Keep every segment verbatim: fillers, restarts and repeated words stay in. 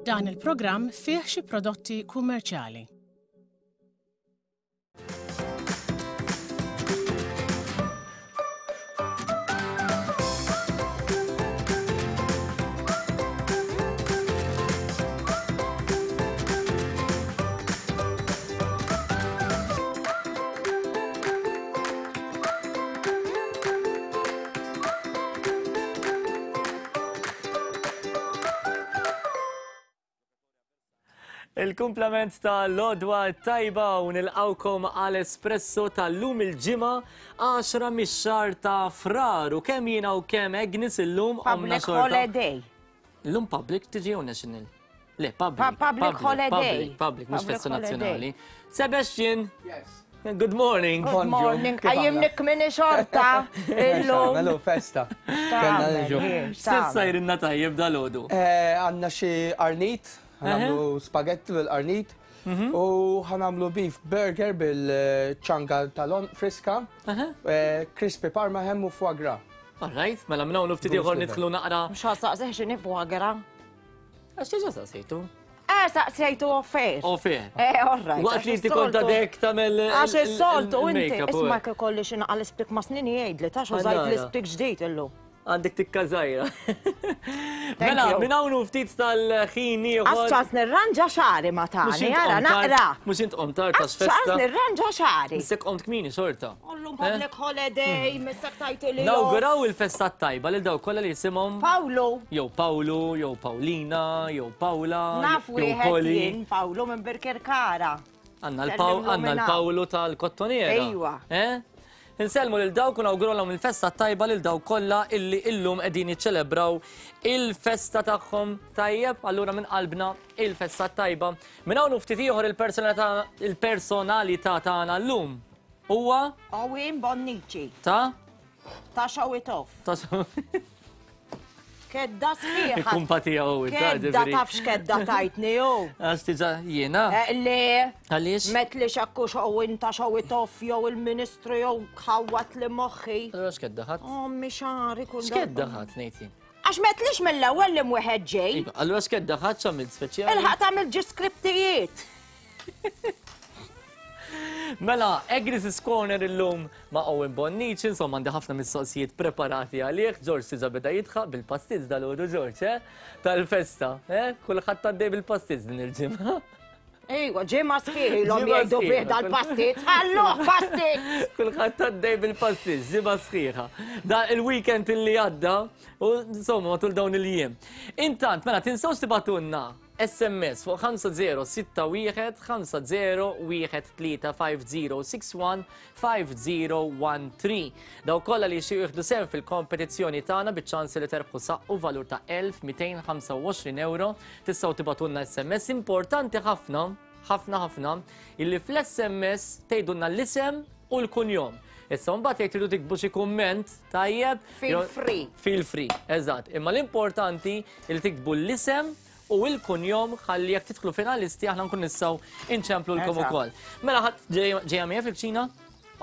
Dan il-programm fih xi prodotti kummerċjali. Il-kumplament ta' l-għodwa tajba u nilqawkom għal espresso tal-lum il-ġimgħa għaxra mix-xahar ta' Frar u kemm jiena u kemm Agnes illum għamna Public holiday. Illum public tiġi jew national? Le, public. Public holiday. Public, public, mhux Public festa holiday. nazzjonali. Sebastian, Yes. good morning. Good morning. Għajjimnik minni xorta. Illum. Melu festa. Kellna niġu. S'issa jrinna tajjeb dal-għodu. Eh, Għanna xi qarnit, ħanamlu spagetti bil-qarnit u ħanamlu beef burger bil-ċanga tal-on friska, eh, crispy parma ham u foie gras. All right, mela minn hawn ftit ieħor nidħlu naqra. Mux ħasaqsih xini foie gras. Għax diġà saqsejtu. Eh, saqsejtu offer. Offer. Eh, all right. Waqt li inti kont għadek tagħmel Għax is-soltu inti, il-makeup u isma' hekk. kolli xi naqal l-isptik ma' snini jgħidli, ta' użajt Allora. l-isptik ġdid illum. Għandek tikka żgħira. Mela, you. minn hawn ftit tal-ħin ieħor. Għax ċans nirranġa xagħri ma Mhux tani, int ara qomt tard- naqra. Mhux int qomt tard Għax għax ċans festa. nirranġa xagħri. Missek qomt kmini xorta. Illum public holiday, missek tajti li. Nawguraw il-festa tajba lil dawk kollha li jisimhom Paolo, jew Pawlu, jew Pawlina, jew Pawla, naf jew wieħed Poli. jien Paolo minn Birkirkara. Għanna l-Paw- Sellimlu għanna minn hawn. l-Pawlu tal-Kottoniera. Ejwa. Eh? Insellmu lil dawk u nawgurulhom il-festa tajba lil dawk kollha illi illum qegħdin jiċċelebraw il-festa tagħhom tajjeb, allura minn qalbna il-festa tajba. Minn hawn u ftit ieħor il-personalità il-personalità tagħna llum huwa Owen Bonnici, ta' ta' show it off. ta' Kedda sħiħa. il-kumpatija u Kedda taf x'kedda tajtni ju. Għax diġà jiena. Eh, Le, Għaliex? met li xakku Owen ta' show it off jew il-ministru jew ħawat li moħħi. Allura x'kedda ħadd? Ommi xagħri kull X'kedda ħadd ngħid jien? Għax metlix mill-ewwel li mwieħed ġej. Iva, Allura x'kedda ħadd x'għamilt speċjali? Il-ħaq tagħmel ġi skriptijiet. Mela, Agnes' Corner illum ma' Owen Bonnici, insomma għandi ħafna mistoqsijiet preparati għalih. George diġà beda jidħaq bil-pastizz dal-għodu George, eh? Tal-festa, eh? Kulħadd għaddej bil-pastizz din il-ġimgħa. Ejwa, ġimgħa sħiħ ilhom Ġimgħa jgħidu sħiħa. bih dal-pastizz. Ħalluh pastizz! Kulħadd għaddej bil-pastizz, ġimgħa sħiħa. Da il-weekend illi għadda, u insomma matul dawn il-jiem. Intant, mela tinsewx tibagħtulna S M S fuq ħamsa żero sitta wieħed ħamsa żero wieħed tlieta ħamsa żero sitta wieħed ħamsa żero wieħed tlieta. Dawk kollha li jixtiequ jieħdu sehem fil-kompetizzjoni tagħna biċ-ċans li terbħu saqqu valur ta' elf mitejn ħamsa u għoxrin euro, tistgħu tibagħtulna S M S. Importanti ħafna, ħafna ħafna, illi fl-S M S tgħidulna l-isem u l-kunjom. Issa mbagħad jekk tridu tiktbu xi kumment tajjeb, Feel jew- free. Feel free, eżatt. Imma l-importanti li tiktbu l-isem u l-kunjom ħalli jekk tidħlu finalisti aħna nkun nistgħu inċemplulkom Eżatt. ukoll. Mela ħadd ġejja miegħi fil-kċina?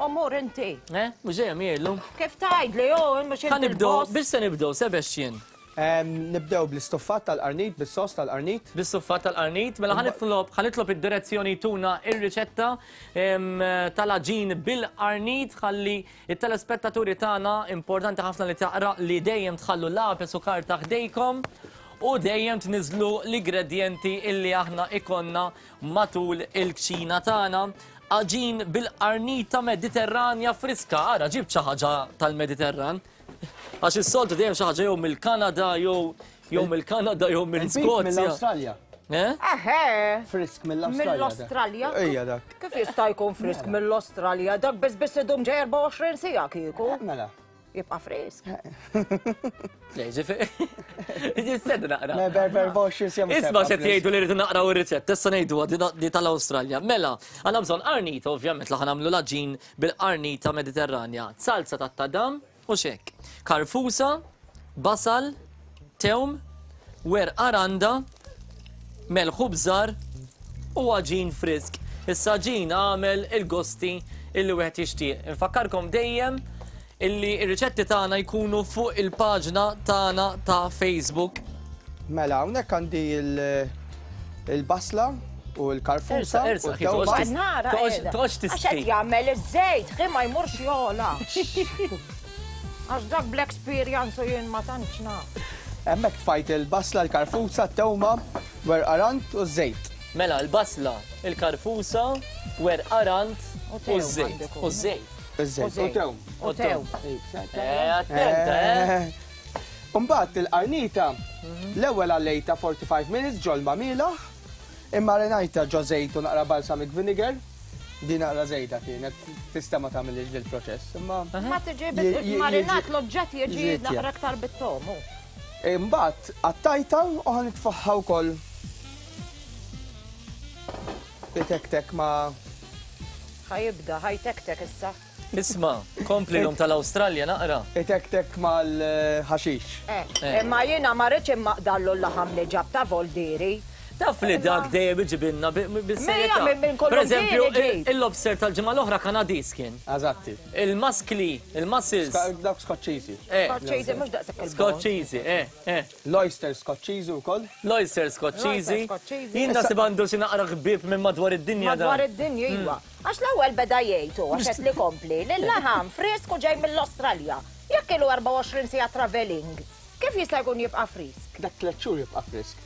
Omur inti. Eh? Mhux ġejja miegħi llum. Kif tgħidli, jo, mhux Ħa inti nibdew, l-boss. biex se nibdew, Sebastian? Em, Nibdew bl-istuffat tal-qarnit, bis-sos tal-qarnit. Bis-suffat tal-qarnit, mela ħa nitlob ħa nitlob id-direzzjoni tuna ir-riċetta em, tal-aġin bil-qarnit ħalli it-telespettaturi tagħna, importanti ħafna li taqra li dejjem tħallu lapis u karta ħdejkom u dejjem tniżlu l-ingredienti illi aħna ikonna matul il-kċina tagħna. Aġin bil-qarnita Mediterranja friska. Ara, ġib xi ħaġa tal-Mediterran. Għax is-soltu dejjem xi ħaġa jew mill-Kanada jew jew mill-Kanada jew Il-beef mill-Skozja. mill-Awstralja. Eh? Eħe. Frisk mill-Awstralja. dak. Mill-Australja? Ejja dak. Kif jista' jkun frisk mill-Australja? Dak biss biss idum ġej erbgħa u għoxrin siegħa kieku. Mela. Jibqa' frisk. Le, ġifieri. Ġifieri naqra. Me ber ber boxi sem. Isma' xed jgħidu li rridu naqraw ir-riċett, issa ngħidu di tal-Awstralja. Mela, għandna bżonn qarnita ovvjament li ħa nagħmlu l-aġin bil-qarnita Mediterranja. Salsa tat-tadam u xek. Karfusa, basal, tewm, werqa randa, melħ u bżar u għaġin frisk. Issa aġin għamel il-gosti illi wieħed jixtieq. Infakkarkom dejjem illi ir-riċetti tagħna jkunu fuq il-paġna tagħna ta' Facebook. Mela, hawnhekk għandi il- il-basla u l-karfusa. Ersa, ersa, toqgħodx Għax qed jagħmel iż-żejt, ħi ma jmurx jola. Għax dak bl-experience u jien ma tantx naf. Hemmhekk tfajt il-basla, l-karfusa, t-tewma, werqa rand u ż-żejt. Mela, l-basla, il-karfusa, werqa rand u ż-żejt. U ż-żejt. Iż-żejt. U tewm. U tewm. Eh, attenta, eh. Mbagħad il-qarnita l-ewwel għallejta forty-five minutes ġol mielaħ, imma renajta ġo żejt u naqra balsamic vinegar. Din naqra żejda kienet tista' ma tagħmilx dil-proċess, imma Ma tiġi marinat l-oġġett jiġi naqra aktar bit-tomu. Imbagħad qattajta u ħa nitfaħħa wkoll. Itektek ma Ħajibda, ħajtektek issa. Isma, kompli l-lum tal-Awstralja naqra. Itektek mal-ħaxix. Imma jiena ma rridx immaqdallu l-laħam li ġab ta' Voldiri. Taf li dak dejjem iġibilna bis-serjetà. Mejja, minn kollu Per eżempju, ġieli ġejt. il-lobster tal-ġimgħa l-oħra Kanadiż kien. Eżatti. Il-maskli, il-mussels. Dak Skoċċiżi. Eh, Skoċċiżi mhux daqshekk il-bon. Skoċċiżi, eh, eh. L-oyster Skoċċiżi wkoll. L-oyster Skoċċiżi. L-oyster Skoċċiżi. Jien naħseb għandu xi naqra ħbieb minn madwar id-dinja dan. Madwar id-dinja iva. Għax l-ewwel beda jgħid hu, għax qed li kompli, li l-laħam fresku ġej mill-Awstralja. Jekk ilu erbgħa u għoxrin siegħa traveling, kif jista' jkun jibqa' frisk? Dak tliet xhur jibqa' frisk.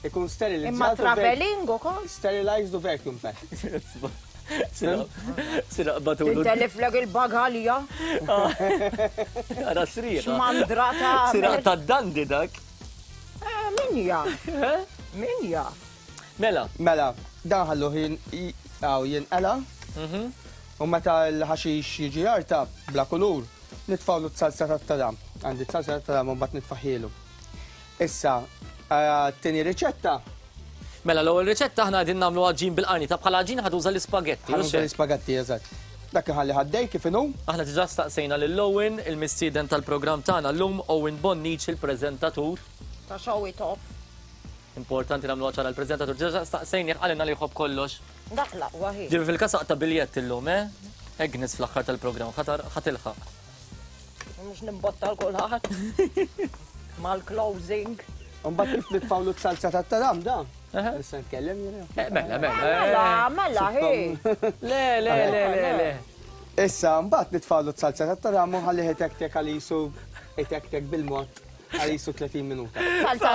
Ikun sterilizzat. Imma u vac- traveling ukoll? Sterilized u vacuum packed. Sira batulu. Tinteliflek il-bagalja. Ara sriqa. X'mandra ta' Sira ta' dandi dak. Eh, min jaf? Min jaf? Mela. Mela, dan ħallu għaw jinqela. U meta l-ħaxix jiġi jarta bla kulur, nitfawlu t-salsa tat-tadam. Għandi t-salsa tat-tadam u mbagħad nitfaħilu. Issa, t-tieni riċetta. Mela, l-ewwel riċetta aħna qegħdin nagħmlu għaġin bil-qarnita, bħala għaġin ħaduża l-ispagetti. Ħaduża l-ispagetti, eżatt. Dak iħalli ħaddej kif inhu. Aħna diġà staqsejna lil Owen, il-mistieden tal-programm tagħna llum, Owen Bonnici, il-preżentatur. Ta' Show It Off. Importanti nagħmlu ċara l-preżentatur. Diġà staqsejni qalilna li jħobb kollox. Dak l-aqwa hi. Ġifi fil-każ aqta' biljett illum, eh? Agnes fl-aħħar tal-programm, ħatilħaq. Mhux nimbotta l kulħadd. Mal-closing. Mbagħad kif nitfawlu t-salsa tat-tadam da? Aha. Nista' nitkellem jiena? Eh, mela, mela. Mela, mela, hi. Le, le, le, le, le. Issa, mbagħad nitfawlu t-salsa tat-tadam u ħalli itektek għal jisu itektek bil-mod għal jisu tletin minuta. Salsa.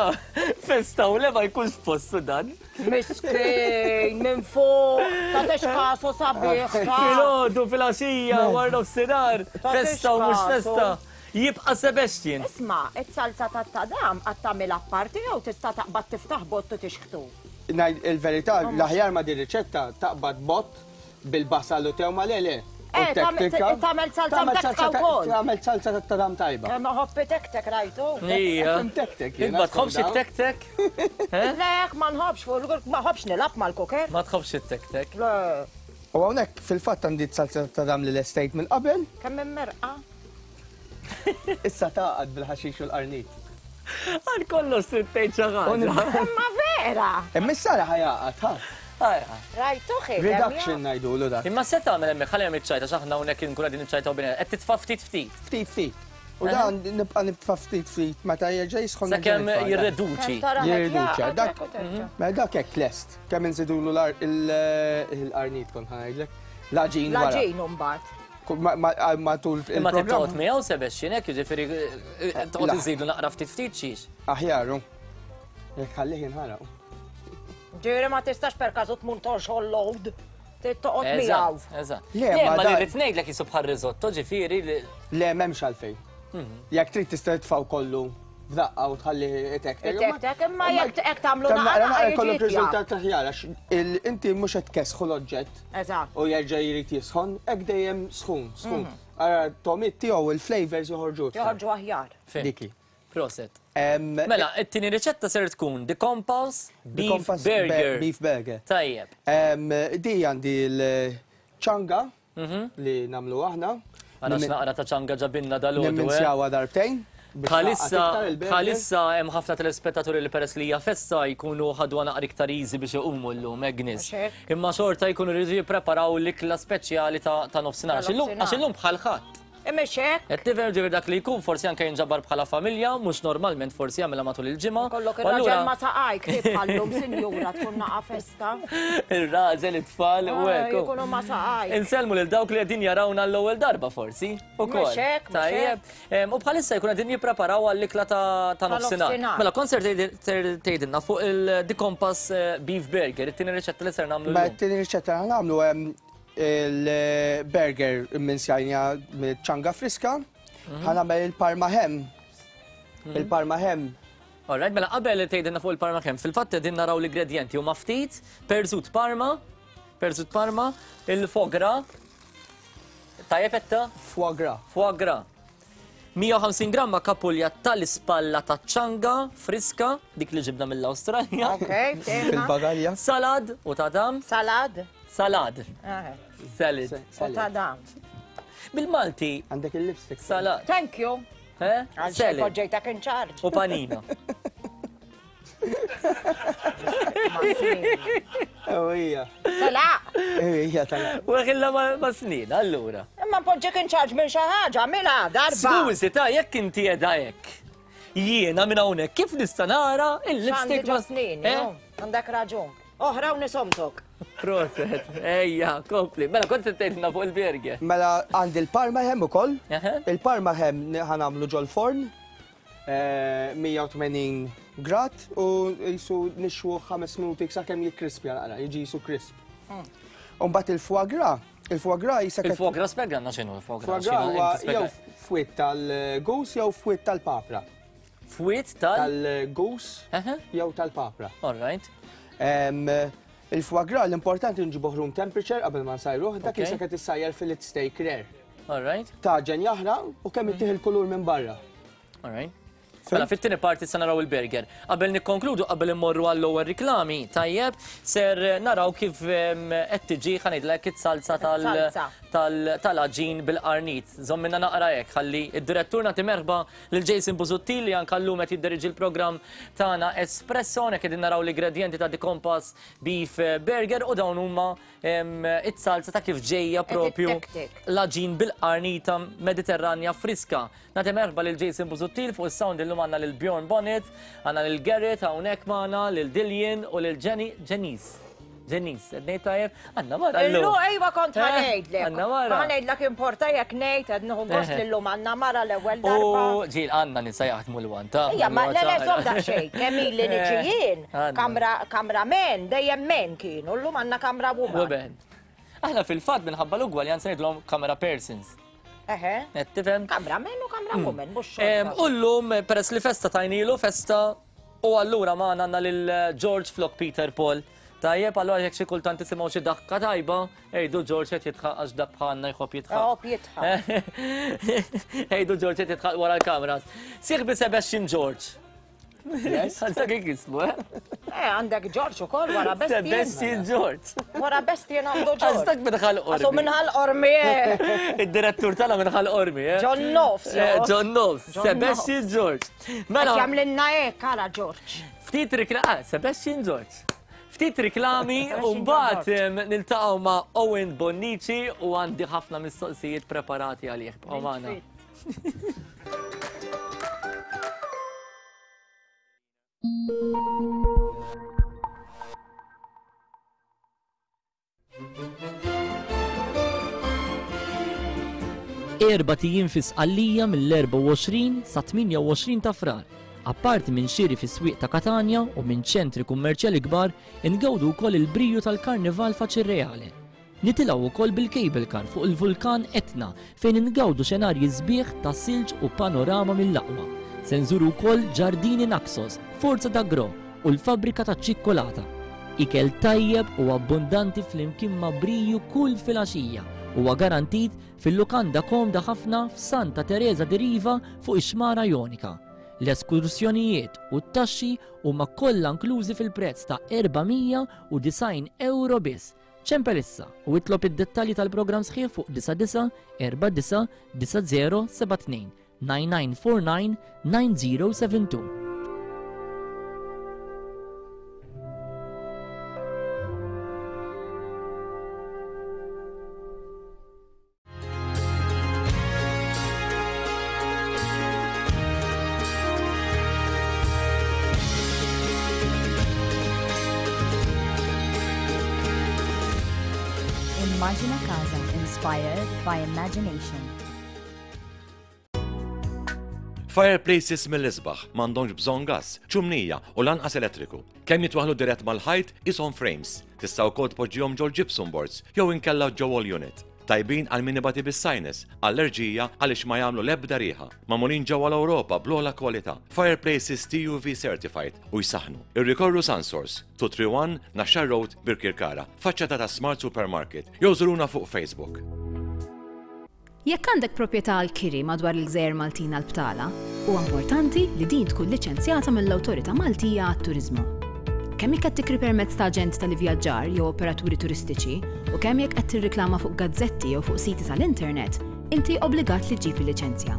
Festa u le ma jkunx postu dan. Miskin, minn fuq, ta' tixkasu sabiħ. Filgħodu, filgħaxija, wara nofsinhar, Ta' festa u mhux tixkasu. festa. Jibqa' Sebastian. Isma, it-salsa tat-tadam qatt tagħmel apparti jew tista' taqbad tiftaħ bott u tixħtu? Ngħid il-verità, l-aħjar ma' din riċetta taqbad bott bil-basal u tewma le le. U Eh, tagħmel tektika. tagħmel salsa Tagħmel mtektka salsa ta' wkoll. Tagħmel salsa tat-tadam tajba. Eh, ma ħobbi tektek rajtu. Ija. Tek-tek, jiena Int ma tħobbx skondaw. it-tek-tek? Eh? Le, ma nħobbx, fuq, ma nħobbx nilgħab mal-kuker. Ma tħobbx it-tek-tek. Le, U hawnhekk fil-fatt għandi salsa tat-tadam li lestejt minn qabel. kemm immerqa. Issa taqgħad bil-ħaxix u l-qarnit. Għal kollox trid tgħid xi ħaġa. Imma vera. Imma issa ħajaqgħad, ha? Ajja. Rajtu ħi. Reduction ngħidulu dak. Imma se tagħmel hemmhekk ħalli hemm iċ-ċajta x'aħna hawnhekk inkun qegħdin iċċajtaw bejn qed titfa' ftit ftit. Ftit ftit. U dan nibqa' nitfa' ftit ftit meta jerġa' jisħon. Sakemm nerġa' nitfa' dak. jirreduċi. Jirriduċa, dak- Mela dak hekk lest. Kemm inżidulu l-qarnit kont ħa ngħidlek. L-għaġin wara. L-għaġin mbagħad. Ma- ma- Matul Imma trid toqgħod il-programm. miegħu Sebastian hekk jiġifieri eh, toqgħod La. iżidu naqra ftit ftit xiex. Aħjaru. Jekk ħallih jinħaraq. Ġifieri ma tistax per każu tmur torxol load. Trid toqgħod miegħu. Eżatt, eżatt. Le, Le, ma ma li da- rrid ngħidlek jisu bħal risotto, ġifieri li Le, m'hemmx għalfejn. Jekk trid tista' titfgħu kollu f'daqqa u tħalli itektek. Itektek, imma jekk jekk tagħmlu Kemm naqra naqra naqra jkollok jiġi riżultat aħjar għax il- inti mhux qed tkessħu l-oġġett Eżatt. u jerġa' jrid jisħon, hekk dejjem sħun, sħun. Ara tomit tiegħu il-flavors joħorġu. iktar. Joħorġu aħjar. Fim. Diki. Proset. Em, Mela, it-tieni riċetta ser tkun The Compass The Beef Compass Burger. Beef Burger. Tajjeb. Em, Di għandi l-ċanga li nagħmlu aħna. Għana x'naqra ta' ċanga ġabinna dal-għodu. eh? Nimminzjawha darbtejn. biex Bħalissa, taqgħad iktar il-burger. bħalissa hemm ħafna telespettaturi li peress li hija festa jkunu ħadu naqra iktar easy biex iqumu llum Agnes. Mhux hekk? Imma xorta jkunu rridu jippreparaw l-ikla speċjali ta' ta' nofsinhar. Għax illum nofsinhar. għax illum bħal ħadd. Mhux hekk. Qed tifhem ġifieri dak li jkun forsi anke jinġabar bħala familja, mhux normalment forsi jagħmilha matul il-ġimgħa. Kollok ir-raġel ma saqajk tibqallum sinjura tkun naqa' festa. Ir-raġel, it-tfal u hekk. Jkunu ma saqajk. Insellmu lil dawk li qegħdin jarawna l-ewwel darba forsi. Ukoll. Tajjeb. U bħalissa jkun qegħdin jippreparaw għall-ikla ta' nofsinhar. Mela kont ser tgħidilna fuq il-The Compass Beef Burger, it-tieni riċetta li ser nagħmlu. Ma t-tieni riċetta nagħmlu il-burger minn sjajna ċanga friska, ħa nagħmel il-parma ham. Il-parma ham. All right, mela qabel tgħidilna fuq il-parma ham, fil-fatt qegħdin naraw l-ingredjenti huma ftit, perżut parma, perżut parma, il-foie gras, tajjeb etta? Foie gras. Foie gras. mija u ħamsin gramma kapulja tal-ispalla ta' ċanga friska, dik li ġibna mill-Awstralja. Ok, fil-bagalja. Salad u tadam. Salad. Salad. Salad. U tadam. Bil-Malti. Għandek il-lipstick. Salad. Thank you. Salad. Poġġejtak in charge. U panina. Ejja. Tala. Ejja, tala. U għilla ma snin, allura. Imma poġġek in charge minn xi ħaġa, mela darba. Skużi, ta' jekk inti qiegħda hekk. Jiena minn hawnhekk kif nista' nara il-lipstick ma' snin, għandek raġun. Oħra u nisomtok. Proset, ejja, kompli. Mela kont se tgħidilna fuq il-burger. Mela għandi il-parma ham ukoll. Il-parma ham ħa nagħmlu ġol-forn. mija u tmenin grad u jisu nixwu ħames minuti sakemm jikkrispja naqra, jiġi jisu crisp. U mbagħad il-foie gras, il-foie gras jisa Il-foie gras spjegana x'inhu il-foie gras. Foie gras huwa jew fwiet tal-goose jew fwiet tal-papra. Fwiet tal? Tal-goose jew tal-papra. All right. Il-foie gras l-importanti nġibuh room temperature qabel ma nsajruh, dak jisa qed issajjar fillet steak rare. All right. Taġen jaħraq u kemm ittih il-kulur minn barra. All right. Mela, fit-tieni parti se naraw il-burger. Qabel nikkonkludu, qabel immorru għall-ewwel riklami, tajjeb, ser naraw kif qed tiġi ħa ngħidlek it-salsa tal-għaġin bil-qarnit. Żommilna naqra hekk, ħalli id-direttur nagħti merħba lil Jason Busuttil li anke llum qed jiddiriġi l-programm tagħna Espresso, hekk qegħdin naraw l-ingredjenti ta' The Compass Beef Burger u dawn huma it-salsa ta' kif ġejja propju l-għaġin bil-qarnita Mediterranja friska. Nagħti merħba lil Jason Busuttil fuq is-sound illum għandna lil Bjorn Bonnet, għandna lil Garrett hawnhekk magħna, lil Dillian u lil Jenny Jenice. Jenice, qed ngħid tajjeb, għandna mara llum. Illum ejwa kont ħa ngħidlek. Għandna mara. Ħa ngħidlek importa jekk ngħid qed nieħu gost lillum għandna mara l-ewwel darba. U ġiel għandna nisa jaħdmu l-wan ta'. Ejja, ma le le żomm daqsxejn, kemm ili niġi jien, kamra men, dejjem men kienu, llum għandna kamra woman. Aħna fil-fatt minħabba l-ugwaljanza ngħidlhom camera persons. Eħe. Qed tifhem? Kamra men u kamra woman, mhux xorta. U llum peress li festa tajnilu festa u allura magħna għandna lil George flok Peter Paul. Tajjeb, allura jekk xi kultant tisimgħu xi daħka tajba, ejdu George qed jitħaq għax dak bħalna jħobb jitħaq. Jħobb jitħaq. Ejdu George qed jitħaq wara l-kameras. Sieħbi Sebastian George. Għandek kif jismu, eh? Eh, għandek George ukoll wara Bestien. Sebastian George. Wara Bestien għandu George. Għax minħal qormi. Għasu minħal qormi. Id-direttur tagħna minħal qormi, eh? John Knowles. John Knowles. Sebastian George. Mela. Jagħmlilna hekk ara George. Ftit rikla, Sebastian George. Ftit riklami u mbagħad niltaqgħu ma' Owen Bonnici u għandi ħafna mistoqsijiet preparati għalih. Bqgħu magħna. Erba' tijiem fi Sqallija mill-erbgħa u għoxrin sa tmienja u għoxrin ta' Frar. Apparti minn xiri fis-swieq ta' Katanja u minn ċentri kummerċjali kbar, ingawdu wkoll il-briju tal-Karnival Faċirreale. Nitilgħu wkoll bil-cable car fuq il-vulkan Etna fejn ingawdu xenarji sbieħ ta' silġ u panorama mill-aqwa. Se nżuru wkoll Ġardini Naxos, Forza d'Agro u l-fabbrika ta' ċikkolata. Ikel tajjeb u abbundanti flimkien ma' briju kull filgħaxija huwa garantit fil-lukanda komda ħafna f'Santa Teresa di Riva fuq ix-Xmara Jonika. L-eskursjonijiet u t-taxxi huma kollha inklużi fil-prezz ta' erba' mija u disgħin euro biss. Ċempel issa u itlob id-dettalji tal-programm sħiħ fuq disa' disa' erba' disa' disa' zero seba' tnejn nine nine four nine nine zero seven two. Immaġina Casa, inspired by imagination. Fireplaces mill-isbaħ m'għandhomx bżonn gas, ċumnija u lanqas elettriku. Kemm jitwaħlu dirett mal-ħajt ishom frames. Tista' wkoll tpoġġihom ġol gypsum boards jew inkella ġo wall unit. Tajbin għal min ibati bis-sinus, allerġija għaliex ma jagħmlu l-ebda riħa. Magħmulin ġewwa l-Ewropa bl-ogħla kwalità. Fireplaces T U V certified u jsaħnu. Irrikorru Sunsource, two three one Naxxar Road, Birkirkara, faċċata ta' Smart Supermarket, jew żuruna fuq Facebook. Jekk għandek proprjetà għal kiri madwar il-Gżejjer Maltin għal btala, huwa importanti li din tkun liċenzjata mill-Awtorità Maltija għat-Turiżmu. Kemm jekk qed tikri permezz ta' aġent tal-ivvjaġġar jew operaturi turistiċi u kemm jekk qed tirriklama fuq gazzetti jew fuq siti tal-internet, inti obbligat li ġġib il-liċenzja.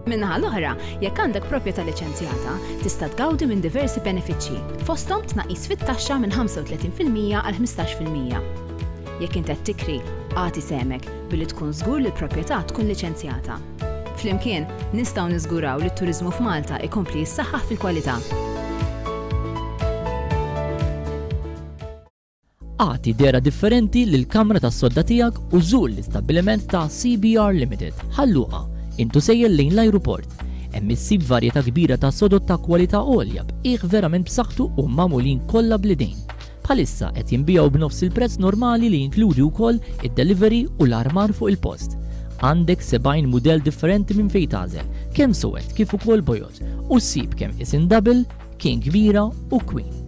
Min-naħa l-oħra, jekk għandek proprjetà liċenzjata, tista' tgawdi minn diversi benefiċċji, fosthom tnaqqis fit-taxxa minn ħamsa u tletin fil-mija għal ħmistax fil-mija. Jekk inti qed tikri, agħti sehmek billi tkun żgur li l-proprjetà tkun liċenzjata. Flimkien, nistgħu niżguraw li t-turiżmu f'Malta ikompli jissaħħaħ fil-kwalità. Agħti dehra differenti lil kamra tas-sodda tiegħek u żur l-istabbiliment ta' C B R Limited. Ħal Luqa, int u sejjer lejn l-ajruport. Hemm issib varjetà kbira ta' sodod ta' kwalità għolja b'qiegħ verament b'saħħtu u magħmulin kollha bl-idejn. Bħalissa qed jinbiegħu b'nofs il-prezz normali li jinkludi wkoll id-delivery u l-armar fuq il-post. Għandek sebgħin mudell differenti minn fejn tagħżel, kemm suwed kif ukoll bojod, u ssib kemm isin double, king kbira u queen.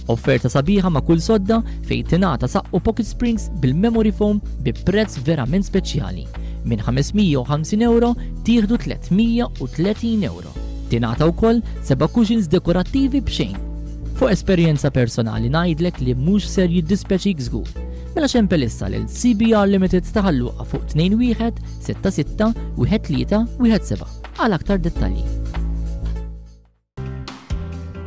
Offerta sabiħa ma' kull sodda fejn tingħata saqqu pocket springs bil-memory foam bi prezz verament speċjali. Minn ħames mija u ħamsin euro tieħdu tliet mija u tletin euro. Tingħata wkoll seba' cushions dekorattivi b'xejn. Fuq esperjenza personali ngħidlek li mhux ser jiddispjaċik żgur. Mela ċempel issa lil C B R Limited ta' Ħal Luqa fuq tnejn wieħed sitta sitta wieħed tlieta wieħed seba' għal aktar dettalji.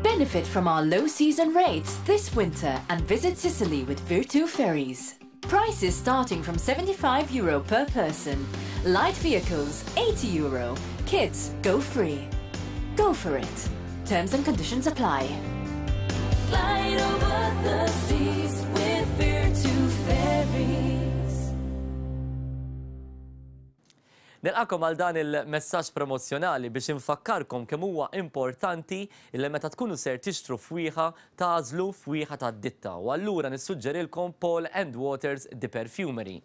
Benefit from our low season rates this winter and visit Sicily with Virtu Ferries. Prices starting from seventy-five euro per person. Light vehicles eighty euro. Kids go free. Go for it. Terms and conditions apply. Glide over the seas with Virtu Ferries. Nilqagħkom għal dan il-messaġġ promozzjonali biex infakkarkom kemm huwa importanti illi meta tkunu ser tixtru fwieħa tagħżlu fwieħa tad-ditta u allura nissuġġerilkom Paul and Waters The Perfumery.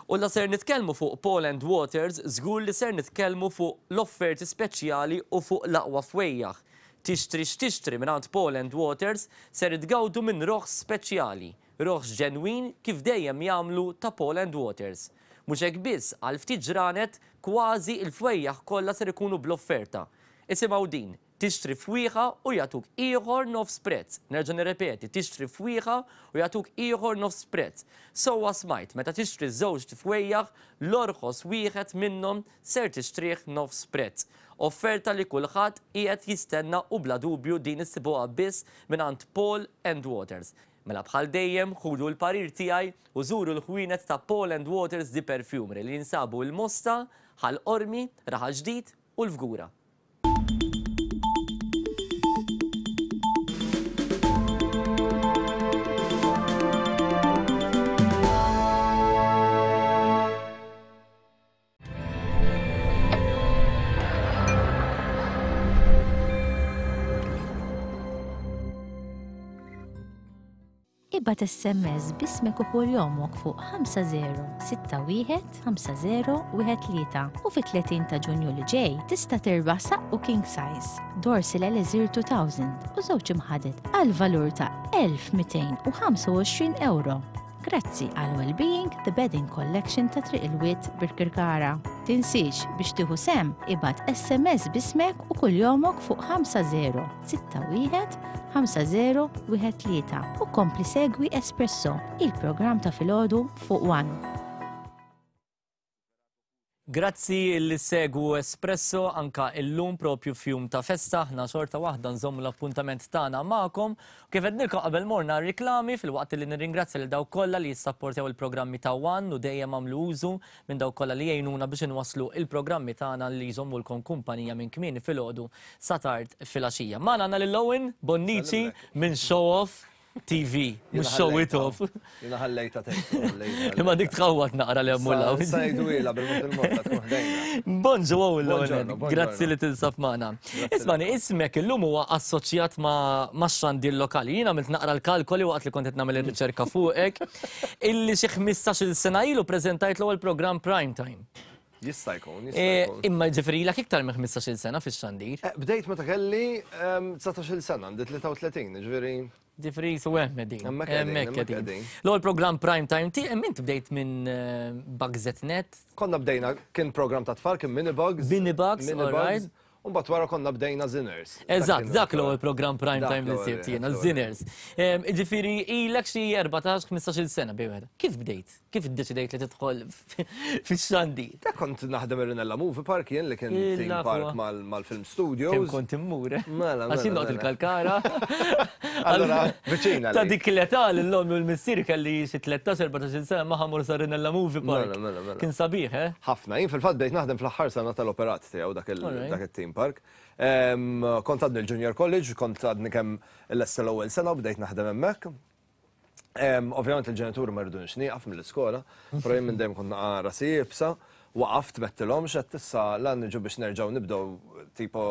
U la ser nitkellmu fuq Paul and Waters, żgur li ser nitkellmu fuq l-offerti speċjali u fuq l-aqwa fwejjaħ. Tixtri x'tixtri mingħand Paul and Waters ser tgawdu minn roħs speċjali, roħs ġenwin kif dejjem jagħmlu ta' Paul and Waters. Mhux hekk biss, għal ftit ġranet kważi il-fwejjaħ kollha ser ikunu bl-offerta. Isimgħu din, tixtri fwieħa u jagħtuk ieħor nofs prezz. Nerġa' nirrepeti, tixtri fwieħa u jagħtuk ieħor nofs prezz. Sewwa smajt, meta tixtri żewġ fwejjaħ, l-orħos wieħed minnhom ser tixtrih nofs prezz. Offerta li kulħadd qiegħed jistenna u bla dubju din issibuha biss mingħand Paul and Waters. Mela bħal dejjem ħudu l-parir tiegħi u żuru l-ħwienet ta' Paul and Waters The Perfumery li jinsabu l-Mosta, Ħal Qormi, Raħal Ġdid u l-Fgura. Ibgħat S M S b'ismek u kunjomok fuq ħamsa żero sitta wieħed ħamsa żero wieħed tlieta u fit-tletin ta' Ġunju li ġej tista' tirbaħ saqqu king size Dorsil Elixir elfejn u żewġ imħaded għal valur ta' elf u mitejn u ħamsa u għoxrin euro. Grazzi għal Wellbeing The Bedding Collection ta' Triq il-Wied, Birkirkara. Tinsiex biex tieħu sehem, ibgħat S M S b'ismek u kunjomok fuq ħamsa żero sitta wieħed ħamsa żero wieħed tlieta u kompli segwi Espresso, il-programm ta' filgħodu fuq One. Grazzi li ssegwu Espresso anka illum propju f'jum ta' festa, aħna xorta waħda nżommu l-appuntament tagħna magħkom. Kif għednilkom qabel morna riklami, filwaqt li nirringrazzja lil dawk kollha li jissapportjaw il-programmi ta' One u dejjem għamlu użu minn dawk kollha li jgħinuna biex inwasslu il-programmi tagħna li jżommulkom kumpanija minn kmieni filgħodu sa tard filgħaxija. Magħna għandna lil Owen Bonnici minn Show Off. T V, mhux show it off. Jiena ħallejta tgħid. Imma dik tħawwat naqra li hemm law. Sa jgħidu bil-mod il-mod tkun ħdejna. Bonġu l-ewwel, grazzi li tinsab magħna. Ismani, ismek illum huwa assoċjat ma' xandir lokali. Jiena għamilt naqra l-kalkoli waqt li kont qed nagħmel ir-riċerka fuqek, illi xi ħmistax-il sena ilu preżentajt l-ewwel programm Prime Time. Jista' jkun, jista' jkun. Imma ġifieri ilek iktar minn ħmistax-il sena fix-xandir. Bdejt meta kelli dsatax-il sena, għandi tlieta u tletin, ġifieri. Ġifieri su hemm qegħdin. Hemmhekk qegħdin. L-ewwel programm Prime Time ti hemm int bdejt minn Bugs Net. Konna bdejna, kien programm ta' tfal, kien Mini Bugs. Mini Bugs, all right. U mbagħad wara konna bdejna Zinners. Eżatt, dak l-ewwel programm Prime Time li sibt jiena, Zinners. Ġifieri ilek xi erbatax, ħmistax-il sena bejn wieħed. Kif bdejt? Kif iddeċidejt li tidħol fix-xandir? Dak kont naħdem ir-Rinella Movie Park jien li kien theme park mal-film studios. Kemm kont immur? Mela, għax jien noqgħod il-Kalkara. Allora, viċina. Ta' dik l-età l-omm u l-missier kelli xi tlettax, erbatax-il sena ma ħamur sa Rinella Movie Park. Mela, mela, mela. Kien sabiħ, eh? Ħafna, jien fil-fatt bdejt naħdem fl-aħħar sena tal-operat tiegħu dak il-theme park. Kont għadni l-Junior College, kont għadni kemm l-essa l-ewwel sena u bdejt naħdem hemmhekk. Ovvjament il-ġenituri ma rridunix nieqaf mill-iskola, però jien minn dejjem kont naqa' rasi iebsa, waqaft mettilhom x'qed issa lan niġu biex nerġgħu nibdew tipo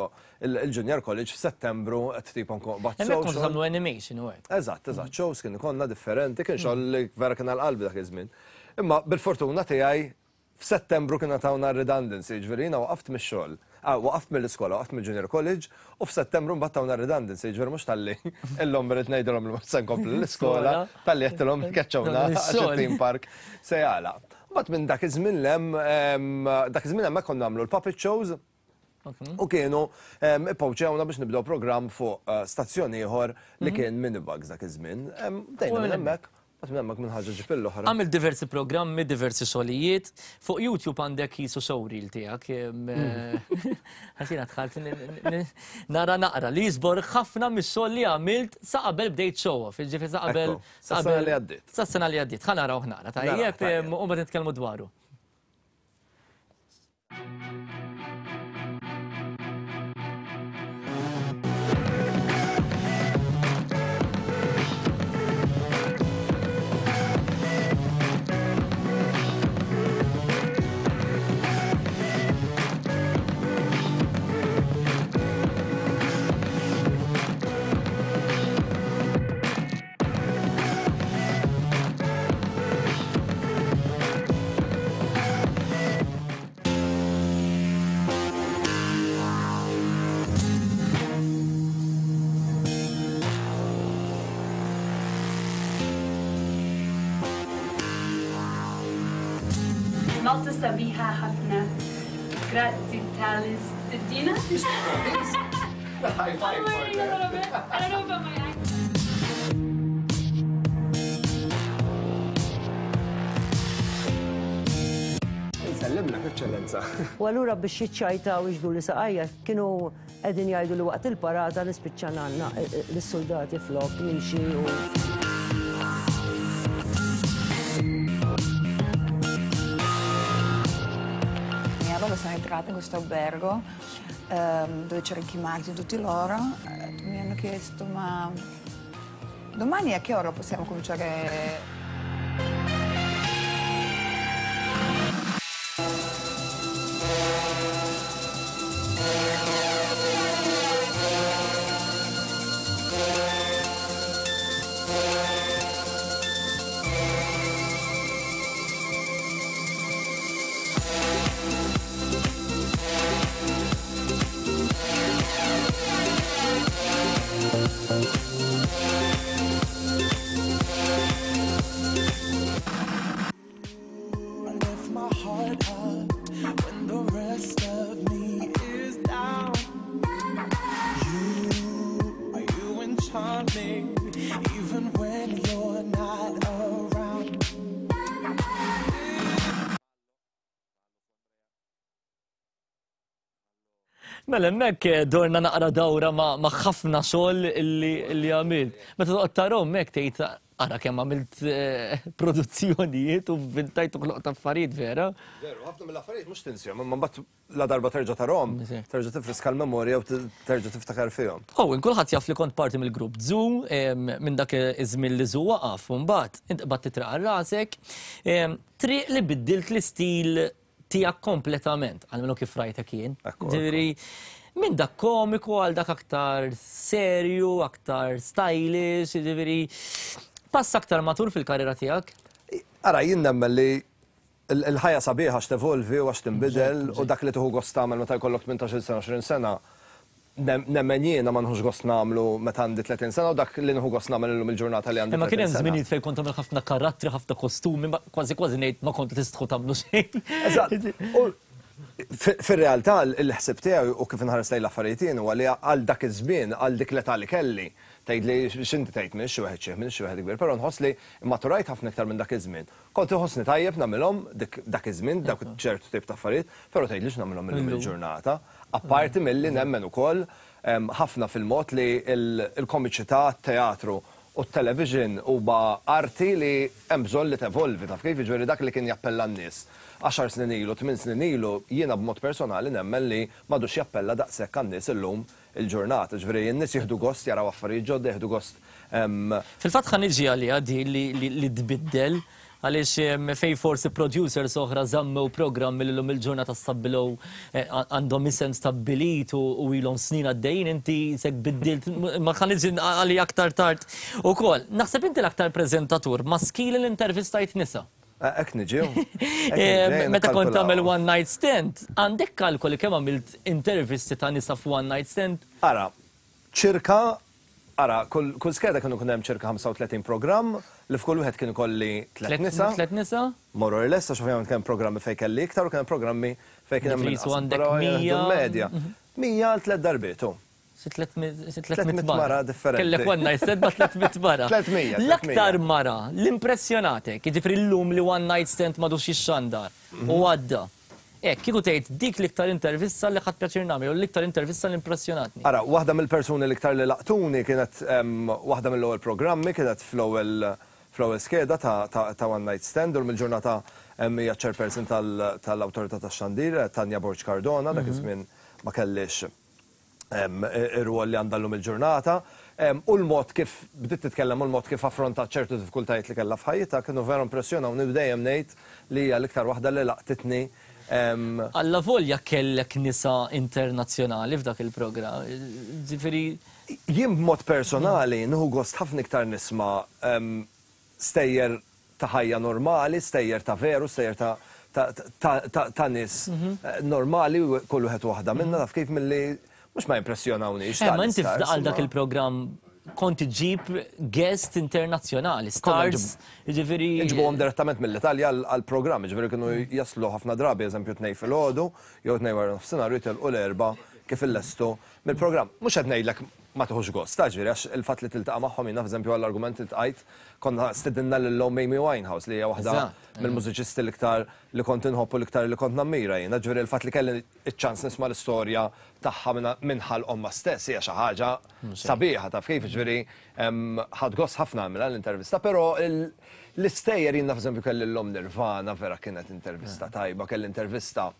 il-Junior College f'Settembru qed tipo nkun qbadt. Hemmhekk kont tagħmlu animation u hekk. Eżatt, eżatt, shows kien ikollna differenti, kien xogħol li vera kien għal qalbi dak iż-żmien. Imma bil-fortuna tiegħi f'Settembru kien tawna redundancy, ġifieri jiena waqaft mix-xogħol. Waqaft mill-iskola, waqaft mill-Junior College, u f'Settembru mbagħad tawna redundancy, ġifieri mhux talli illum irid ngħidilhom li mhux se nkompli l-iskola, talli qedtilhom keċċewna għax it-theme park se jagħlaq. Mbagħad minn dak iż-żmien hemm dak iż-żmien hemmhekk konna nagħmlu l-puppet shows u kienu ippawċewna biex nibdew programm fuq stazzjon ieħor li kien Mini Bugs dak iż-żmien. Bdejna minn hemmhekk. Għamil diversi programmi, diversi xogħlijiet. Fuq YouTube għandek jisu showreel tiegħek. Għax jiena dħalt nara naqra li jiżbor ħafna mix-xogħol li għamilt sa qabel bdejt show off. Ġifieri sa qabel. Sa sena li għaddiet. Sa sena li għaddiet. Ħa naraw naqra tajjeb u mbagħad nitkellmu dwaru. Malta sabiħa ħafna. Grazzi tal-istedina. High five. I'm learning a little bit. I don't know about my accent. Nsellimlek, eċċellenza. U allura biex jiċċajtaw iġdu li saqajja kienu qegħdin jgħidu li waqt il-parata nispiċċa għandna lis-soldati flok nimxi u. Sono entrata in questo albergo ehm, dove c'erano i Marti, tutti loro, eh, mi hanno chiesto ma domani a che ora possiamo cominciare? Even when you're not around. Mela hemmhekk dorna naqra dawra ma' ħafna xogħol illi għamilt. Meta toqgħod tarahom hekk tgħid Ara kemm għamilt eh, produzzjonijiet u vintajt u ħloqt affarijiet vera. Veru, ħafna mill-affarijiet mhux tinsihom, imma mbagħad la darba terġa' tarahom, terġa' tifriska l-memorja u terġa' tiftakar fihom. Owen, kulħadd jaf li kont parti mill-grupp Zoo, minn dak iż-żmien li Zoo waqaf, u mbagħad int qbadt titraq għal rasek, triq li biddilt l-istil tiegħek kompletament, għalmenu kif rajtek jien. Ġifieri, minn dak komiku għal dak aktar serju, aktar stylish, ġifieri, pass aktar matur fil-karriera tiegħek? Ara, jien nemmen li l-ħajja sabiħa għax tevolvi u għax tinbidel, u dak li tieħu gost tagħmel meta jkollok tmintax-il sena, għoxrin sena, nemmen jiena ma nħux gost nagħmlu meta għandi tletin sena, u dak li nħu gost nagħmel illum il-ġurnata li għandi Imma kien hemm tletin sena. żminijiet fejn kont tagħmel ħafna karattri, ħafna kostumi, ma kważi kważi ngħid ma kont tistħu tagħmlu xejn. Eżatt. U fir-realtà l-ħsieb tiegħi u kif inħares lejn l-affarijiet jien huwa li għal dak iż-żmien, għal dik l-età li kelli, tgħid li x'inti tgħid minn xi wieħed xieħ, minn xi wieħed kbir, però nħoss li maturajt ħafna iktar minn dak iż-żmien. Kont inħossni tajjeb nagħmilhom dak iż-żmien, dak ċertu tip ta' affarijiet, però tgħidlix nagħmilhom illum il-ġurnata. Apparti milli nemmen ukoll ħafna fil-mod li l-komiċità, t-teatru u t-television huwa arti li hemm bżonn li tevolvi, taf kif, jiġifieri dak li kien jappella n-nies għaxar snin ilu, tmien snin ilu, jiena b'mod personali nemmen li m'għadux jappella daqshekk għan-nies illum il-ġurnata. Ġifieri n-nies jieħdu gost jaraw affarijiet ġodda, jieħdu gost. Fil-fatt ħa niġi għaliha di li tbiddel, għaliex fej forsi producers oħra żammew programmi li llum il-ġurnata stabbilew, għandhom isem stabbilit u ilhom snin għaddejjin, inti sek biddilt, ma ħa niġi għalija aktar tard ukoll. Naħseb inti l-aktar preżentatur maskili li intervistajt nisa. Hekk niġi. Meta kont tagħmel one night stand, għandek kalkoli kemm għamilt intervisti ta' nisa f'one night stand? Ara, ċirka, ara, kull skeda kienu kun hemm ċirka ħamsa u tletin programm li f'kull wieħed kienu kolli tliet nisa. Tliet nisa? More or less, għax ovvjament kien programmi fejn kelli iktar u kien programmi fejn kien hemm Ġifieri inqas. għandek Però mija. jieħdu medja. Mija għal tliet darbiet, hu. Xi tliet Tliet mara differenti. Kellek one night stand ma' tliet mitt mara. Tliet mija, tliet L-aktar mija. mara l-impressjonatek, jiġifieri llum li one night stand m'għadux jixxandar u għadda. Hekk, kieku tgħid dik l-iktar intervista li ħadt pjaċir nagħmel, u l-iktar intervista li impressjonatni. Ara, waħda mill-persuni l-iktar li laqtuni kienet, em, waħda mill-ewwel programmi, kienet fl-ewwel fl-ewwel skeda ta', ta, ta' One Night Stand, u mill-ġurnata hija chairperson tal-Awtorità tax-Xandir, Tanja Borg Cardona, dak iż-żmien ma kellix ir-rwol li għandha llum il-ġurnata. U l-mod kif bdiet titkellem u l-mod kif affrontat ċertu diffikultajiet li kellha f'ħajjitha kienu vera impressjonawni, u dejjem ngħid li hija l-iktar waħda li laqtitni. Alla volja kellek nisa internazzjonali f'dak il-programm. Ġifieri Jien b'mod personali nieħu gost ħafna iktar nisma' stejjer ta' ħajja normali, stejjer ta' veru, stejjer ta' ta', ta, ta' nies normali, kull wieħed waħda minna, taf kif, milli mhux ma jimpressjonawnix. Eh, ma inti tal-istars, għal dak ma- il-programm kont iġib guest internazzjonali, stars, ġifieri. Nġibuhom direttament mill-Italja għal-programm, ġifieri kienu jaslu ħafna drabi, eżempju, tnejn filgħodu, jew tnejn wara nofsinhar, jitilqu l-Erbgħa kif illestu mill-programm. Mhux qed ngħidlek ma tieħux gost, ta' ġifieri, għax il-fatt li tiltaqa' magħhom, jiena f'eżempju għall-argument iltqajt, konna stedinna lil Amy Winehouse, li hija waħda Eżatt. mill-mużiċisti l-iktar li kont inħobb u l-iktar li kont nammira jiena. Ġifieri il-fatt li kelli iċ-ċans nisma' l-istorja tagħha minn ħalq ommha stess hija xi ħaġa sabiħa, taf kif, ġifieri ħadt gost ħafna nagħmilha l-intervista, però l-istejjer jiena f'eżempju kelli l-om Nirvana, vera kienet intervista tajba, kelli intervista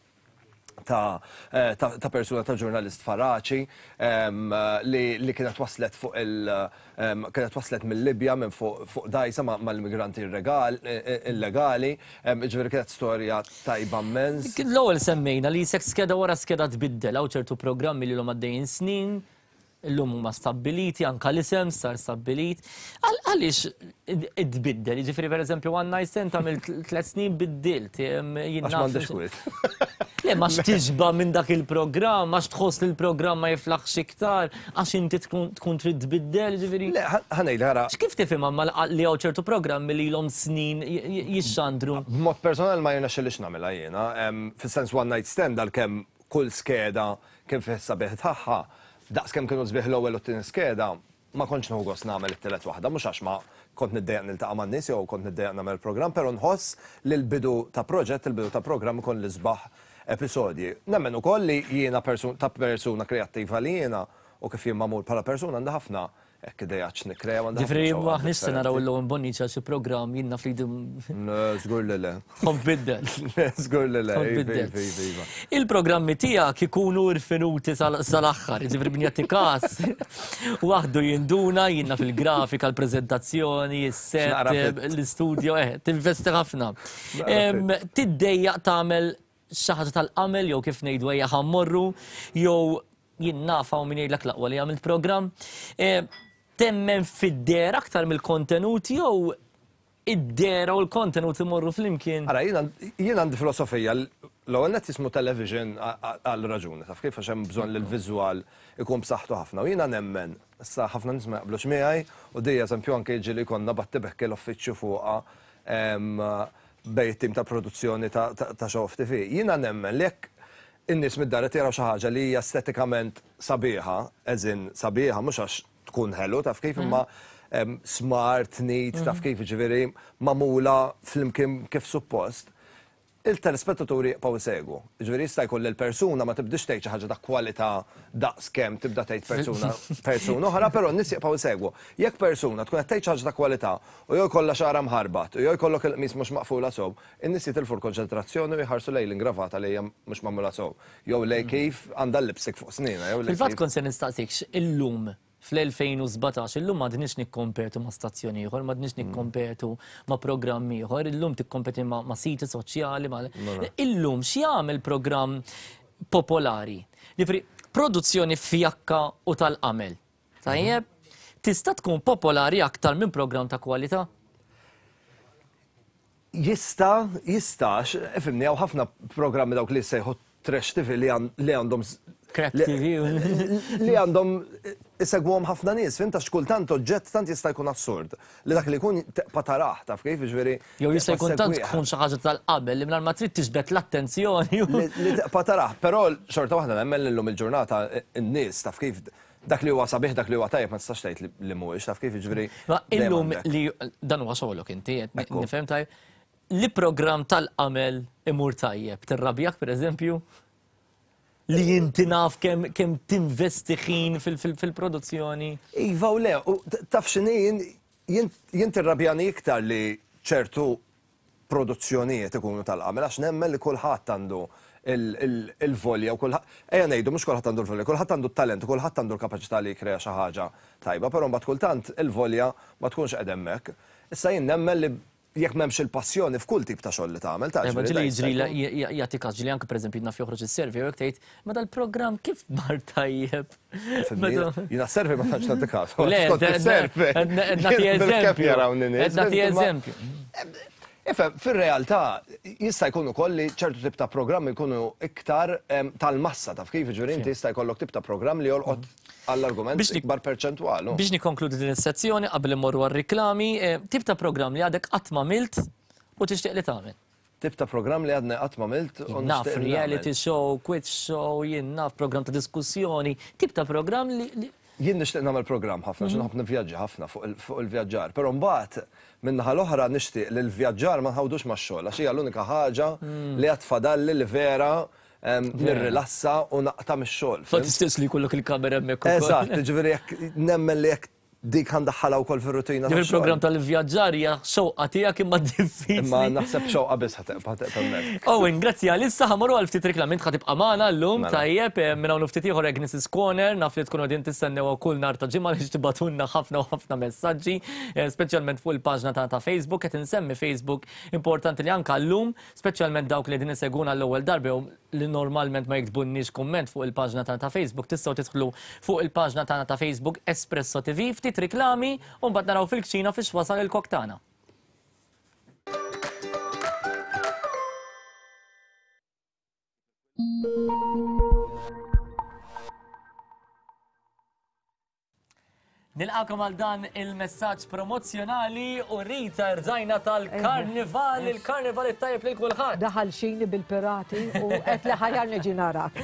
ta', eh, ta, ta' persuna, ta' ġurnalist Faraci, em, li, li kienet waslet fuq il em, kienet waslet mill-Libja minn fuq, fuq dajsa ma' mal-immigranti irregal- eh, illegali, em, ġifieri kienet storja tajba immens. L-ewwel semmejna li sek skeda wara skeda tbiddel, hawn ċertu programmi li l-hom għaddejjin snin, illum huma stabbiliti, anka l-isem sar stabbilit. Għaliex tbiddel? Jiġifieri pereżempju One Night Stand tagħmel tliet snin biddilt. Għax m'għandix kwiet. Le, ma x'tiġba minn dak il-programm, għax tħoss li l-programm ma jiflaħx iktar, għax inti tkun trid tbiddel, ġifieri. Le, ħa ngħid, ħara. X'kif tifhimha ma li hawn ċertu programmi li ilhom snin jixxandru? B'mod personali ma jirnexxilix nagħmilha jiena, fis-sens One Night Stand, għalkemm kull skeda kien fih sabiħ tagħha, daqs kemm kienu sbieħ l-ewwel u t-tieni skeda, ma kontx nieħu gost nagħmel it-tielet waħda, mhux għax ma kont niddejjaq niltaqa' man-nies jew kont niddejjaq nagħmel programm, però nħoss li l-bidu ta' proġett, il-bidu ta' programm ikun l-isbaħ episodji. Nemmen ukoll li jiena ta' persuna kreattiva li jiena u kif jien magħmul bħala persuna, għandha ħafna hekk idejat x'nikkrea. Għandi ħafna Ġifri, xewqat maħniex se naraw differenti. l-Owen Bonnici xi programm jinnna fli Le, żgur li le. Kont biddel. Le, żgur li le. Kont Iva, biddel. iva, iva, iva. Il-programmi tiegħek ikunu rfinuti sal- sal-aħħar, ġifri bnjati kas. Waħdu jinduna, jinna fil-grafika, l-prezentazzjoni, il-set, X'naqra fit. l-studio, eh, tinvesti ħafna. Naqra Em, Tiddejjaq tagħmel xi ħaġa tal-qamel jew kif ngħidu ejja ħa mmorru, jew jien naf hawn min jgħidlek l-aqwa li għamilt programm. Eh, Temmen fid-dehra aktar mill-kontenut jew id-dehra u l-kontenut imorru flimkien? Ara, jien jien għandi filosofija, l-ewwel net jismu television għal raġuni, taf kif, għax hemm bżonn li l-viżwal ikun b'saħħtu ħafna. U jiena nemmen, issa ħafna nies ma jaqblux miegħi, u di eżempju anke jiġi li konna battibekk l-uffiċċju fuqha em, bejn it-tim ta' produzzjoni ta' ta' ta' Show Off T V. Jiena nemmen li jekk in-nies mid-dar qed jaraw xi ħaġa li hija estetikament sabiħa, eżin sabiħa mhux għax tkun ħelu, taf kif, imma em, smart, neat, taf kif, ġifieri magħmula flimkien kif suppost, il-telespettaturi jibqgħu jsegwu. Ġifieri jista' jkun li l-persuna ma tibdix tgħid xi ħaġa ta' kwalità daqs kemm tibda tgħid persuna persuna oħra, però n-nies jibqgħu jsegwu. Jekk persuna tkun qed tgħid xi ħaġa ta' kwalità u jew jkollha xagħarha mħarbat u jew jkollok il-qmis mhux maqfula sew, in-nies jitilfu l-konċentrazzjoni u jħarsu lejn l-ingravata li hija mhux magħmula sew. Jew lej kif għandha l-lipstick fuq snina, jew lej Fil-fatt kif- kont se nistaqsik illum fl-elfejn u sbatax, illum m'għadniex nikkompetu ma' stazzjoni ieħor, m'għadniex nikkompetu ma' programm ieħor, illum tikkompeti ma' ma' siti soċjali, ma' Mela. Illum x'jagħmel programm popolari? Ġifieri, produzzjoni fjakka u tal-qamel. Tajjeb, tista' tkun popolari aktar minn programm ta' kwalità? Jista, jistax, ifhimni, hawn ħafna programmi dawk li sejħu trash T V li għan- li għandhom s- Crack li- T V. li għandhom isegwhom ħafna nies, fhimt, għax kultant oġġett tant jista' jkun assurd li dak li jkun tibqa' tarah, taf kif, ġifieri. Jew jista' jkun tant segwih. tkun xi ħaġa tal-qabel li mingħajr ma trid tiġbed l-attenzjoni. Li li tibqa' tarah, però xorta waħda nemmen li llum il-ġurnata n-nies, taf kif, dak li huwa sabiħ, dak li huwa tajjeb ma tistax tgħid li- li mhuwiex, taf kif, ġifieri. Ma dejjem illum għandek. li dan huwa xogħolok inti, qed Ekku. nifhem tajjeb, li programm tal-qamel imur tajjeb, tirrabjak pereżempju? Li inti naf kemm kemm tinvesti ħin fil- fil- fil-produzzjoni. Iva u le, u t- taf x'inhi, jien- jien jien tirrabjani iktar li ċertu produzzjonijiet ikunu tal-qamel, għax nemmen li kulħadd għandu il- il- il-volja u kulħadd, ejja ngħidu mhux kulħadd għandu l-volja, kulħadd għandu t-talent u kulħadd għandu l-kapaċità li jkrea xi ħaġa tajba, però mbagħad kultant il-volja ma tkunx qed hemmhekk. Issa jien nemmen li jekk m'hemmx il-passjoni f'kull tip ta' xogħol li tagħmel, ta' Ma ġifieri ġili da jista' jiġri jkun- jagħti każ ġili anke pereżempju naf joħroġ is-survey u jekk tgħid ma dal-programm kif mar tajjeb. Fimni, jiena survey ma tantx nagħti każ. Le, Skont is-survey. nagħti Bilkemm eżempju. jarawni nies, Nagħti imma- eżempju. Ifhem, fir-realtà jista' jkun ukoll li ċertu tip ta' programmi jkunu iktar em, tal-massa, taf kif, ġifieri inti jista' jkollok tip ta' programm li jolqot għall-argument Biex nik- ikbar perċentwal. Biex nikkonkludi din is-sezzjoni qabel immorru għar-riklami, eh, tip ta' programm li għadek qatt ma għamilt u tixtieq li tagħmel. Tip ta' programm li għadni qatt ma għamilt u Naf nixtieq li reality nagħmel. show, quiz show, jien naf programm ta' diskussjoni, tip ta' programm li li- Jien nixtieq nagħmel programm ħafna, Mhm. xi nħobb nivvjaġġa ħafna fuq il- fuq il-vjaġġar, però mbagħad min-naħa l-oħra nixtieq li l-vjaġġar ma nħawdux max-xogħol, għax hija l-unika ħaġa Mm. li għad fadalli li vera em, nirrilassa u naqta' mix-xogħol. Ma Fhimt? tistieqx li jkollok il-kamera hemmhekk ukoll. Eżatt, ġifieri jekk nemmen li jekk dik ħa ndaħħalha wkoll fir-rutina. Ġifieri il-programm tal-vjaġġar hija xewqa tiegħek imma diffiċli. Imma naħseb xewqa biss ħa tibqa' ħa tibqa' hemmhekk. Owen, grazzi għal-issa ħa mmorru għal ftit reklam, int ħa tibqa' magħna llum, Mela. tajjeb, eh, minn hawn ftit ieħor Agnes' Corner, naf li tkunu qegħdin tistennew kull nhar ta' ġimgħa li tibagħtulna ħafna u ħafna messaġġi, eh, speċjalment fuq il-paġna tagħna ta' Facebook, qed insemmi Facebook, importanti li anke llum, speċjalment dawk li qegħdin isegwuna l-ewwel darba jew li normalment ma jiktbunniex kumment fuq il-paġna tagħna ta' Facebook, tistgħu tidħlu fuq il-paġna tagħna ta' Facebook Espresso T V, ftit riklami u mbagħad naraw fil-kċina fiex wasal il-kok tagħna. Nilqakom għal dan il-messaġġ promozzjonali u Rita, rżajna tal-karnival, il-karnival it-tajjeb lil kulħadd. Daħal xini bil-pirati u qed li ħajar niġi narak.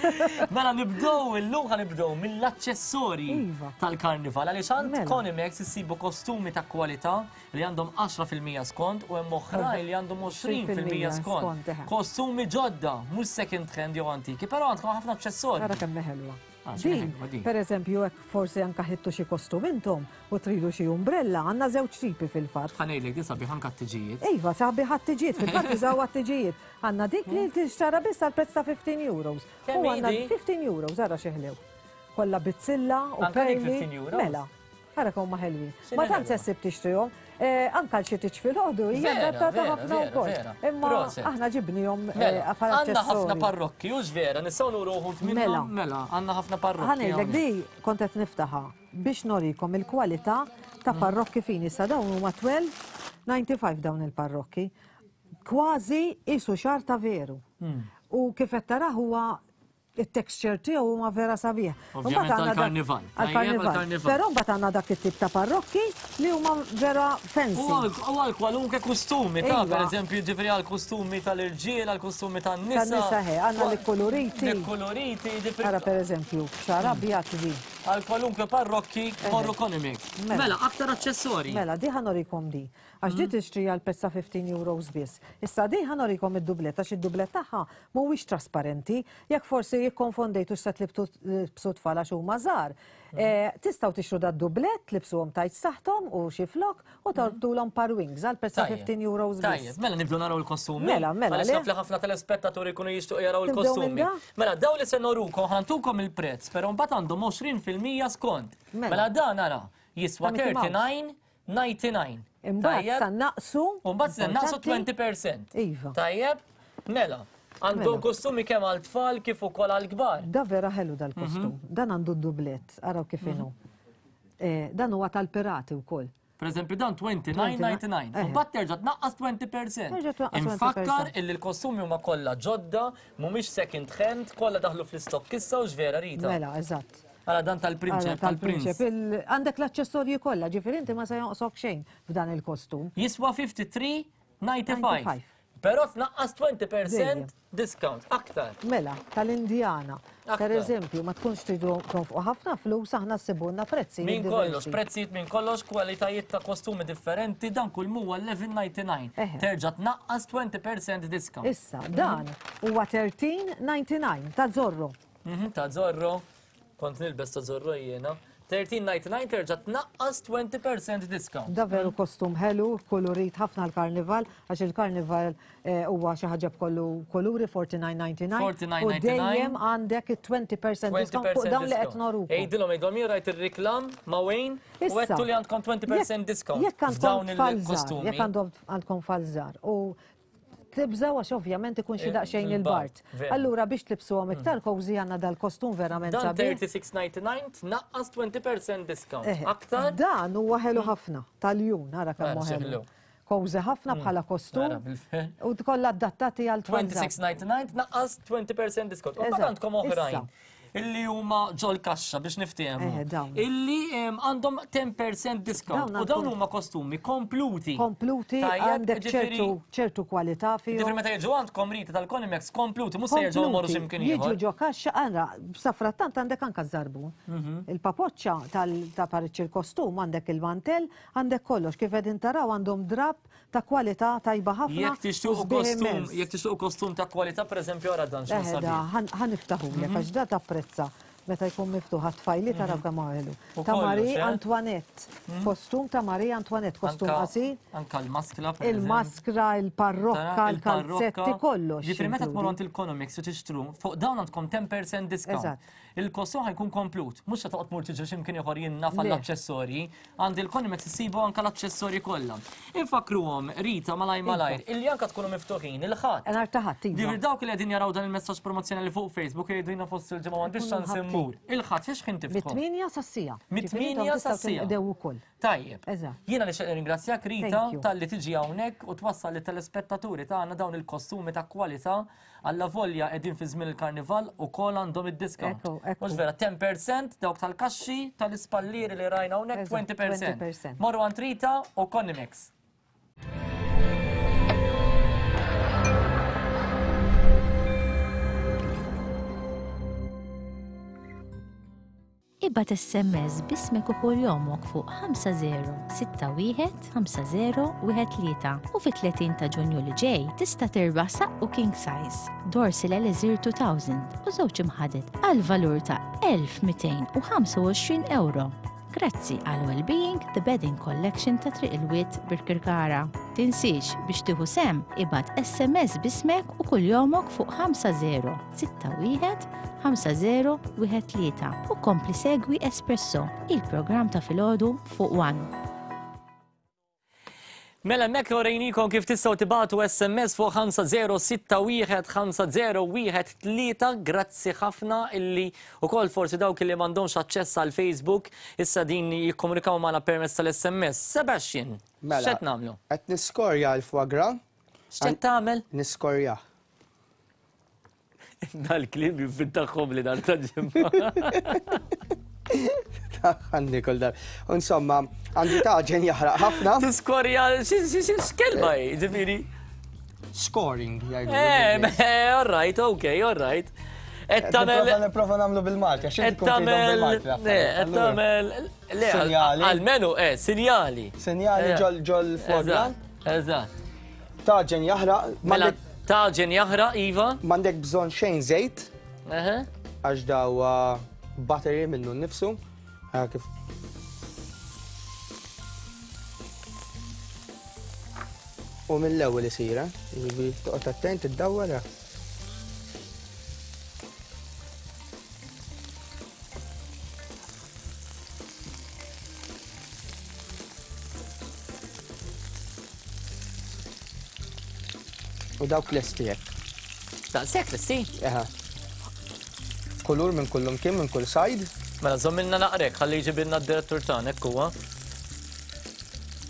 Mela nibdew illum, ħa nibdew mill-aċċessorji Iva. tal-karnival għaliex għand Mela. Conimex issibu kostumi ta' kwalità li għandhom għaxra fil-mija skont u hemm oħrajn li għandhom għoxrin fil-mija skont. Skont, eħe. Kostumi ġodda, mhux second hand jew antiki, però għandkom ħafna aċċessorji. Ara kemm ħelwa. Ah, Din, per eżempju, jekk forsi anka ħittu xi kostum intom u tridu xi umbrella, għandna żewġ tipi fil-fatt. Ħa ngħidlek di sabiħ anka t-tiġijiet. Iva, sabiħ għat-tiġijiet, fil-fatt użaw għat-tiġijiet. Għandna dik li tixtara biss għal prezz ta' fifteen euros. Kemm U għandna hi di? fifteen euros, ara xi ħlew. Kollha bizzilla u Anka dik perli. fifteen euros? Mela, ara kemm huma ħelwin. X'inhi Ma tant ħelwa? se ssib tixtrihom, eh, anka l xi tiġ filgħodu hija Vera, adattata vera, ħafna vera, wkoll. vera. Imma Proset. aħna ġibnihom eh, Mela, bħala għandna ħafna aċċessorji. parrokki, hux vera, nistgħu nuru wħud minnhom. Mela. Mela, għandna ħafna parrokki. Ħa ngħidlek hawnhekk. di kont qed niftaħha biex norikom il-kwalità ta' parrokki fini. Sa dawn huma twelve ninety-five dawn il-parrokki. Kważi isu xar ta' veru. Hmm. U kif qed taraw huwa it-texture tiegħu huma vera sabiħ. Ovvjament Mbagħad għandna dak- għall-karnival. Tajjeb Għall-karnival. għall-karnival. Però mbagħad għandna dak it-tip ta' parrokki li huma vera fancy. U għal- u għal kwalunkwe kostumi ta' Iva. per eżempju, ġifieri għal kostumi tal-irġiel, għal kostumi tan-nisa. Tan-nisa he, għandna li koloriti. Li koloriti, ġifieri. Ara per eżempju, xar abjad di. Għal kwalunkwe parrokki morru Conimex. Mela. Mela, aktar aċċessorji. Mela, di ħa norikom di. Għax di tixtri għal prezz ta' fifteen euros biss. Issa di ħa norikom id-dublet, għax id-dublet tagħha mhuwiex trasparenti. Jekk forsi jikkonfondejtu x'se tlibtu tlibsu tfal għax huma żgħar. Eh, tistgħu tixtru da d-dublet, tlibsuhom tajt saħħthom u xi flok u torbtulhom par wings għal prezz ta' Tajjeb. fifteen euros biss. Tajjeb, mela nibdew naraw il-kostumi. Mela, mela, Għaliex le? naf li ħafna telespettaturi jkunu jixtiequ jaraw Nibdew il-kostumi. minn da? Mela, daw li se norukom, ħa ntukom il-prezz, però mbagħad għandhom għoxrin fil-mija skont. Mela. Mela dan ara jiswa Ta' Mickey Mouse. thirty-nine ninety-nine. Imbagħad Tajjeb? sa naqsu. U mbagħad se naqsu importanti. twenty percent. Iva. Tajjeb? Mela, għandhom Mela. kostumi kemm għal tfal kif ukoll għal kbar. Da vera ħelu dal-kostum. Mhm. Dan għandu d-dublet, araw kif inhu. Eh, dan huwa tal-pirati wkoll. Per eżempju, dan twenty-nine ninety-nine. Eh. U mbagħad terġa' tnaqqas twenty percent. Terġa' tnaqqas twenty Infakkar percent. illi l-kostumi huma kollha ġodda, mhumiex second hand, kollha daħlu fl-istokk issa u x'vera Rita. Mela, eżatt. Ara dan tal-prinċep, Ara, tal-prinċep. tal-prinċep. Il- Għandek l-aċċessorji kollha, ġifieri inti ma se jonqsok xejn f'dan il-kostum. Jiswa fifty-three ninety-five. Ninety-five. Però tnaqqas twenty percent Dejjem. discount, aktar. Mela, tal-Indjana. Aktar. Per eżempju, ma tkunx tridu tonfqu ħafna flus, aħna ssibulna prezzijiet Min kollox, diversi. prezzijiet minn kollox, kwalitajiet ta' kostumi differenti, dan kull huwa eleven ninety-nine. Eħe. Terġa' tnaqqas twenty percent discount. Issa, dan huwa thirteen ninety-nine ta' Zorro. Mhm, ta' Zorro, kont nilbes ta' Zorro jiena. thirteen ninety-nine terġa' tnaqqas twenty percent discount. Da veru kostum ħelu, kolorit ħafna l-karnival, għax il-karnival, eh, huwa xi ħaġa b'kollu koluri forty-nine ninety-nine. forty-nine U ninety-nine. dejjem għandek it-twenty percent discount fuq dawn li qed norukom. Ejdilhom, ejdilhom, jien rajt ir-reklam ma' Wayne u Issa, għedtu li għandkom twenty percent jekk- discount Jekk għandkom f'dawn tfal żgħar, il-kostumi. jekk għandhom għandkom tfal żgħar u tibżaw għax ovvjament ikun xi Eh, daqsxejn il-bard, il-bard. vera. Allura biex tlibsuhom iktar cozy għandna dal-kostum verament Dan sabiħ. thirty-six ninety-nine tnaqqas twenty percent discount. Eħe, Aktar? Dan huwa ħelu ħafna tal-jun, ara kemm Ara, hu xi ħelu. ħelu. Cozy ħafna bħala kostum. Ara, bil-fer. U kollha adattati għal tfal żgħar. twenty-six ninety-nine tnaqqas twenty percent discount. U mbagħad Eżatt, għandkom oħrajn issa. illi huma ġol kaxxa biex niftehmu. Eħe, dawn. Illi, em, għandhom ten percent discount. Dawn U dawn għandhom huma kostumi kompluti. Kompluti, Tajjeb, għandek ġifieri ċertu, ċertu kwalità fihom. Ġifieri meta jiġu għandkom Rita tal-Conimex kompluti, mhux se jerġgħu jmorru Kompluti, x'imkien Jiġu ieħor. ġo kaxxa, għandra, safrattant għandek anka żarbun. Mhm. Il-papoċċa tal- ta' pariċ il-kostum, għandek il-mantel, għandek kollox. Kif qegħdin taraw għandhom drab ta' kwalità tajba ħafna. Jekk tixtuqu u sbieħ kostum, immens. jekk tixtuqu kostum ta' kwalità, pereżempju, ara dan x'hu Eħe, da, sabiħ. ħan- ħan niftaħulek, Mhm. għax da tapprezza meta jkun miftuħ għat-tfajli taraw kemm ħelu. U Ta' kollox, Marie eh? Antoinette, kostum ta' Marie Antoinette, kostum Anka- qasir. Anka l-maskla, per eżempju. Il-maskra, il-parrokka, Tara, il-kalzetti, il-parrokka. kollox. Ġifieri meta tmorru jinkludi. għand il-Conimex u tixtru, fuq dawn għandkom ten percent discount. Eżatt. Il-kostum ħajkun komplut, mhux se toqgħod tmur tiġi x'imkien ieħor jinnaf Le. għall-aċċessorji, għand il-Conimex issibu anke l-aċċessorji kollha. Infakkruhom Rita malaj Iva. malajr, illi anke tkunu miftuħin il-Ħadd. Nhar ta' Ħadd, iva. Ġifieri dawk li qegħdin jaraw dan il-messaġġ promozzjonali fuq Facebook jgħidu jiena fost il-ġimgħa m'għandix Ikunu ċans ħabtin. immur. Il-Ħadd fiex ħin tiftħu? Mit-tmienja sas-sija. Mit-tmienja sas-sija. Ġifieri ukoll. Tajjeb. Eżatt. Jiena nixtieq nirringrazzjak Rita Thank you. talli tiġi hawnhekk u twassal lit-telespettaturi tagħna dawn il-kostumi ta' kwalità alla volja qegħdin fi żmien il-karnival u kol għandhom id-discount. Ekku, ekku. Mhux vera ten percent dawk tal-kaxxi tal-ispallieri li rajna hawnhekk Eżatt, twenty percent. twenty percent. Morru għand Rita u Conimex. Ibgħat S M S b'ismek u kunjomok fuq ħamsa żero sitta wieħed ħamsa żero wieħed tlieta u fit-tletin ta' Ġunju li ġej tista' tirbaħ saqqu king size, Dorsil Elixir elfejn u żewġ imħaded għal valur ta' elf u mitejn u ħamsa u għoxrin euro. Grazzi għal Wellbeing, The Bedding Collection ta' Triq il-Wied, Birkirkara. Tinsiex biex tieħu sehem, ibgħat S M S b'ismek u kunjomok fuq ħamsa żero sitta wieħed ħamsa żero wieħed tlieta u kompli segwi Espresso, il-programm ta' filgħodu fuq One. Mela hemmhekk urejniekom kif tistgħu tibagħtu S M S fuq ħamsa żero sitta wieħed ħamsa żero wieħed tlieta. Grazzi ħafna illi ukoll forsi dawk li m'għandhomx aċċess għal Facebook issa din jikkomunikaw magħna permezz tal-S M S. Sebastian, Mela, x'qed nagħmlu? Qed niskorja l-foie gras. X'qed tagħmel? Niskorja. Dal-kliem jivvintaħħom li dar ta' ġimgħa. Għandi kull dar. Insomma, għandi taġen jaħraq ħafna. Tiskorja, x'kelma hi, ġifieri? Scoring, jgħidu. Eh, all right, okay, all right. Qed tagħmel Nipprova nagħmlu bil-Malti, għax Qed inti tkun tgħidhom tagħmel bil-Malti le, l-affarijiet, qed allura. tagħmel le, Sinjali. Almenu, eh, sinjali. Sinjali Eh. ġol ġol foie gras. Eżatt, eżatt. Taġen jaħraq. Mela taġen jaħraq, iva. M'għandek bżonn xejn żejt. Eħe. Għax daw buttery minnu nnifsu. Ah, kif U mill-ewwel isir, eh? Jiġifieri toqgħod attent iddawwar. Eh. U dawk lesti hekk. Daqshekk lesti? Eħe. Kulur minn kullum kien minn kull side. Mela żommilna naqrek, ħalli jġibilna d-direttur tagħna hekk huwa.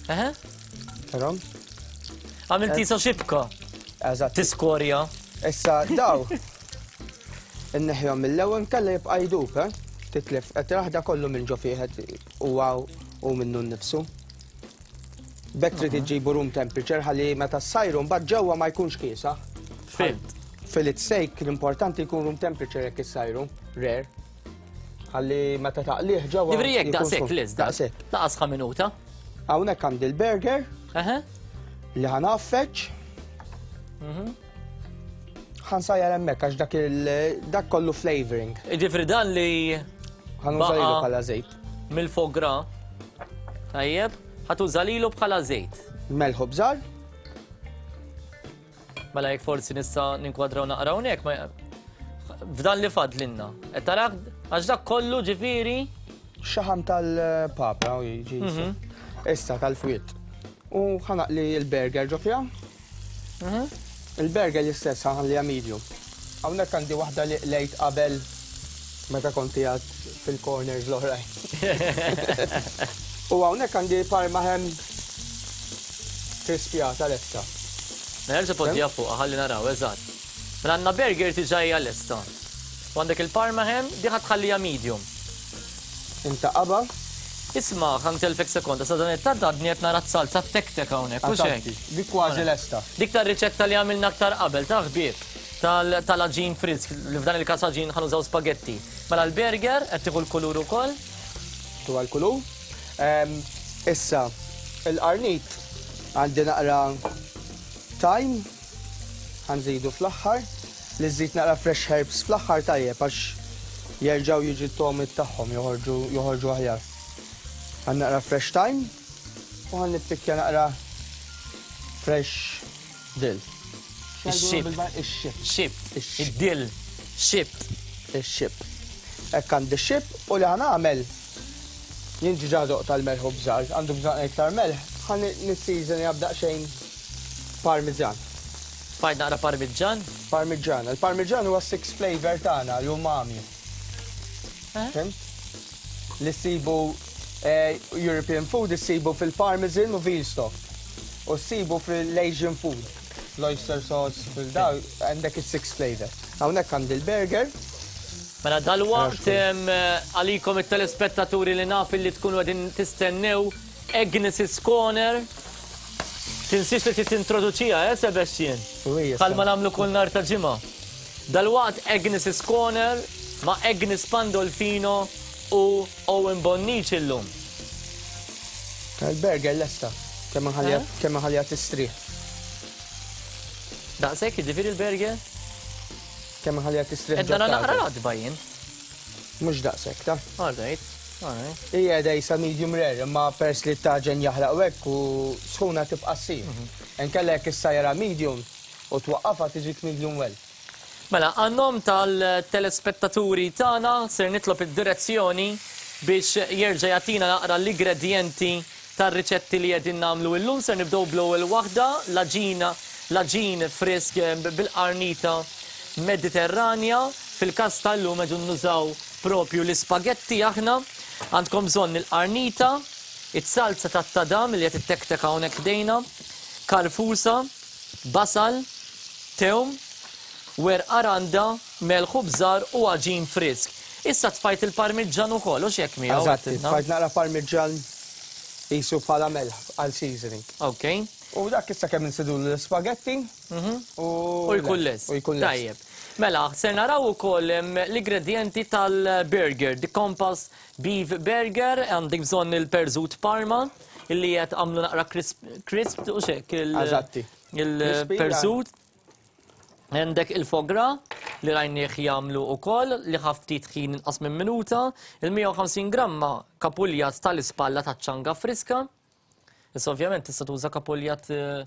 Eħe? Tarom? Għamil tisa xibka. Eżatt. Tiskorja. Issa daw. Inneħjom mill-ewwel nkella jibqa' jdub, eh? Titlef, qed raħda kollu minn ġo fih huwa u minnu nnifsu. B'hekk trid iġġibu room temperature ħalli meta ssajru mbagħad ġewwa ma jkunx kiesaħ. Fhimt. Fillet steak l-importanti jkun room temperature jekk issajru, rare. Ħalli meta taqlih ġewwa. Ġifieri jekk jkun daqshekk sħun. lest da. Daqshekk. Laqas ħa minuta. Hawnhekk għandi l-burger. Eħe. Li ħa ngħaffeġ. Mhm. Ħa nsajjar hemmhekk għax dak il dak kollu flavoring. Ġifieri dan li Ħa nuża lilu baqa' bħala żejt. Mill-foie gras. Tajjeb, ħa tuża lilu bħala żejt. Melħ u bżar. Mela jekk forsi nista' ninkwadraw naqra hawnhekk ma f'dan li fadlinna. Qed tarak għax dak kollu ġifieri Xaħam tal-papra u jiġi. Mhm. Issa tal-fwiet. U ħa naqli l-burger ġo fiha. Mhm. Il-burger l-istess ħa nħalliha medium. Hawnhekk għandi waħda li qlejt qabel meta konti għad fil-corners l-oħrajn. U hawnhekk għandi parma ham crispjata lesta. Nerġa' poġġiha fuq ħalli naraw, eżatt. Mela għandna burger diġà hija lesta. U għandek il-parma ham, di ħa tħallija medium. Intaqaba. Isma', ħa ntellfek sekonda, sa dan it-tant għadni qed nara s-salza tek-tek hawnhekk, u xejn. Dik kważi lesta. Dik tar-riċetta li għamilna aktar qabel, ta' ħbieb, tal-għaġin frisk, li f'dan il-każ għaġin ħa nużaw spagetti. Mela l-burger qed tieħu l-kulur ukoll. Tuha l-kulur. Ehm, Issa, il-qarnit għandi naqra thyme, ħa nżidu fl-aħħar, li żżid naqra fresh herbs fl-aħħar tajjeb għax jerġgħu jiġi t-togħmiet tagħhom joħorġu joħorġu aħjar. Għan naqra fresh thyme u ħa nippikkja naqra fresh dill. Ix-xib. Ix-xib. Xib. Id-dill. Xib. Ix-xib. Hekk għandi xib u li ħa nagħmel jien ġiġa doqt tal-melħ u bżar, għandu bżonn iktar melħ, ħa nisseason jabdaq xejn parmigian. Fajt naqra parmigian? Parmigian. Il-parmigian huwa six flavor tagħna, l-umami. Fhimt? Li ssibu eh, European food issibu fil-parmesan u veal stock. U ssibu fil-Asian food. L-oyster sauce, fil-daw, għandek il-six flavor. Hawnhekk għandi l-burger. Mela dal-waqt em, għalikom it-telespettaturi li naf li tkunu qegħdin tistennew Agnes's Corner. Tinsiex li titintroduċija, eh, Sebastian? Bħalma nagħmlu kull nhar ta' ġimgħa. Dal-waqt Agnes's Corner ma' Agnes Pandolfino u Owen Bonnici llum. Il-burger lesta, kemm nħalliha tistrieħ. Daqshekk jiġifieri il-burger? Kemm nħalliha tistrieħ. Qed nara naqra ratba jien. Mhux daqshekk, ta? All right, all right. Hija dejsa medium rare, imma pers li t-taġen jaħraq hekk u sħuna tibqa' ssir. Inkella jekk issajra medium u twaqqafha tiġik medium well. Mela, għan-nom tal-telespettaturi tagħna ser nitlob id-direzzjoni biex jerġa' jagħtina naqra l-ingredjenti tar-riċetti li qegħdin nagħmlu illum. Ser nibdew bl-ewwel waħda, l-aġina, l-aġin frisk bil-qarnita Mediterranja. Fil-każ tal-lum qegħdin nużaw propju l-ispagetti aħna. Għandkom bżonn il-qarnita, it-salza tat-tadam li qed ittektek hawnhekk ħdejna, karfusa, basal, tewm, werqa randa, melħ u bżar u għaġin frisk. Issa tfajt il-parmiġġan ukoll, u x'hekk miegħu? Eżatt, tfajt naqra parmiġġan qisu bħala melħ għal seasoning. Ok. U dak issa kemm insidu l-ispagetti u U jkun lest. U jkun lest. Tajjeb. Mela, ser naraw ukoll l-ingredienti tal-burger, the Compass Beef Burger, għandek bżonn il-perżut Parma, illi qed għamlu naqra crisp, crisp u xek Eżatti. il-perżut. Għandek il-foie gras li rajnieh jagħmlu ukoll li ħa ftit ħin inqas minn minuta, il-mija u ħamsin gramma kapuljat tal-ispalla taċ-ċanga friska. Issa ovvjament tista' tuża kapuljat, eh,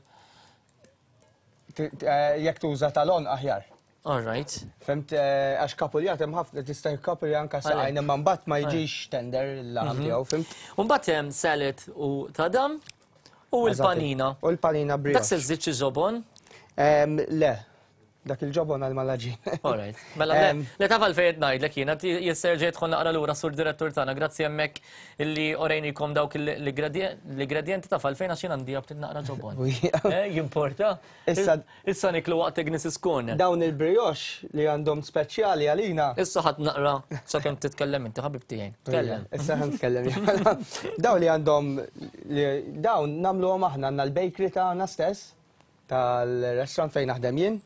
Jekk tuża tal-on aħjar. All right. Fimt, eh, għax kapuljat hemm ħafna tista' kapuljat anke saqajn imma mbagħad ma jiġix tender il-laħam tiegħu, fimt? U mbagħad hemm salad u tadam u l-panina. U l-panina brioche. Dak se żżid xi ġobon? Le, dak il-ġobon għal mal-għaġin. All right. Mela, le, le taf għalfejn qed ngħidlek jiena, jisserġa' jidħol naqra lura sur direttur tagħna, grazzi hemmhekk illi orejnikom dawk l-ingredjenti taf għalfejn għax jien għandi ftit naqra ġobon. Eh, jimporta. Issa Issa niklu waqt Agnes' Corner. Dawn il-brioche li għandhom speċjali għalina. Issa ħadd naqra sakemm titkellem inti ħabib tiegħi. Tkellem. Issa ħa nitkellem. Dawn li għandhom dawn nagħmluhom aħna għandna l-bakery tagħna stess tal-restaurant fejn naħdem jien.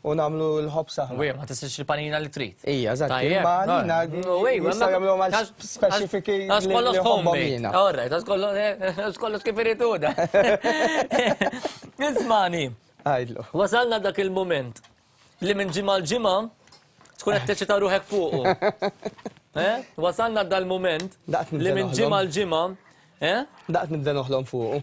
U nagħmlu l-ħobż aħna. Wej, ma tistax il-panina li trid. Ija, eżatt. Tajjeb. Ma għalina Wej, jistgħu jagħmluhom għal speċifiki Għax li kollox ħobbhom homemade. jiena. All right, għax kollox, għax kollox kif iridu da. Ismani. Għajdlu. Wasalna dak il-moment li minn ġimgħa l-ġimgħa tkun qed teċita ruħek fuqu. Eh? Wasalna dal-moment li minn ġimgħa l-ġimgħa Eh? Daqt nibda noħlom fuqu.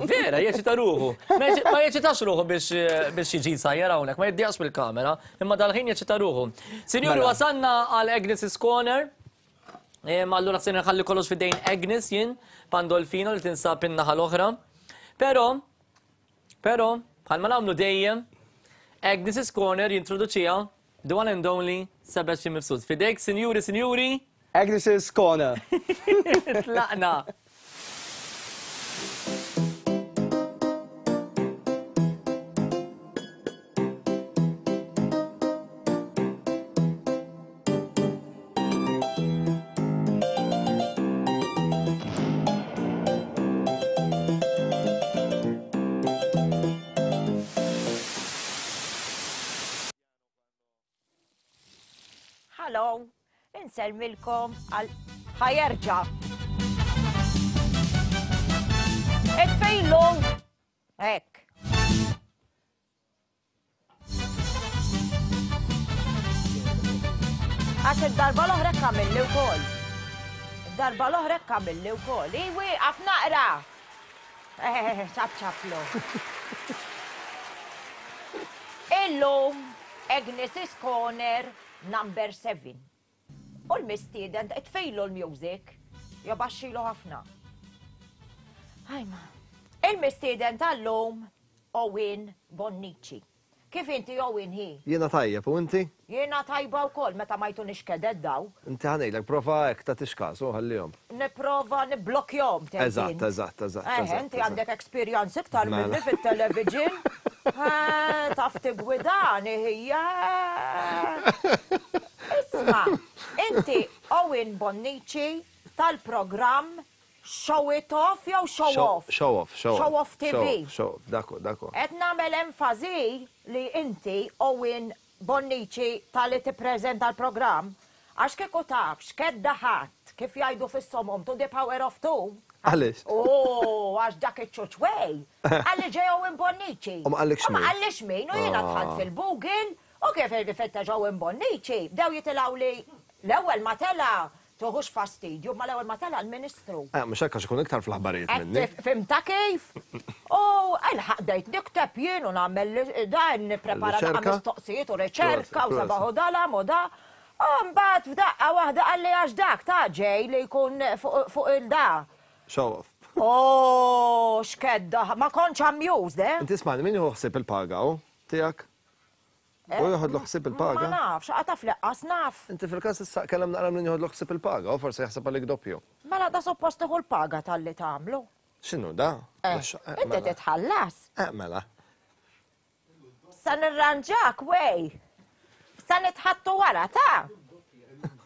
Vera, jeċita ruħu. Ma jeċitax ruħu biex biex jiġi sajjar hawnhekk, ma jiddieqx bil-kamera, imma dal-ħin jeċita ruħu. Sinjuri, Mela. wasalna għal Agnes' Corner. Ma allura se nħalli kollox fidejn Agnes jien, Pandolfino li tinsab in-naħa l-oħra. Però, però, bħalma nagħmlu dejjem, Agnes' Corner jintroduċiha the one and only Sebastian Mifsud. Fidejk, sinjuri, sinjuri. Agnes' Corner. Tlaqna. Hello, insellmilkom għal ħa jerġa'. Itfejlu! Hekk. Għax id-darba l-oħra kamilli wkoll. Id-darba l-oħra kamilli wkoll. Iwi, għaf naqra. Eh, ċap ċaplu. Illum, Agnes' Corner number seven. U l-mistieden, tfejlu l-music, jobaxxilu ħafna. Ħajma. Il-mistieden tal-lum, Owen Bonnici. Kif inti Owen hi? Jiena tajjeb, u inti? Jiena tajba wkoll meta ma jtunix kedet daw. Inti ħa ngħidlek, prova hekk ta' tixkas, u ħallihom. Nipprova nibblokjahom, tgħid Eżatt, int. eżatt, eżatt, Eh, eżatt, inti eżatt. għandek experience iktar Mela. minni fit-television. Eh, taf tigwidani hija. Isma, inti Owen Bonnici tal-programm Show It Off jew Show Off? Show Off, Show Off. Show Off T V. Show Off, Show Off, dako, dako. Qed nagħmel enfasi li inti Owen Bonnici tal-li tippreżenta l-programm għax kieku taf x'kedda ħadd Għamilt kif jgħidu fis-somom to the power of two. Għaliex? Oh, għax dak iċ-ċuċwej. Għalli ġew Bonnici. U ma qallikx U ma min? qallix min, u jiena dħalt Ah. fil-Google u kif irrifetta ġew Bonnici. Bdew jitilgħu li l-ewwel ma tela tuħux fastidju, ma l-ewwel ma tela l-Ministru. Eh, mhux hekk għax ikun iktar fl-aħbarijiet minni. Fimta kif? U għalħaq dejt nikteb jien u nagħmel dan nipprepara Riċerka? naqa' mistoqsijiet u riċerka u Proset, sabaħu dalam u da. U mbagħad f'daqqa waħda qalli għax dak ta' ġej li jkun fuq fuq il-da. Show off. Oh, x'kedda, ma kontx amused, eh? Inti ismani, min jieħu ħsieb il-paga u tiegħek? U joħodlu ħsieb Ma il-paga? nafx, għata fl-eqqas naf. Inti fil-każ issa kellem naqra min joħodlu ħsieb il-paga u forsi jaħseb għalik doppju. Mela da suppost tieħu l-paga tal-li tagħmlu. X'inhu da? Eh, Mhux- eh, Inti mela. titħallas. Eh, mela. Sa nirranġak, wej. Sa nitħattu wara, ta'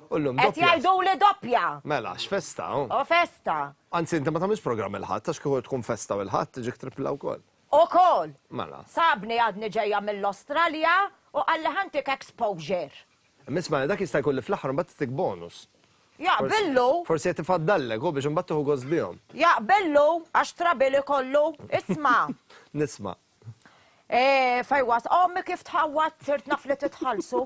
U llum Qed doppja. jgħidu li doppja. Mela, x'festa, hu? U festa. Anzi, inti ma tagħmilx programm il-ħadd, għax kieku tkun festa u l-ħadd tiġik tripla wkoll. U kol. Mela. Sabni għadni ġejja mill-Australja u qalli ħantik exposure. Misma, dak jista' jkun li fl-aħħar mbagħad titik bonus. Jaqbillu, Forsi qed ifaddallek u biex imbagħad tieħu gost bihom. jaqbillu, għax trabili kollu, isma. Nisma'. E, fejwas, ommi kif tħawat, sirt naf li titħallsu.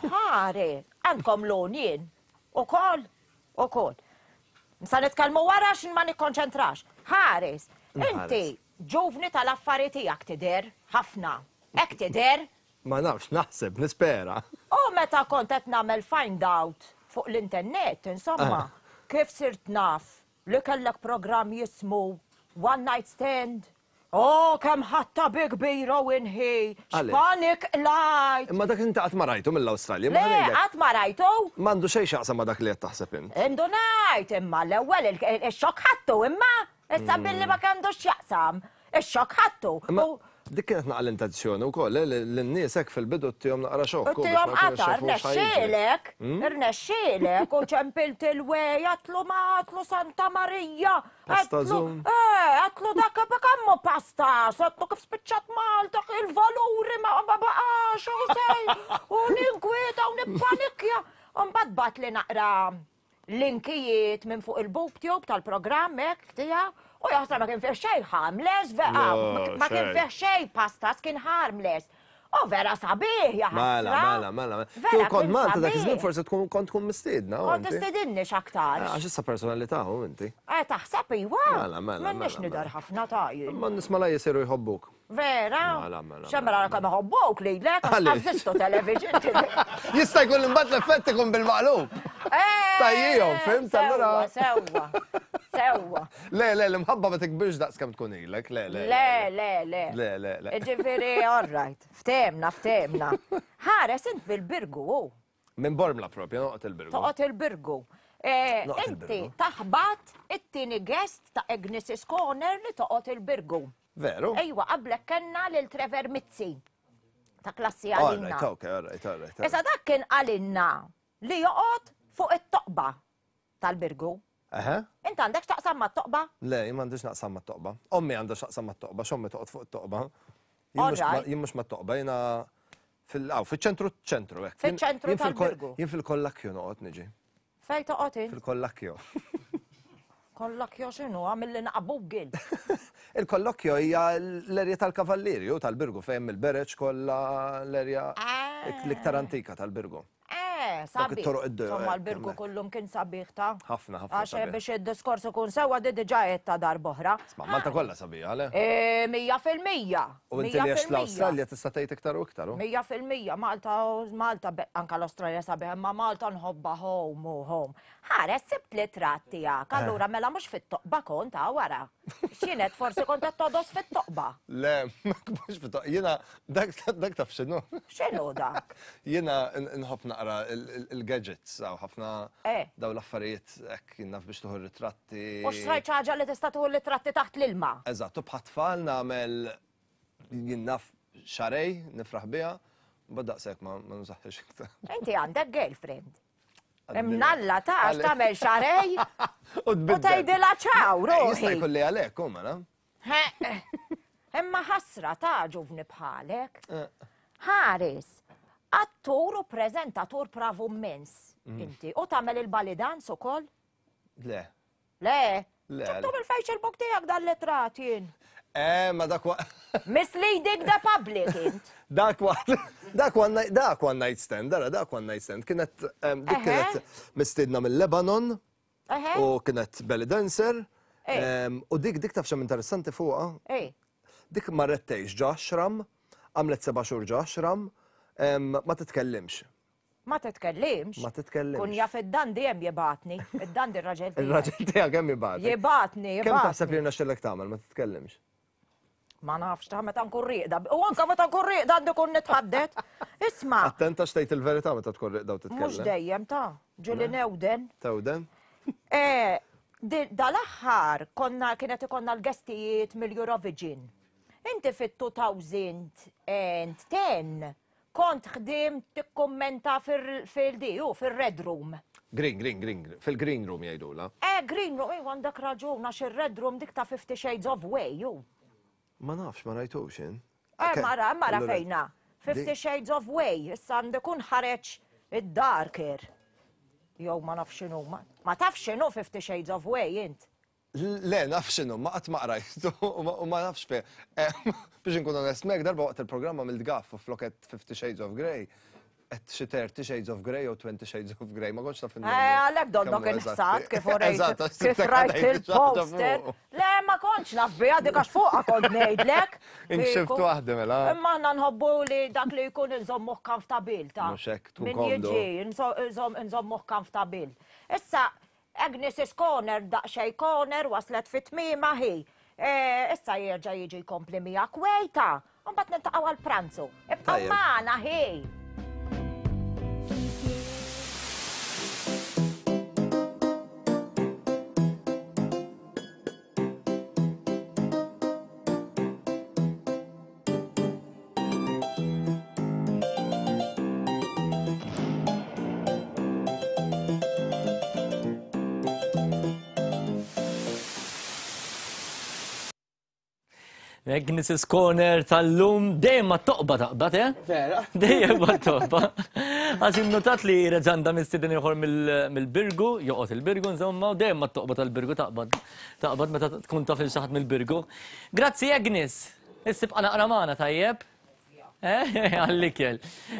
Ħari, għandkom l-unjin. U kol, u kol. Nsa nitkellmu wara xin ma nikkonċentrax. Ħares, inti ġuvni tal-affari tiegħek tidher ħafna. Hekk tidher. Ma nafx, naħseb, nispera. U meta kont qed nagħmel find out fuq l-internet, insomma, Ah. kif sirt naf li kellek programm jismu One Night Stand. Oh, kemm ħatta bi kbira u inħi. Għaliex? X'panik lajt. Imma dak inti qatt ma rajtu mill-Awstralja. ma Le, ngħidlek. qatt ma rajtu. M'għandu xejn x'jaqsam ma dak li qed taħseb int. Indunajt imma l-ewwel il- il- ix-xokk ħattu imma issa billi ma kendux x'jaqsam. Ix-xokk ħattu. Imma dik kienet naqra l-intenzjoni wkoll, eh, li l-nies hekk fil-bidu ttihom naqra xokk. U u biex tijom ma jkunux qatar, jafu x'ħajġri. rnexxielek, Hmm? rnexxielek, u ċempilt il-wej, għatlu ma għatlu Santa Maria. Pasta għatlu- Zoom. Eh, għatlu dak kammu pasta, għatlu kif spiċċat Malta, il-valuri ma ma baqax, u sej, u ninkwieta, u nippanikja. U mbagħad bat li naqra linkijiet minn fuq il-booktube tal-programm hekk tiegħu, u jaħseb ma kien fih xejn harmless, vera, No, ma kien xejn. fih xejn pastas kien harmless. U vera sabiħ, jaħasra. Mela, mela, mela. Vera, Kieku kont kien Malta dak sabiħ. iż-żmien forsi tkun kont tkun mistiedna. u Kont inti. istedinni x'aktar. Eh, Għax issa personalità u inti. Eh, taħseb iwa. Mela, mela, M'għandniex mela, nidher ħafna ta' jien. Ma nisma la jisiru jħobbuk. Vera? Mela, mela, Xemra kemm iħobbuk lilek, għax Għaliex? għażistu television. Jista' jkun imbagħad l-effett ikun bil-maqlub. Tajjihom, fimt allura. Eh, Sewwa, sewwa. Le, le, l-imħabba ma tikbirx daqs kemm tkun ilek, le, le. Le, le, le. Le, le, le. Ġifieri, all right. Ftemna, ftemna. Ħares int bil-birgu, u. Minn Bormla propja, noqgħod il-Birgu. Toqgħod il-birgu. Eh, Noqgħod Inti il-Birgu. taħbat it-tieni guest ta' Agnes's Corner li toqgħod il-birgu. Veru? Ejwa, qablek kellna lil Trevor Mizzi ta' klassi All għalina. right, okay, all right, all right. Issa dak kien għalinna li joqgħod fuq it-toqba tal-birgu. Eħe? Int għandek x'taqsam mat-toqba? Le, jien m'għandix naqsam mat-toqba. Ommi għandha x'taqsam mat-toqba, x'ommi toqgħod fuq it-toqba. Jien mhux ma- All right. Jien mhux mat-toqba, jiena fil aw, fiċ-ċentru ċentru hekk. Jien- Fiċ-ċentru jien fil-kol- tal-Birgu. Jien fil-kollakkju noqgħod niġi. Fej toqgħod int? Fil-kollakkju. Kollok jo x'inhu għamil li naqa' Google. Il-kollokjo hija l-erja tal-Kavallieri u tal-Birgu fejn il-bereġ kollha l-erja l-iktar antika tal-Birgu. Eh, Dawk sabiħ. it-toroq id-dejja, Insomma, hekk, l-birgu hemmhekk. kullum kien sabiħ ta' Ħafna, ħafna Għax sabiħ. biex id-diskors ikun sewwa di diġà qed ta' darb'oħra. Ma Malta kollha sabiħa, le? Eh, Mija fil-mija. U inti mija li għex fil-mija. l-Awstralja tista' tgħid iktar u iktar. u? Mija fil-mija, Malta, Malta, be- anka l-Australja sabiħ, imma Malta nħobba home u home. Ħares, sibt li tratt tiegħek, allura mela mhux fit-toqba kont ta' wara. X'kienet forsi kont qed todos fit-toqba. Le, mhux fit Jiena dak dak taf x'inhu. X'inhu dak? Jiena nħobb naqra il- il- il-gadgets għaw ħafna Eh. daw l-affarijiet hekk jien naf biex tuħu ritratti. U xtrajt xi ħaġa li tista' tuħu ritratti taħt l-ilma. Eżatt, u bħat-tfal nagħmel jien naf xarej, nifraħ biha, u daqshekk ma ma nużaħħiex iktar. Inti għandek girlfriend. Għadni- Imnalla ta' għax Għalli- tagħmel xarej U u tbiddel. tgħidilha ċaw, Eh, Jista' ruħi. jkun li għalhekk, u mela. Imma ħasra ta' ġuvni bħalek. Eh. Ħares, Attur u preżentatur bravu immens. Inti. U tagħmel il-belly dance ukoll? Le. Le? Le. Ġibtu mill-Facebook tiegħek dan l-itrat jien. Eh, ma dak wa. Misleading the public int. Dak wa, dak one night, dak one night stand, dara, dak one night stand. Kienet, em, dik Eħe. kienet mistiedna mill-Lebanon Eħe. u kienet belly dancer. Eh. Em, U dik dik taf xem interessanti fuqha. Ej. Dik marret tgħix ġo ashram, għamlet seba' xhur ġo ashram, em, ma titkellimx. Ma titkellimx. Ma titkellimx. Kun jaf id-dandi hemm jibgħatni. Id-dandi r-raġel tiegħi. Il-raġel tiegħek kemm jibgħatek? Jibgħatni, Kemm taħseb jibgħatni. li rnexxillek tagħmel ma titkellimx? Ma nafx ta' meta nkun rieqda. U anka meta nkun rieqda għandi kun nitħaddet. Isma', Attenta x'tgħid il-verità meta tkun rieqda u titkellem. mhux dejjem ta' ġieli newden. Tewden? Eh, di- Dal-aħħar konna kienet ikonna l-guestijiet mill-Eurovision. Inti fit-twenty ten kont ħdim tikkummenta fil-DU, fil-Red Room. Green, green, green, fil-green room jgħidula. Eh, Green Room, eh, għandek raġun, għax il-Red Room dik ta' Fifty Shades of Way, ju. Ma nafx, ma rajtux jien. Eh, mara, mara Allura, fejna. Fifty di- Shades of Way, issa għandek kun ħareġ id-darker. Jew ma nafx x'inhu, ma ma tafx x'inhu Fifty Shades of Way, int. Le, naf x'inhu, ma qatt ma qrajtu u ma- u ma nafx fe. Eh, Biex nkun onest mek, darba waqt il-programma mill-gaff u floket Fifty Shades of Grey, et xi thirty Shades of Grey u twenty Shades of Grey, ma kontx naf Eh, għalek donnok inħsat kif urejt, kif rajt il-poster. Le, ma kontx naf bija dik għax fuqa kont ngħidlek. Inkxift Kieku. waħda mela. Imma aħna nħobbu li dak li jkun nżommuh comfortable ta' Mhux hekk, tkun Min komdu. jiġi, nso- nżomm- nżommuh comfortable. Issa, Agnes' Corner, daqxej corner, waslet fit tmiema hi. Eh, Issa jerġa' jiġi jkompli miegħek wejta. U mbagħad niltaqgħu għal-pranzu. Ibqgħu Tajjeb. magħna hi. Agnes' Corner tal-lum dejjem ma toqba taqbad, eh? Vera. Dejjem ma toqba. Għax innotat li reġanda mistieden ieħor mill- mill-Birgu, joqgħod il-Birgu insomma, u dejjem ma toqba tal-Birgu taqbad. Taqbad meta tkun taf il xi ħadd mill-Birgu. Grazzi Agnes. Issa ibqa' naqra magħna tajjeb. Eh, għall-ikel.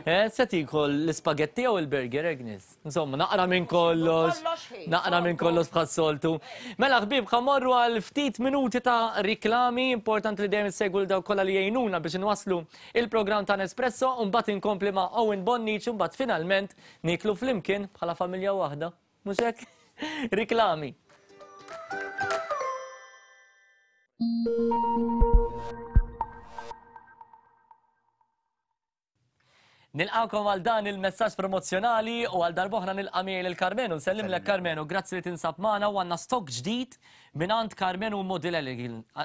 Eh, se tikol l-ispagetti jew il-burger, Agnes? Insomma, naqra minn kollox. Kollox ħin. Naqra minn kollox bħas-soltu. Mela ħbieb, ħa mmorru għal ftit minuti ta' riklami, importanti li dejjem issegwu l dawk kollha li jgħinuna biex inwasslu il-programm ta' Nespresso, u mbagħad inkompli ma' Owen Bonnici, u mbagħad finalment niklu flimkien bħala familja waħda. Mhux hekk? Riklami. Nilqawkom għal dan il-messaġġ promozzjonali u għal darb'oħra nilqa' miegħi lil Karmenu. Nsellimlek Karmenu, grazzi li tinsab magħna u għandna stock ġdid mingħand Karmenu Model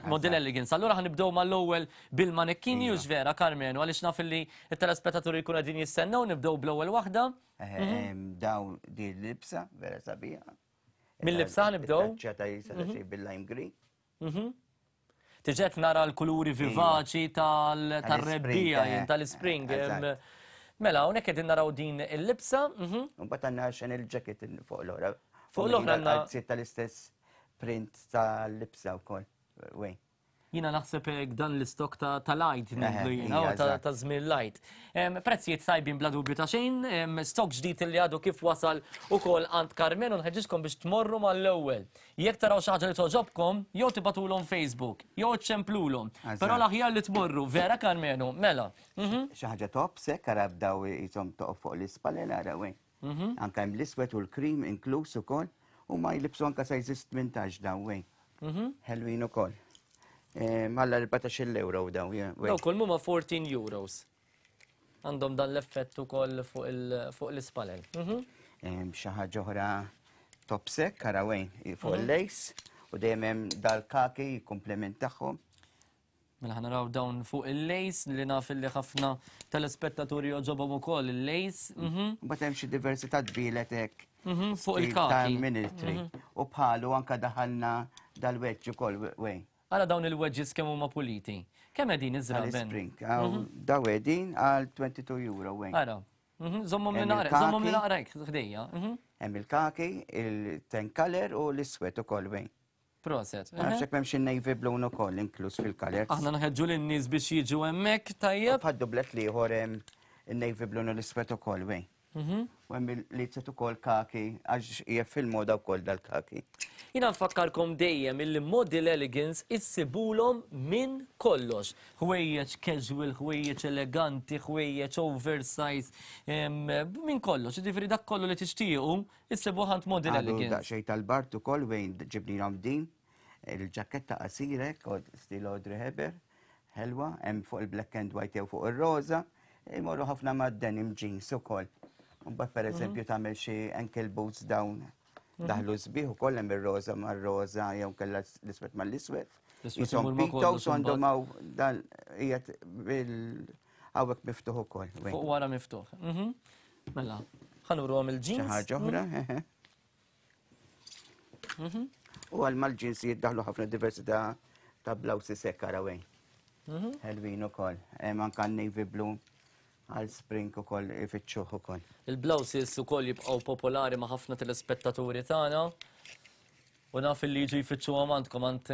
Model Elegance. Allura ħa nibdew mal-ewwel bil-manekkini u vera Karmenu għaliex naf li t-telespettaturi jkunu qegħdin jistennew nibdew bl-ewwel waħda. Daw di l-libsa, vera sabiħa. Mill-libsa nibdew? ċata jisa xej bil-lime green. Mhm. Tiġet nara l-kuluri vivaċi tal- tal-rebbija, eh, jien, tal-spring. eżatt. Mela, hawnhekk qegħdin naraw din il-libsa. mhm. U mbagħad għandna Chanel jacket fuq l-oħra. Fuq l-oħra għandna- għandna tal-istess print tal-libsa wkoll. Wej. Jina naħseb hekk dan l-istok ta' ta' light ngħidlu Eħe, jiena, ija, u ta' eżatt. ta' żmien light. Em, Prezzijiet tajbin bla dubju ta' xejn, em, stok ġdid li għadu kif wasal ukoll għand Karmen u nħeġġiġkom biex tmorru mal-ewwel. Jekk taraw xi ħaġa li toġobkom, jew tibagħtulhom Facebook, jew ċemplulhom. Eżatt. Però l-aħjar li tmorru, vera Karmenu, mela. Mhm. Xi ħaġa top sekk ara bdaw jisom toqgħod fuq l-ispalel ara wej. Mhm. Anka hemm l-iswed u l-krim inkluż ukoll u ma jlibsu anka sizes tmintax daw wej. Mhm. Ħelwin ukoll. Malla erbatax-il euro daw, yeah, wej. Daw kull huma fourteen euros. Għandhom dan l-effett ukoll fuq il- fuq l-ispalel. Mhm. Em, Xi ħaġa oħra top sekk ara wej fuq Mhm. il-lace u dejjem hemm dal-kaki jikkumplement tagħhom. Mela ħa naraw dawn fuq il-lace li naf li ħafna telespettaturi joġobhom ukoll il-lace. Mhm. Mbagħad hemm xi diversità tbielet hekk. Mhm, fuq stil il-kaki. Ta' military. Mhm. U bħalu anka daħalna dal-wedge ukoll wej. Ara dawn il-wedges kemm huma puliti. Kemm qegħdin iż-żraben? Tal-spring. Daw qegħdin għal twenty-two euro wej. Ara, Żommhom li naqra, żommhom li naqra ħdejja. Hemm il-kaki, il-ten color u l-iswed ukoll wejn. Proset. Ma nafx hekk m'hemmx in-navy blue ukoll inkluż fil-colors. Aħna nħeġġu lin-nies biex jiġu hemmhekk tajjeb. Bħad dublet l-ieħor hemm in-navy blue u l-iswed ukoll wejn. U hemm li ukoll kaki għax hija fil-moda wkoll dal-kaki. Jiena nfakkarkom dejjem illi Model Elegance issibulhom minn kollox. Ħwejjeġ casual, ħwejjeġ eleganti, ħwejjeġ oversize, minn kollox. Jiġifieri dak kollu li tixtiequ issibuh għand Model Elegance. Daqsxejn tal-bart ukoll wejn ġibnilhom din il-ġaketta qasirek, stil Audrey Hepburn, ħelwa, hemm fuq il-black and white jew fuq ir-roża, imorru ħafna mad-denim jeans ukoll. Mbagħad pereżempju tagħmel xi ankle boots dawn daħlu sbieħ ukoll hemm ir-roża mar-roża jew kellha l-iswed mal-iswed. Jisom pitos għandhom hawn dan qiegħed bil hawnhekk miftuħ ukoll. Fuq wara miftuħ. Mela, ħa nurruhom il-jeans. Xi ħaġa oħra, U għal mal-jeans jiddaħlu ħafna diversità ta' blouses hekk ara wejn. Ħelwin ukoll. Hemm anke navy blue għal spring ukoll ifittxuh ukoll. Il-blouses ukoll jibqgħu popolari ma' ħafna telespettaturi tagħna. U naf li jiġu jfittxuhom għandkom għand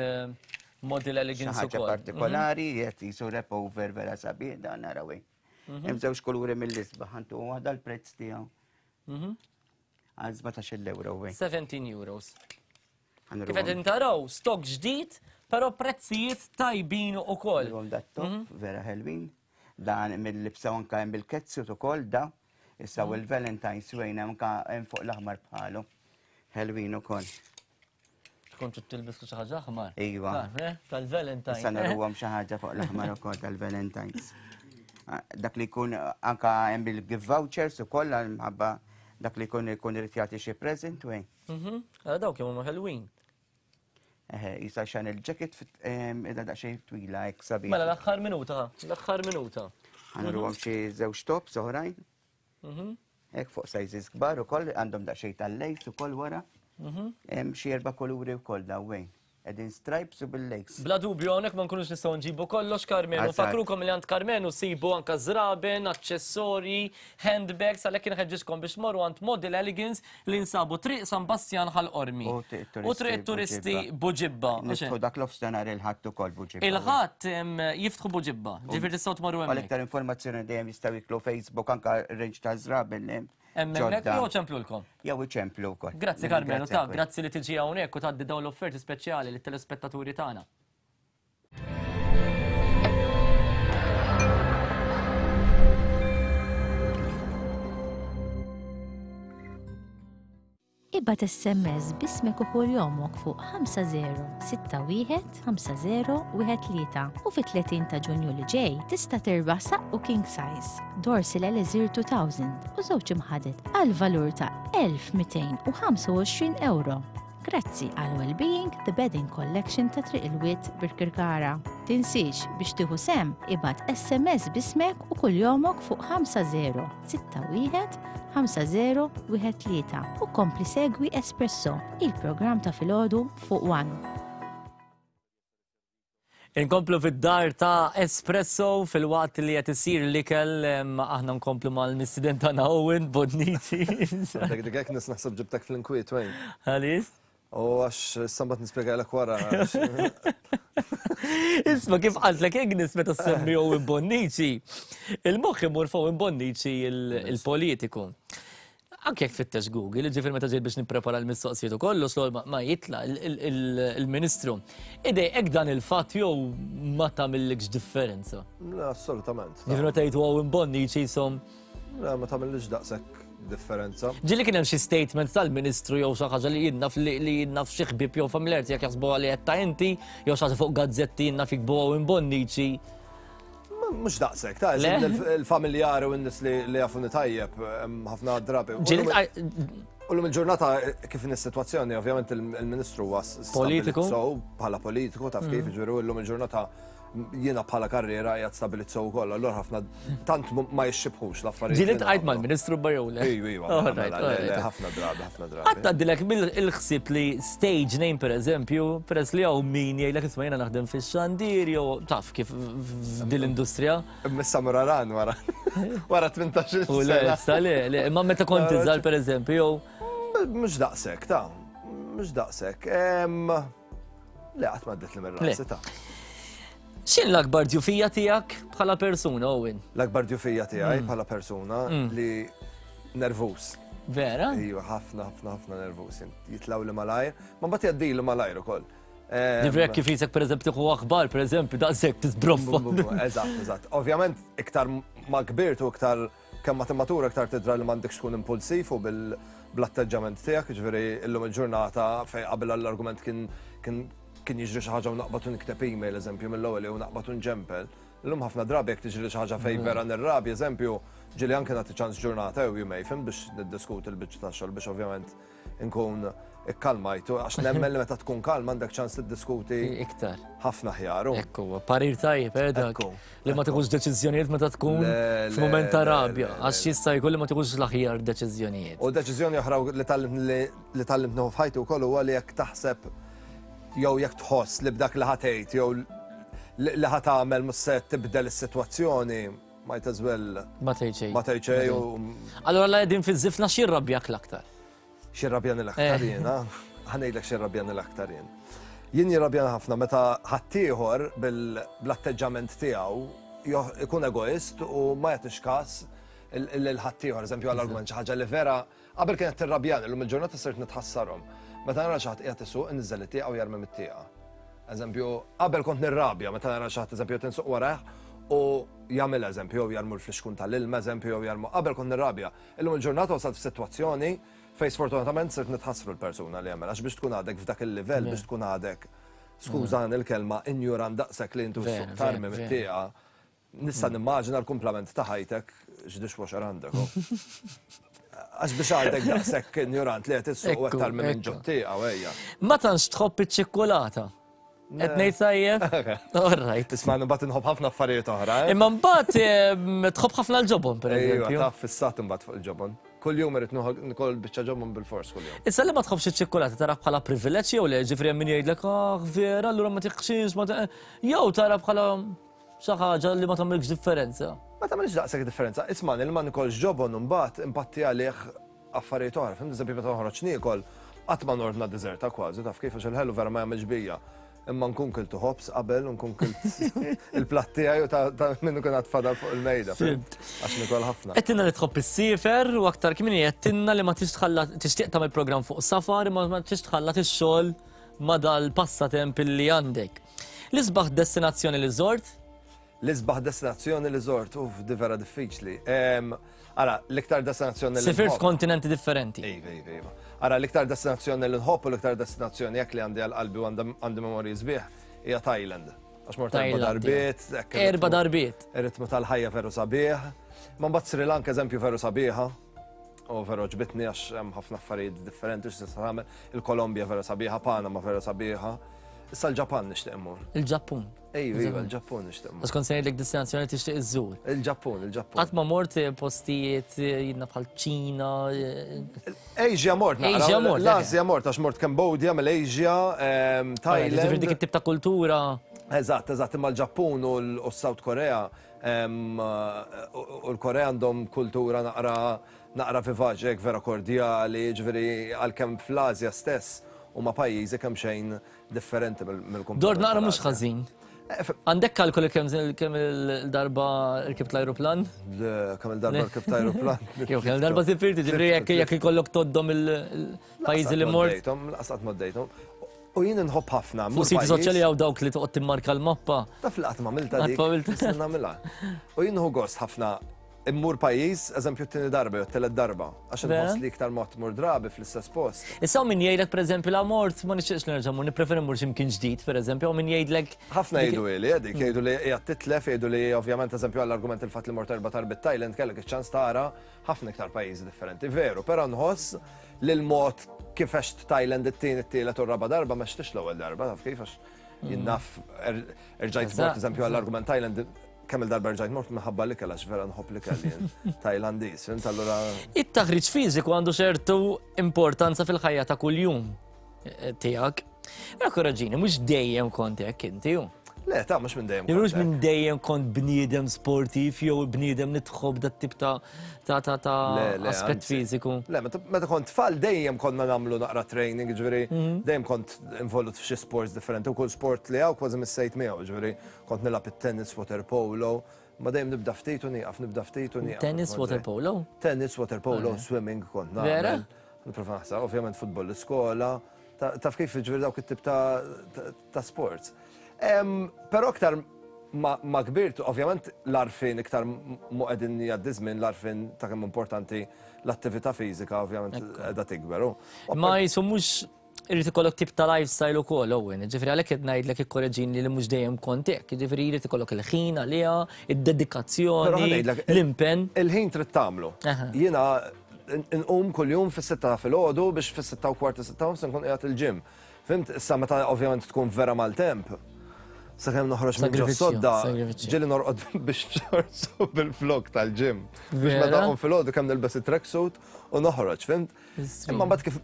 Model Elegance ukoll. Xi ħaġa partikolari qed jisu wrap over vera sabiħ dan ara wejn. Hemm żewġ kuluri mill-isbaħ għandu waħda l-prezz tiegħu. Għal sbatax-il euro wejn. seventeen euros. Kif qed taraw stok ġdid, però prezzijiet tajbin ukoll. Dat-top vera ħelwin. Dan mill-libsa anka hemm bil-ketsuit ukoll da. Issa u l-Valentine's wejn anka hemm fuq l-aħmar bħalu. Ħelwin ukoll. Tkun trid tilbis xi ħaġa aħmar. Iva. Tal-Valentine's. Issa naruhom xi ħaġa fuq l-aħmar ukoll tal-Valentine's. Dak li jkun anka hemm bil-gift vouchers ukoll minħabba dak li jkun ikun irid jagħti xi present wejn. Ara dawk kemm huma ħelwin. Eħe, jisa xan il-jacket idha daqsxejn twila hekk sabiħ. Mela l-aħħar minuta, l-aħħar minuta. Ħa nurruhom xi żewġ tops oħrajn. Hekk fuq sizes kbar ukoll għandhom daqsxejn tal-lace ukoll wara. Hemm xi erba' kuluri wkoll daw wejn. Qegħdin stripes u bil-lace. Bla dubju hawnhekk ma nkunux nistgħu nġibu kollox Karmenu. Fakrukom li għand Karmenu sibu anke żraben, aċċessorji, handbags, għalhekk inħeġġiskom biex morru għand Model Elegance li nsabu Triq San Bastjan Ħal Qormi. U Triq Turisti Buġibba. Niftħu dak l-offsenar il-Ħadd ukoll Buġibba. Il-Ħadd jiftħu Buġibba, ġifier tistgħu tmorru hemmhekk. Għal iktar informazzjoni dejjem jistgħu jitlu Facebook anke range ta' żraben li hemm. Hemmhekk jew ċemplulkom. Jew iċemplu wkoll. Grazzi Karmenu, ta' grazzi li tiġi hawnhekk u tgħaddi dawn l-offerti speċjali lit-telespettaturi tagħna. Ibgħat S M S b'ismek u kuljomok fuq ħamsa zero sitta wieħed ħamsa zero wieħed tlieta u fit-tletin ta' Ġunju li ġej tista' tirbaħ saqqu king size, Dorsil Elixir two thousand u żewġ imħadet għal valur ta' elf mitejn u ħamsa u għoxrin euro. Grazzi għal Wellbeing The Bedding Collection ta' Triq il-Wied Birkirkara. Tinsiex biex tieħu sem ibgħat S M S b'ismek u kuljomok fuq ħamsa zero sitta wieħed ħamsa zero wieħed tlieta u kompli segwi Espresso, il-programm ta' filgħodu fuq One. Inkomplu fid-dar ta' Espresso fil-waqt li qed isir l-ikel, aħna nkomplu mal-missident tagħna Owen Bonnici. Dik dik hekk nis naħseb ġibtek fl-inkwiet wejn. Għaliex? U għax sambat nispjegalek wara. Isma' kif qaltlek Agnes meta semmi Owen Bonnici, il-moħħ imur fuq Owen Bonnici il-politiku. Anke jekk fittex Google, ġifier meta ġejt biex nipprepara l-mistoqsijiet u kollox, l-ewwel ma jitla' il-Ministru. Idejqek dan il-fatt jew ma tagħmillikx differenza? Le, assolutament. Ġifier meta jgħidu Owen Bonnici jisom. Le, ma tagħmillikx daqshekk differenza. Ġieli kien hemm xi statement tal-Ministru jew xi ħaġa li jien naf li jien naf xi ħbieb jew familjar tiegħek jaħsbuha li qed ta' inti, jew xi ħaġa fuq gazzetti jien naf jikbu Owen Bonnici. Mhux daqshekk, ta' Le? il-familjari u n-nies li jafuni tajjeb ħafna drabi. Ġieli U l-lum il-ġurnata kif in is-sitwazzjoni, ovvjament il-Ministru huwa Politiku. So, bħala politiku, taf kif, Mm. ġifieri llum il-ġurnata jiena bħala karriera qiegħed stabilit sew ukoll, allura ħafna tant ma jixxibħux l-affarijiet. Ġieli li tqajt nagħmlu. mal-Ministru Bajole. Iju, iju, All mela, right, le, all le, right. ħafna drabi, ħafna drabi. Qatt għaddilek mill-ħsieb li stage name per eżempju, peress li hawn min jgħidlek isma' jiena naħdem fix-xandir jew taf kif f'din l-industrija. Missa muraran wara. Wara tmintax-il U le, sena. issa le, le, imma meta kont iżgħar per eżempju, jew Mhux daqshekk, ta' mhux daqshekk. Em, Le, qatt ma għaddiet li mir-rasi ta' X'in l-akbar djufija tiegħek bħala persuna, Owen? L-akbar djufija tiegħi Mm. bħala persuna Mm. li nervus. Vera? Ejwa, ħafna, ħafna, ħafna nervus. Jitilgħu li malajr, ma mbagħad jgħaddilu malajr ukoll. Em, Ġifieri jekk kif jisek per eżempju tieħu aħbar, per eżempju, daqshekk tisbroffa. Eżatt, eżatt. Ovvjament, iktar ma kbirt u iktar kemm ma timmatura iktar tidra li m'għandekx tkun impulsiv u bil bl-atteġġament tiegħek, ġifieri illum il-ġurnata fej qabel l-argument kien kien kien jiġri xi ħaġa u naqbad u nikteb email eżempju mill-ewwel jew naqbad u nġempel. Illum ħafna drabi jekk tiġri xi ħaġa fej Mm. vera nirrabi, eżempju, ġieli anke nagħti ċans ġurnata jew jumej fim biex niddiskuti l-biċċa tax-xogħol biex ovvjament inkun ikkalmajtu għax nemmen li meta tkun kalm għandek ċans tiddiskuti iktar. Ħafna ħjar. Ekku, parir tajjeb, eh, dak. Li ma tieħux deċiżjonijiet meta tkun Le, le, f'mument ta' le, rabja, għax jista' jkun li ma tieħux l-aħjar deċiżjonijiet. U deċiżjoni oħra li tgħallimt li li tgħallimt nieħu f'ħajti wkoll huwa li jekk taħseb jew jekk tħoss li b'dak li ħa tgħid jew li li ħa tagħmel mhux se tibdel is-sitwazzjoni, might as well Ma tgħid xejn. ma tgħid xejn u Allora la qegħdin fiż-żifna x'jirrabjak l-aktar? X'irrabjani l-aktar Eh. jiena, ħa ngħidlek x'irrabjani l-aktar jien. Jien jirrabjani ħafna meta ħaddieħor bil-atteġġament tiegħu joh- ikun egoist u ma jagħtix każ lil ħaddieħor, eżempju għall-argument xi ħaġa li vera qabel kienet tirrabjani, illum il-ġurnata sirt nitħassarhom. Meta nara xi ħadd qiegħed isuq inniżel it-tieqa u jarmi mit-tieqa. Eżempju, qabel kont nirrabja meta nara xi ħadd eżempju qed insuq warah u jagħmel eżempju jew jarmu l-flixkun tal-ilma eżempju jew jarmu qabel kont nirrabja. Illum il-ġurnata wasalt f'sitwazzjoni fejn sfortunatament sirt nitħassru l-persuna li jagħmel għax biex tkun għadek f'dak il-livell Vera. biex tkun għadek skużani l-kelma injurant daqshekk li intu Vera, suq tarmi vera, vera. mit-tieqa. Nista' nimmaġina l-kumplament ta' ħajtek x'dishwasher għandek. oh. Għax biex għadek daqshekk injurant li qed issuq u qed Ekku, tarmi minn ekku. ġot-tieqa u ejja. Ma tantx tħobb iċ-ċikkulata. Qed ngħid tajjeb? All right. Isma' mbagħad inħobb ħafna affarijiet oħra. eh? Imma mbagħad em, tħobb ħafna l-ġobon per Ejwa, eżempju. taf fissat imbagħad fuq il-ġobon. Kull jum irid nikol biċċa ġobon bil-fors kull jum. Issa li ma tħobbx iċ-ċikkulata tara bħala privileġġ jew le, ġifieri hemm min jgħidlek ah vera, allura ma tiħxix, ma ta-" jew tara bħala xi ħaġa li ma tagħmilx differenza. Ma tagħmilx daqshekk differenza. Isma' li ma nikolx ġobon imbagħad impatti għalih affarijiet oħra. Fhimt eżempju meta noħroġ niekol, qatt ma nordna deżerta kważi, taf kif għax il-ħelu vera ma jagħmilx bija. Imma nkun kiltu ħobż qabel u nkun kilt il-platt tiegħi u ta' ta' minnu kien għad fadal fuq il-mejda. fhimt? Għax nikol ħafna. Għedtilna li tħobb issiefer u aktar kmieni għedtilna li ma tix tħalla tixtieq tagħmel programm fuq safar imma ma tix tħallat ix-xogħol ma dal-passatemp li għandek. L-isbaħ destinazzjoni li żort? L-isbaħ destinazzjoni li żort, uff, di vera diffiċli. Em, Ara, l-iktar destinazzjoni li Sifirt nħobb- f'kontinenti differenti. Iva, iva, iva. Ara, l-iktar destinazzjoni li nħobb u l-iktar destinazzjoni jekk li għandi għal-qalbi u għandi għandi memorji sbieħ hija Thailand. Għax mort erba' Thailand, darbiet. hekk Erba' ir-ritmu- darbiet. Ir-ritmu tal-ħajja veru sabiħ. Ma mbagħad Sri Lanka eżempju veru sabiħa. U veru għoġbitni għax hemm ħafna affarijiet differenti x'tista' tagħmel. Il-Kolombja vera sabiħa, Panama vera sabiħa. Issa l-Ġapan nixtieq immur. Il-Ġappun. Ejju, iva, il-Ġappun nixtieq immur. Għax kont se ngħidlek destinazzjoni tixtieq iżżur. Il-Ġappun, il-Ġappun. Qatt ma mort eh, postijiet eh, jidna bħal Ċina. eh, Asia mort, naqra. Asia mort, L-Asja mort, għax mort Cambodia, Malaysia, ehm, Ġifieri Thailand. dik it-tip ta' kultura. Eżatt, eżatt, imma l-Ġappun u l- u s-South Korea ehm, u u l-Korea għandhom kultura naqra naqra vivaċi, hekk vera kordjali, ġifieri għalkemm fl-Asja stess huma pajjiżi kemm xejn differenti mill-kumplament. Dor naqra mhux tal-Asja. ħażin. Għandek kalkoli kemm kemm il-darba rkibt l-ajruplan? Le, kemm il-darba rkibt ajruplan. Jew kemm il-darba sifirti, ġifieri jekk jekk ikollok toddom il-pajjiżi li mort. Laqsat moddejthom. U jien inħobb ħafna. Fuq siti soċjali hawn dawk li toqgħod timmarka l-mappa. Taf li qatt m'għamilta dik. Qatt m'għamilta. Nista' nagħmilha. U jien nieħu gost ħafna immur pajjiż, eżempju t-tieni darba jew t-tielet darba, għax Vera? inħoss li iktar mod tmur drabi fl-istess post. Issa hawn min jgħidlek pereżempju la mort ma nixtieqx li nerġa' mmur, nippreferi mmur x'imkien ġdid pereżempju, hawn min jgħidlek Ħafna jgħidu li dik, jgħidu li qiegħed titlef, jgħidu li ovvjament eżempju għall-argument il-fatt li mort erba' darbiet Thailand kellek iċ-ċans tara ħafna iktar pajjiżi differenti. Veru, però nħoss li l-mod kif għext Thailand it-tieni, it-tielet u r-raba darba ma għextix l-ewwel darba, taf kif, għax jien naf er- erġajt mort, eżempju, għall-argument Thailand, kemm il-darba erġajt mort minħabba l-ikel, għax vera nħobb l-ikel jien Tajlandiż, fhimt, allura. It-taħriġ fiżiku għandu ċertu importanza fil-ħajja ta' kuljum eh, tiegħek. Mela korreġini, mhux dejjem kont hekk inti hu. Le, ta' mhux minn dejjem. Mhux minn dejjem kont bniedem sportiv jew bniedem li tħobb dat tip ta' ta' ta' ta' Le, le, aspett anzi. fiżiku. Le, meta meta kont tfal dejjem konna nagħmlu naqra training, ġifieri Mhm. dejjem kont involut f'xi sports differenti u kull sport li hawn kważi missejt miegħu, ġifieri kont nilgħab it-tennis, water polo, ma dejjem nibda ftit u nieqaf, nibda ftit u nieqaf. Tennis, water polo? Tennis, water polo, Ah, swimming kont Vera? nagħmel. Nipprova naħseb, ovvjament futbol l-iskola, ta- taf kif, ġifieri dawk it-tip ta' ta- ta' sports. Em, Però iktar ma ma kbirt, ovvjament l-għarfien iktar mu qegħdin jgħaddi żmien, l-għarfien ta' kemm importanti l-attività fiżika ovvjament qiegħda tikber. u- Ma jisu mhux irid ikollok tip ta' lifestyle ukoll, Owen. Ġifieri għalhekk qed ngħidlek ikkoreġini li mhux dejjem kont hekk. Ġifieri jrid ikollok il-ħin għaliha, Però id-dedikazzjoni, ħa ngħidlek, l-impenn. Il-ħin trid tagħmlu. Jiena nqum kuljum fis-sitta ta' filgħodu biex fis-sitta u kwarta, sitta u nofs nkun qiegħed il-gym. Fhimt, issa meta ovvjament tkun vera maltemp, sakemm noħroġ minn ġo Sagrifiċċju, sodda, sagrifiċċju. ġieli norqod bix- shorts u bil-flok tal-gym. Biex Vera? meta nqum filgħodu kemm nilbes it-tracksuit u noħroġ, fhimt? Imma mbagħad kif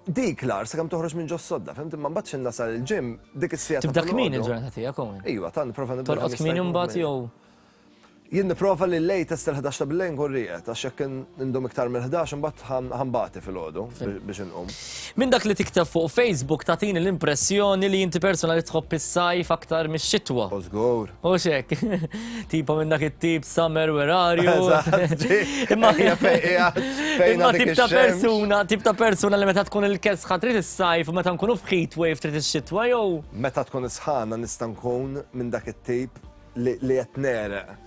dik l-ar sakemm toħroġ minn ġo sodda, fhimt? Imma mbagħad x'in nasal il-gym dik is-siegħa ta' Tibda kmieni filgħodu. il-ġurnata tiegħek, Owen. Iva, ta' nipprova nibda Torqod kemm jista' kmieni jkun mbagħad kmieni. jew Jien nipprova li l-latest il-ħdax ta' bil-lejl nkun rieqed, għax jekk indum iktar mill-ħdax imbagħad ħa nbati filgħodu biex inqum. Minn dak li tikteb fuq Facebook tagħtini l-impressjoni li inti persona li tħobb is-sajf aktar mix-xitwa. U żgur. U xek. Tipo minn dak it-tip "Summer, where are you?" Eżatt, ġi. Imma Ejja, fejn qiegħed, fejn Imma għadek tip ta' ix-xemx. persuna, tip ta' persuna li meta tkun il-kesħa trid is-sajf u meta nkunu f'heat wave trid ix-xitwa jew Meta tkun isħana nista' nkun minn dak it-tip li li qed negħreq.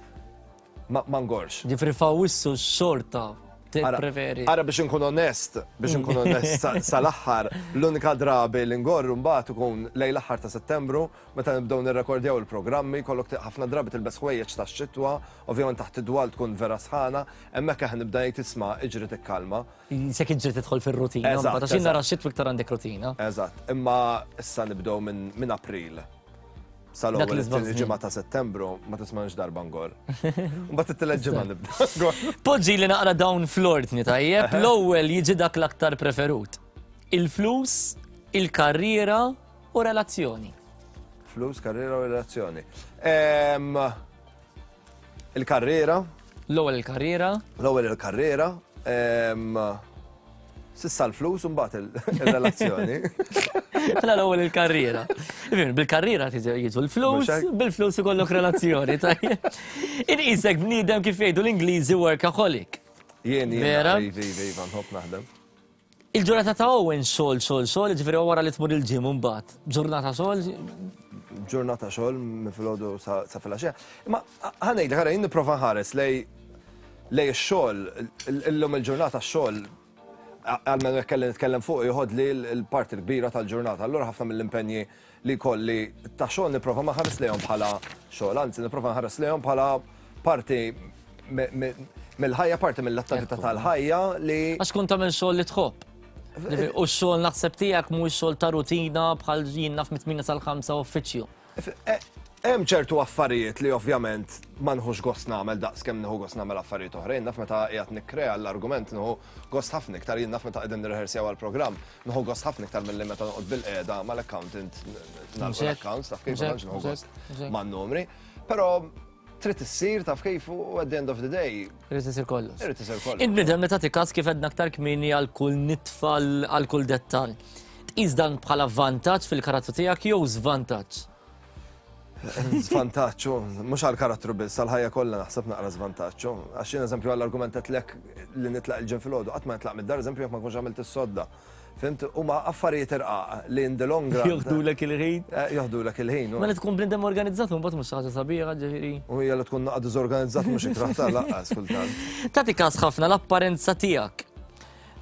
Ma ma ngorx. Ġifieri f'Awwissu xorta tippreferi. Ara, biex nkun onest, biex nkun onest sa- sal-aħħar, l-unika drabi li ngorru mbagħad ikun lejn l-aħħar ta' Settembru, meta nibdew nirrekordjaw il-programmi, kollok ħafna drabi tilbes ħwejjeġ tax-xitwa, ovvjament taħt id-dwal tkun vera sħana, hemmhekk aħna nibda ngħid, "Isma', iġri tikkalma." Se iġri tidħol fir-rutina, Eżatt, mbagħad għax jien nara eżatt. xitwa iktar għandek rutina. Eżatt, imma issa nibdew minn min April. Dak Sal-ewwel li it-tieni żball ġimgħa ta' Settembru ma tismanx darba ngor. Mbagħad it-tielet ġimgħa nibda ngor. Poġġi li naqra dawn fl-ordni, tajjeb, l-ewwel jiġi dak l-aktar preferut. Il-flus, il-karriera u relazzjoni. Flus, karriera u relazzjoni. Em, Il-karriera. L-ewwel il-karriera. L-ewwel il-karriera. em, S'issa l-flus u mbagħad il- il-relazzjoni. Mela l-ewwel il-karriera. Ifhem, bil-karriera tiġi- jiġu l-flus, Mhux hekk? bil-flus ikollok relazzjoni, tajjeb. Inqisek bniedem, kif jgħidu l-Ingliżi, workaholic. Jien jien. Vera? Iva, iva, iva, nħobb naħdem. Il-ġurnata ta' Owen xogħol, xogħol, xogħol, ġifieri wara li tmur il-gym mbagħad. Ġurnata xogħol, Ġurnata xogħol minn filgħodu sa sa filgħaxija. Imma ħa ngħidlek, ħara jien nipprova nħares lej lej ix-xogħol, illum il-ġurnata x-xogħol, għalmenu jekk kelli nitkellem fuq, joħod li l-parti l-kbira tal-ġurnata. Allura ħafna mill-impenji li kolli ta' xogħol nipprova ma nħares lejhom bħala xogħol, anzi nipprova nħares lejhom bħala parti me- me- mill-ħajja, parti mill-attività tal-ħajja li. Għax kont tagħmel xogħol li tħobb. Ġifieri, u x-xogħol naħseb tiegħek mhuwiex xogħol ta' rutina bħal jien naf mit-tmienja sal-ħamsa uffiċċju. Hemm ċertu affarijiet li ovvjament ma nħux gost nagħmel daqs kemm nieħu gost nagħmel affarijiet oħrajn. Naf meta qiegħed nikkrea l-argument nieħu gost ħafna iktar, jien naf meta qegħdin nirrehearsjaw għall-programm, nieħu gost ħafna iktar milli meta noqgħod bil-qiegħda mal-accountant nagħlqu l-accounts, taf kif, ma tantx nieħu gost man-numri. Però trid issir, taf kif, u at the end of the day Irid isir kollox. Irid isir kollox. Il-bniedem li tagħti każ, kif għedna aktar kmieni, għal kull nitfa, għal kull dettal. Tqis dan bħala vantaġġ fil-karattru tiegħek jew żvantaġġ? Zvantaġġ, mhux għal-karattru biss, għal-ħajja kollha naħseb naqra żvantaġġ. Għax jien, eżempju, għall-argument lek li nitlaq il-gym filgħodu, qatt ma nitlaq mid-dar, eżempju, jekk ma nkunx għamilt is-sodda. Fhimt, huma affarijiet irqaq li in the long run. Joħdulek il-ħin. Joħdulek il-ħin. Mela tkun bniedem organizzat, mbagħad mhux ħaġa sabiħa, ġifieri. U hija li tkun naqra diżorganizzat mhux ikraħ ta' laqqas kultant. Tagħti każ ħafna l-apparenza tiegħek.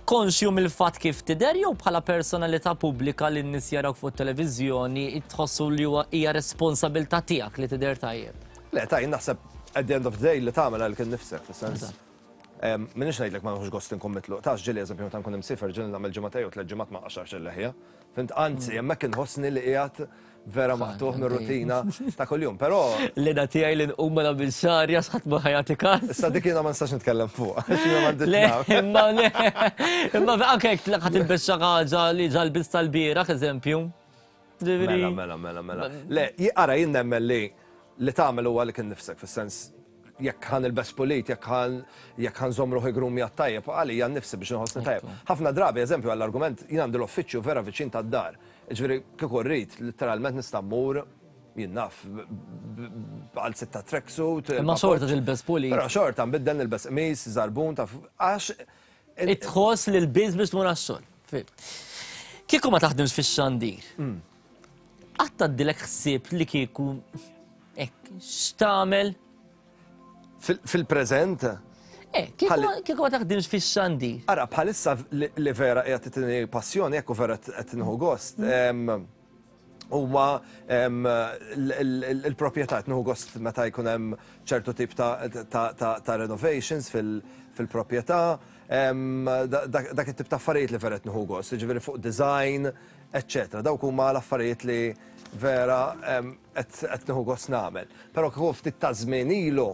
Konxju mill-fatt kif tidher jew bħala personalità pubblika li n-nies jarawk fuq televiżjoni tħossu li huwa hija responsabilità tiegħek li tidher tajjeb? Le, ta' jien naħseb at the end of the day li tagħmel għalik innifsek, fis-sens. M'iniex ngħidlek ma nħux gost inkun mitluq. Tax ġieli eżempju meta nkun imsiefer ġieli nagħmel ġimgħatej u tliet ġimgħat ma nqaxxarx il-leħja. Fhimt, anzi, hemmhekk inħossni li qiegħed vera maqtugħ mir-rutina ta' kuljum, però L-eda tiegħi li nqum ma nagħmel xagħri għax ħadd ma ħa jagħti każ. Issa dik jiena ma nistax nitkellem fuq, għax jiena m'għandix Le, naf. imma le, imma anke jekk ħa tilbes xi ħaġa li ġa lbist tal-bieraħ, eżempju. Ġifieri- Mela, mela, mela, mela. Le, ara jien nemmen li li tagħmel huwa li kien nifsek, fis-sens jekk ħa nilbes pulit, jekk ħan jekk ħa nżomm ruħi groomjat tajjeb, għalija nnifsi biex nħossni tajjeb. Ħafna drabi, eżempju, għall-argument, jien għandi l-uffiċċju vera viċin tad-dar. Ġifieri kieku rrid, literalment nista' mmur jien naf għal sitta tracksuit. Imma xorta tilbes pulit. Però xorta nbiddel nilbes qmis, żarbun, taf għax Itħoss li l-biz biex tmur għax-xogħol. Kieku ma taħdimx fix-xandir. Qatt tgħaddilek ħsieb li kieku hekk x'tagħmel? Fil-preżent? Eh, kieku ma taħdimx fix-xandir. Ara, bħalissa li vera qiegħed titini passjoni, jekk vera qed nieħu gost. Huma il-proprjetà qed nieħu gost meta jkun hemm ċertu tip ta' renovations fil-proprjetà, dak it-tip ta' affarijiet li vera qed nieħu gost, jiġifieri fuq design, eċċetera. Dawk huma l-affarijiet li vera qed nieħu gost nagħmel. Però kieku ftit ta' żmien ilu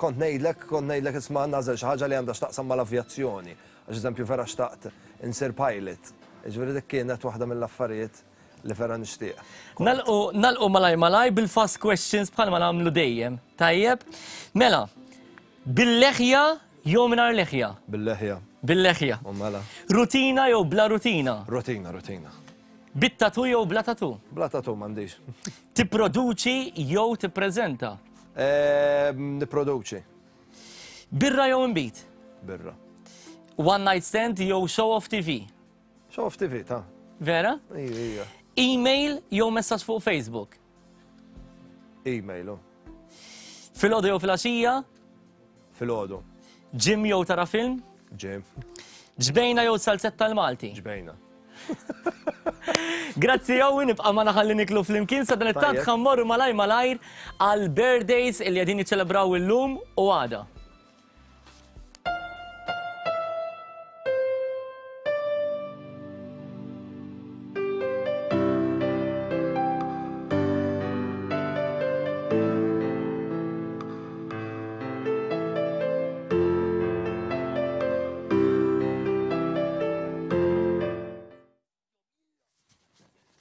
kont ngħidlek, kont ngħidlek isma' nagħżel xi ħaġa li għandha x'taqsam mal-avjazzjoni. Għax eżempju vera xtaqt insir pilot. Ġifieri dik kienet waħda mill-affarijiet li vera nixtieq. Nagħlqu nagħlqu malaj malaj bil-fast questions bħalma nagħmlu dejjem. Tajjeb? Mela, bil-leħja jew mingħajr leħja? Bil-leħja. Bil-leħja. U mela. Rutina jew bla rutina? Rutina, rutina. Bit-tatu jew bla tatu? Bla tatu m'għandix. Tipproduċi jew tippreżenta? Nipproduċi. Birra jew inbid? Birra. One night stand jew show off T V? Show off T V, ta' Vera? Ija, ija. Email jew messaġġ fuq Facebook? Email, oh. Filgħodu jew filgħaxija? Filgħodu. Gym jew tara film? Gym. Ġbejna jew salzetta tal-Malti? Ġbejna. Grazzi Owen, ibqa' magħna ħalli niklu flimkien sa dan it-tant Tajjeb. ħa mmorru malaj malajr għal birthdays illi qegħdin jiċċelebraw illum u għada.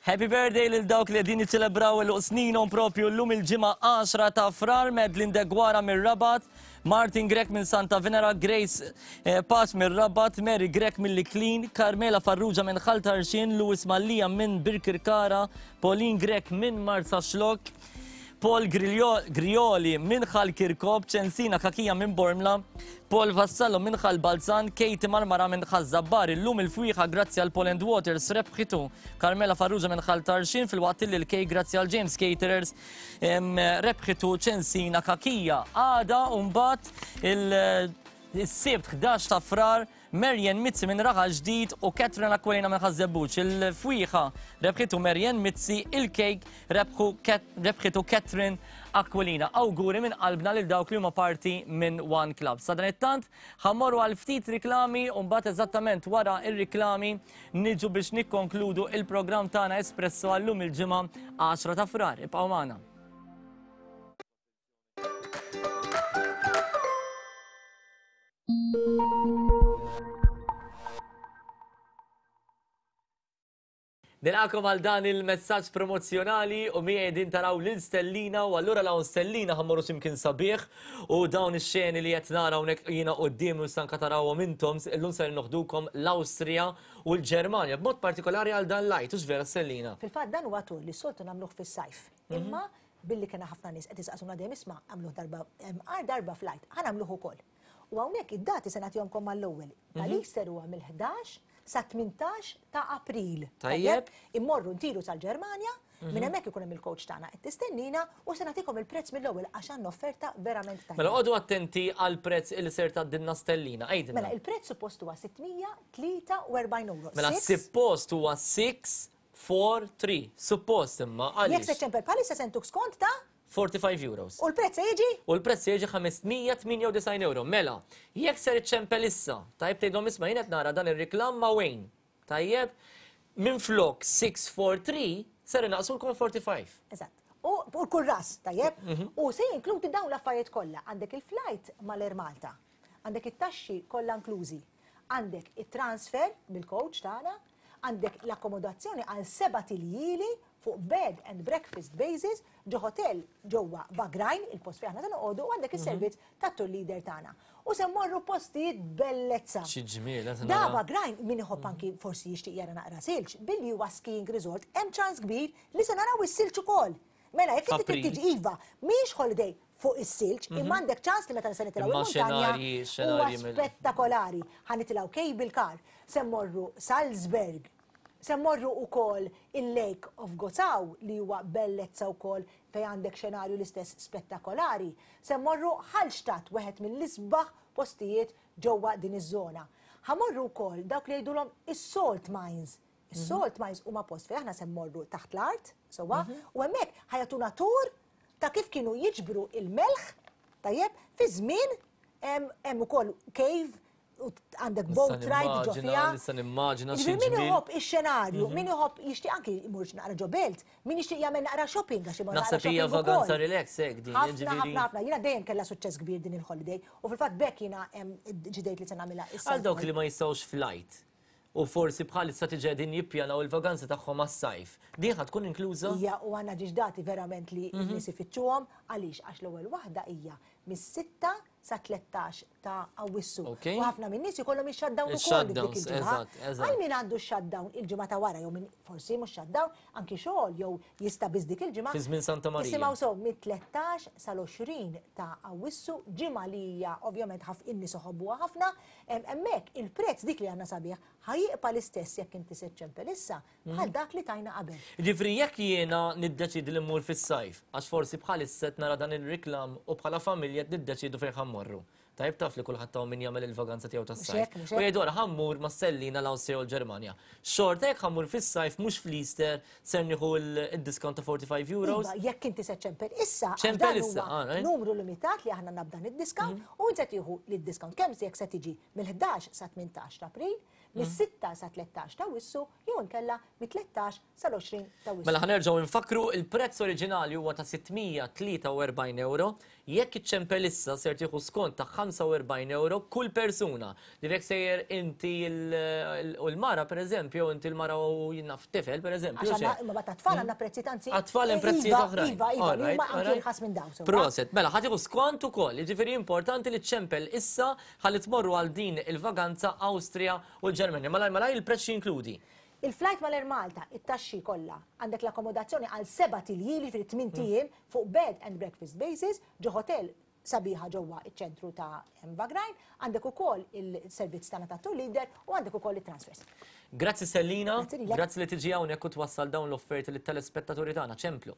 Happy birthday lil dawk li qegħdin jiċċelebraw il sninhom propju llum il-ġimgħa għaxra ta' Frar, Medlin Degwara mir-Rabat, Martin Grek minn Santa Venera, Grace eh, Pace mir-Rabat, Mary Grek mill-Iklin, Carmela Farrugia minn Ħal Tarxien, Louis Mallia minn Birkirkara, Pauline Grek minn Marsaxlokk, Paul Grioli minn Ħal Kirkop, Ċensina Kakija minn Bormla, Paul Vassallo minn Ħal Balzan, Katie Marmara minn Ħal Zabbar, illum il-fwieħa grazzi għal Poland Waters rebħitu Carmela Farrugia minn Ħal Tarxien filwaqt li l-kejk grazzi għal James Caterers rebħitu Ċensina Kakija. Għada mbagħad il-Sibt ħdax ta' Frar Marian Mizzi minn Raħal Ġdid u Catherine Aquilina minn Ħaż-Żebbuġ. Il-fwieħa rebħitu Marian Mizzi, il-kejk rebħitu Catherine Aquilina. Awguri minn qalbna lil dawk li huma parti minn One Club. Sa dan it-tant ħa mmorru għal ftit riklami u mbagħad eżattament wara ir-riklami niġu biex nikkonkludu il-programm tagħna Espresso għallum il-ġimgħa għaxra ta' Frar. Ibqgħu magħna. Nilqakom għal dan il-messaġġ promozzjonali u miegħi qegħdin taraw lil Stellina u allura lawn Stellina ħa mmorru x'imkien sabiħ u dawn ix-xeni li qed nara hawnhekk jiena quddiem u stanka tarawhom intom illum ser noħdukom l-Awstrija u l-Ġermanja b'mod partikolari għal dan l-Għid, hux vera Stellina? Fil-fatt dan huwa tur li soltu nagħmluh fis-sajf. Mhm. Imma billi kena ħafna nies qed isaqsuna dejjem isma' għamluh darba għar darba fl-Għid, ħa nagħmluh ukoll. U hawnhekk id-dati se nagħtihomkom mal-ewwel. Mhm. Tal-Easter huwa mill-ħdax sa tmintax ta' April. Tajjeb. Immorru ntiru sal-Ġermanja, Mhm. minn hemmhekk ikun hemm il-coach tagħna qed tistennina u se nagħtikom il-prezz mill-ewwel għax għandna offerta verament tajba. Mela qogħdu attenti għal prezz il ser tgħaddilna Stellina. Għidilna. Mela il-prezz suppost huwa sitt mija tlieta u erbgħin euro. Mela Six- suppost huwa sitt four three. Suppost imma Jekk se għaliex? ċempel bħalissa se ntuk skont ta' forty-five euros. U l-prezz se jiġi? U l-prezz se jiġi ħames mija tmienja u disgħin euro. Mela, jekk ser iċċempel issa, tajjeb, tgħidhom isma' jien qed nara dan ir-reklam ma' Wayne. Tajjeb, minn flok six four three ser inaqsulkom forty-five. Eżatt. U u kull ras, tajjeb? Mhm. U se jinkludi dawn l-affarijiet kollha. Għandek il-flight mal-Air Malta, għandek it-taxxi kollha inklużi, għandek it-transfer bil-coach tagħna, għandek l-akkomodazzjoni għal sebat iljieli fuq bed and breakfast basis ġo hotel ġewwa Wagrain, il-post fejn aħna se noqogħdu, u għandek is-servizz tat-tour leader tagħna. U se mmorru postijiet bellezza. Xi ġmiel, qed Da nara. Wagrain, min iħobb anki forsi jixtieq jara naqra silġ, billi huwa skiing resort, hemm ċans kbir li se naraw is-silġ ukoll. Mela, jekk inti F'April. tiġi iva, mhix holiday fuq is-silġ, Mhm. imma għandek ċans li meta se nitilgħu Imma il-muntanja xenarji, huwa xenarji mill- spettakolari. Ħa nitilgħu cable car, se mmorru Salzburg, se mmorru ukoll il-Lake of Gossau li huwa bellezza wkoll fejn għandek xenarju l-istess spettakolari. Se mmorru Hallstatt, wieħed mill-isbaħ postijiet ġewwa din iż-żona. Ħa mmorru wkoll dawk li jgħidulhom is-salt mines. Is-salt mines huma post fejn aħna se mmorru taħt l-art, sewwa, u hemmhekk ħa jagħtuna tour ta' kif kienu jiġbru il-melħ, tajjeb, fi żmien hemm hemm ukoll cave u għandek boat ride ġo fiha. Nista' nimmaġina xi Ġifieri min ġmiel. iħobb ix-xenarju, Mhm. min iħobb jixtieq anki jmur naqra ġo belt, min jixtieq jagħmel naqra shopping għax imur naqra Naħseb hija shopping ukoll. vaganza relax hekk din, Ħafna, ġifieri. ħafna, ħafna. Jiena dejjem kellha suċċess kbir din il-holiday u fil-fatt bekk jiena em, ġidejt li se nagħmilha issa. Għal dawk li ma jistgħux flight u forsi bħalissa tiġi qegħdin jippjanaw il-vaganza tagħhom għas-sajf. Din ħa tkun inkluża? Hija u għandna ġiġ dati verament li Mhm. n-nies ifittxuhom. Għaliex? Għax l-ewwel waħda hija mis-sitta sa tlettax ta' Awwissu. Ok. U ħafna minn nies ikollhom ix-shutdown ukoll dik Il-shutdowns, il-ġimgħa. eżatt, eżatt. Għal min għandu x-shutdown il-ġimgħa ta' wara jew min forsi mhux shutdown, anki xogħol jew jista' biss dik il-ġimgħa. Fi żmien Santa Marija. Isimgħu sew, mit-tlettax sal-għoxrin ta' Awwissu, ġimgħa li hija ovvjament ħaf in-nies iħobbuha ħafna, em, hemmhekk il-prezz dik li għandna sabiħ ħa jibqa' l-istess jekk inti se ċċempel issa bħal dak li tajna qabel. Ġifieri jekk jiena niddeċidi li mmur fis-sajf, għax forsi bħalissa qed nara dan il-riklam u bħala familja qed niddeċidu fejn ħa mmorru. Tajb, taf li kulħadd hawn min jagħmel il-vaganza tiegħu tas-sajf. hekk, mhux U hekk. jgħidu ħa mmur ma' Sellina l-Awstrija u l-Ġermanja. Xorta jekk ħa mmur fis-sajf mhux fl-Easter ser nieħu il-discount ta' forty-five euros. Iva, jekk inti se ċempel issa, għax ċempel dan issa, huwa ah, right. numru limitat li aħna nabdan id-discount u inti se tieħu lid-discount kemm se jekk se tiġi mill-ħdax sa tmintax ta' April, mis-sitta sa tlettax ta' Awwissu jew inkella mit-tlettax sal-għoxrin ta' Awwissu. Mela ħa nerġgħu nfakru, il-prezz oriġinali huwa ta' sitt mija tlieta u erbgħin euro. Jekk iċċempel issa ser tieħu skont ta' ħamsa u erbgħin euro kull persuna. Li jekk sejjer inti il- u l-mara pereżempju, inti l-mara u jiena tifel pereżempju. Għax għandna xejn. imma ta' tfal għandna prezzijiet anzi. Għat-tfal hemm eh, prezzijiet iva, oħrajn. Iva, iva, li Alright, huma anki alright. irħas minn dawn. Sewwa. Proset, mela ħa tieħu skont ukoll, jiġifieri importanti li ċempel issa ħalli tmorru għal din il-vaganza Awstrija u l-Ġermanja. Malaj malaj, il-prezz jinkludi. Il-flight mal-Air Malta, it-taxxi kollha, għandek l-akkomodazzjoni għal sebat iljieli fil tmien ijiem fuq bed and breakfast basis ġo hotel sabiħa ġewwa iċ-ċentru ta' Wagrain, għandek ukoll il-servizz tagħna ta' tour leader u għandek ukoll it-transfers. Grazzi Sellina, Grazzi lilek. Grazzi li tiġi hawnhekk u twassal dawn l-offerti lit-telespettaturi tagħna. Ċemplu.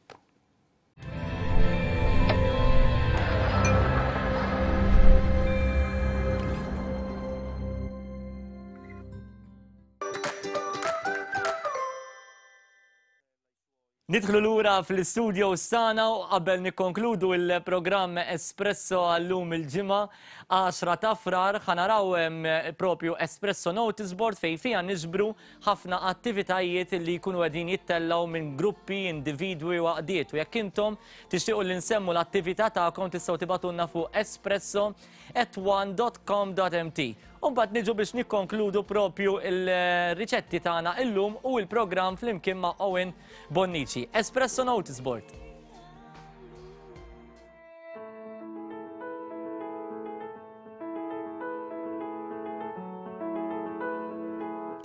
Nidħlu lura fl-studio sana u qabel nikkonkludu il-programm Espresso għallum il-ġimgħa għaxra ta' Frar, ħa naraw em, propju Espresso Notice Board fejn fija niġbru ħafna attivitajiet li jkunu qegħdin jittellaw minn gruppi, individwi u għaqdiet. U jekk intom tixtiequ li nsemmu l-attività tagħkom tistgħu tibagħtulna fuq espresso at one dot com dot M T. Umbagħad niġu biex nikkonkludu propju il-riċetti tagħna illum u il-programm flimkien ma' Owen Bonnici. Espresso Notice Board.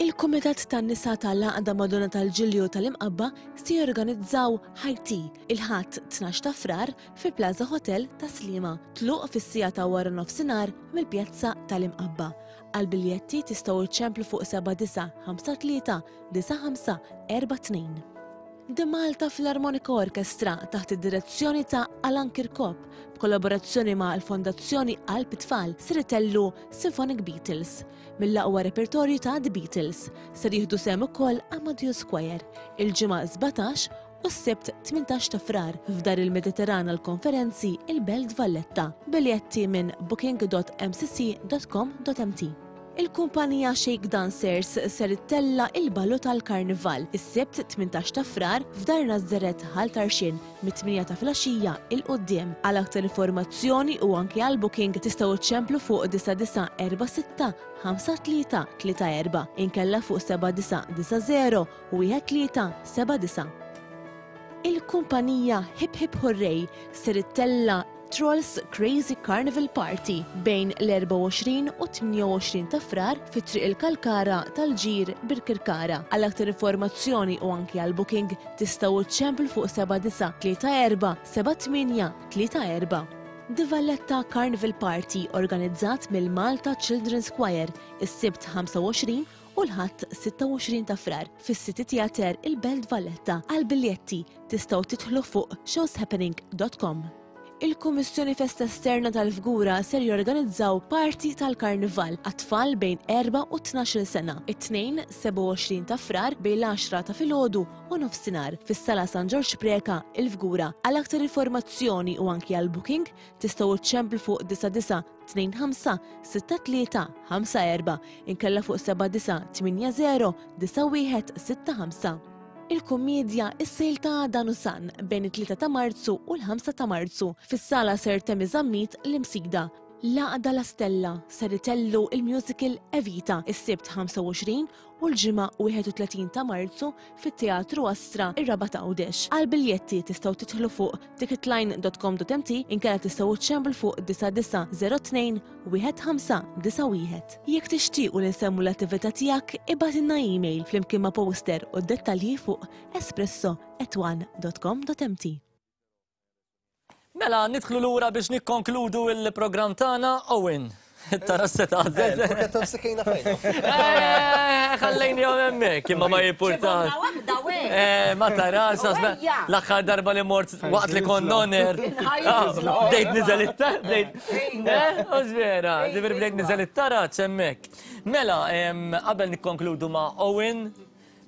Il-Kumitat tan-Nisa tal-Għaqda Madonna tal-Ġilju tal-Imqabba se jorganizzaw High Tea il-Ħadd tnax ta' Frar fi Plaza Hotel ta' Sliema. Tluq fis-siegħa ta' wara nofsinhar mill-Pjazza tal-Imqabba. Għal biljetti tistgħu iċċemplu fuq seba' disa' ħamsa tlieta disa' ħamsa erba' tnejn. The Malta Philharmonic Orchestra taħt id-direzzjoni ta' Alan Kirkop b'kollaborazzjoni ma' l-Fondazzjoni Qalb Tfal ser itellu Symphonic Beatles mill-aqwa repertorju ta' The Beatles. Ser jieħdu sehem ukoll Amadeus Choir il-ġimgħa sbatax u u s-Sibt tmintax ta' Frar f'Dar il-Mediterran għall-Konferenzi il-Belt Valletta. Biljetti minn booking dot m c c dot com dot m t. Il-kumpanija Shake Dancers ser ittella' il-ballu tal-Karnival is-Sibt tmintax ta' Frar f'Dar Nazzareth Ħal Tarxien mit-tmienja ta' filgħaxija il quddiem. Għal aktar informazzjoni u anke għal booking tistgħu ċċemplu fuq disa' disa' erba' sitta ħamsa tlieta tlieta erba' inkella fuq seba' disa' disa' zero wieħed tlieta seba' disa'. Il-kumpanija Hip Hip Hooray ser ittella' Trolls Crazy Carnival Party bejn l-erbgħa u għoxrin u tmienja u għoxrin ta' Frar fi Triq il-Kalkara tal-Ġir Birkirkara. Għal aktar informazzjoni u anki għal booking tistgħu ċċemplu fuq seba' disa' tlieta erba' seba' tmienja tlieta erba'. The Valletta Carnival Party organizzat mill-Malta Children's Choir is-Sibt ħamsa u għoxrin u l-Ħadd sitta u għoxrin ta' Frar fis-City Theatre il-Belt Valletta. Għal biljetti tistgħu tidħlu fuq shows happening dot com. Il-Kummissjoni Festa Esterna tal-Fgura ser jorganizzaw party tal-Karnival għat-tfal bejn erba' u tnax-il sena, it-Tnejn sebgħa u għoxrin ta' Frar bejn l-għaxra ta' filgħodu u nofsinhar fis-Sala San Ġorġ Preca il-Fgura. Għal aktar informazzjoni u anki għal booking tistgħu ċċemplu fuq disa' disa' tnejn ħamsa sitta tlieta ħamsa erba' inkella fuq seba' disa' tmienja zero disa' wieħed sitta ħamsa. Il-kummedja Is-Sejl ta' Adan u San bejn it-tlieta ta' Marzu u l-ħamsa ta' Marzu fis-sala Sir Temi Zammit l-Imsida. L-Għaqda La Stella ser itellu il-musical Evita is-Sibt ħamsa u għoxrin u l-Ġimgħa wieħed u tletin ta' Marzu fit-Teatru Astra ir-Rabat Għawdex. Għal biljetti tistgħu tidħlu fuq ticketline dot com dot m t inkella tistgħu ċċemplu fuq disa' disa' zero tnejn wieħed ħamsa disa' wieħed. Jekk tixtiequ li nsemmu l-attività tiegħek, ibgħatilna email flimkien ma' poster u d-dettalji fuq espresso at one dot com dot m t. Mela, nidħlu lura biex nikkonkludu il-programm tagħna, Owen. Tara se tagħżel. Eh, il-forketta msikejna fejn. Eh, ħallejni jom hemmhekk, imma ma jimpurtax. Ċibonna waħda, weh. Eh, ma tarax, Ejja. għax l-aħħar darba li mort waqt li kont noner. Ħajja. Ah, bdejt niżel it-taraġ, bdejt. Eh, u vera, ġifieri bdejt niżel it-taraġ hemmhekk. Mela, em, qabel nikkonkludu ma' Owen,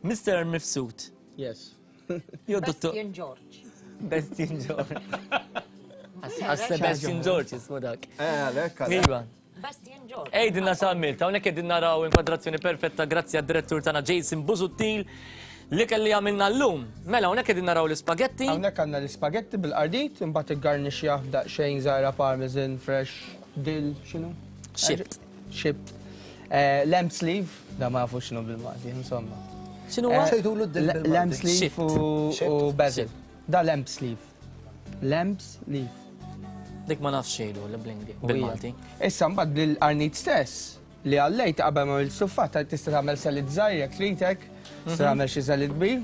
Mister Mifsud. Yes. Jo, dottor. Bastien George. Bastien George. Għas Sebastian George jismu dak. Eh, għalek, għalek. Iva. Bastien George. Ejdinna x'għamilt, hawnhekk qegħdin naraw inkwadrazzjoni perfetta grazzi għad-direttur tagħna Jason Busuttil li kelli għamilna llum. Mela hawnhekk qegħdin naraw l-ispagetti. Hawnhekk għandna l-ispagetti bil-qardit, imbagħad iggarnixxjah b'daqsxejn żgħira parmesan fresh dill, x'inhu? Xibt. Xibt. Eh, lamb sleeve, da ma nafux x'inhu bil-Malti, insomma. X'inhu Eh, huwa? Xejtulu d-dill bil-Malti? Lamb sleeve Xibt. u- Xibt. u basil. Da lamb sleeve. Lamb sleeve. Dik ma nafx xejdu l-blingi bil-Malti. Issa mbagħad bil-qarnit stess li għallejt qabel ma l-suffat tista' tagħmel salad żgħir jekk tridek, tista' Mhm. tagħmel xi salad kbir.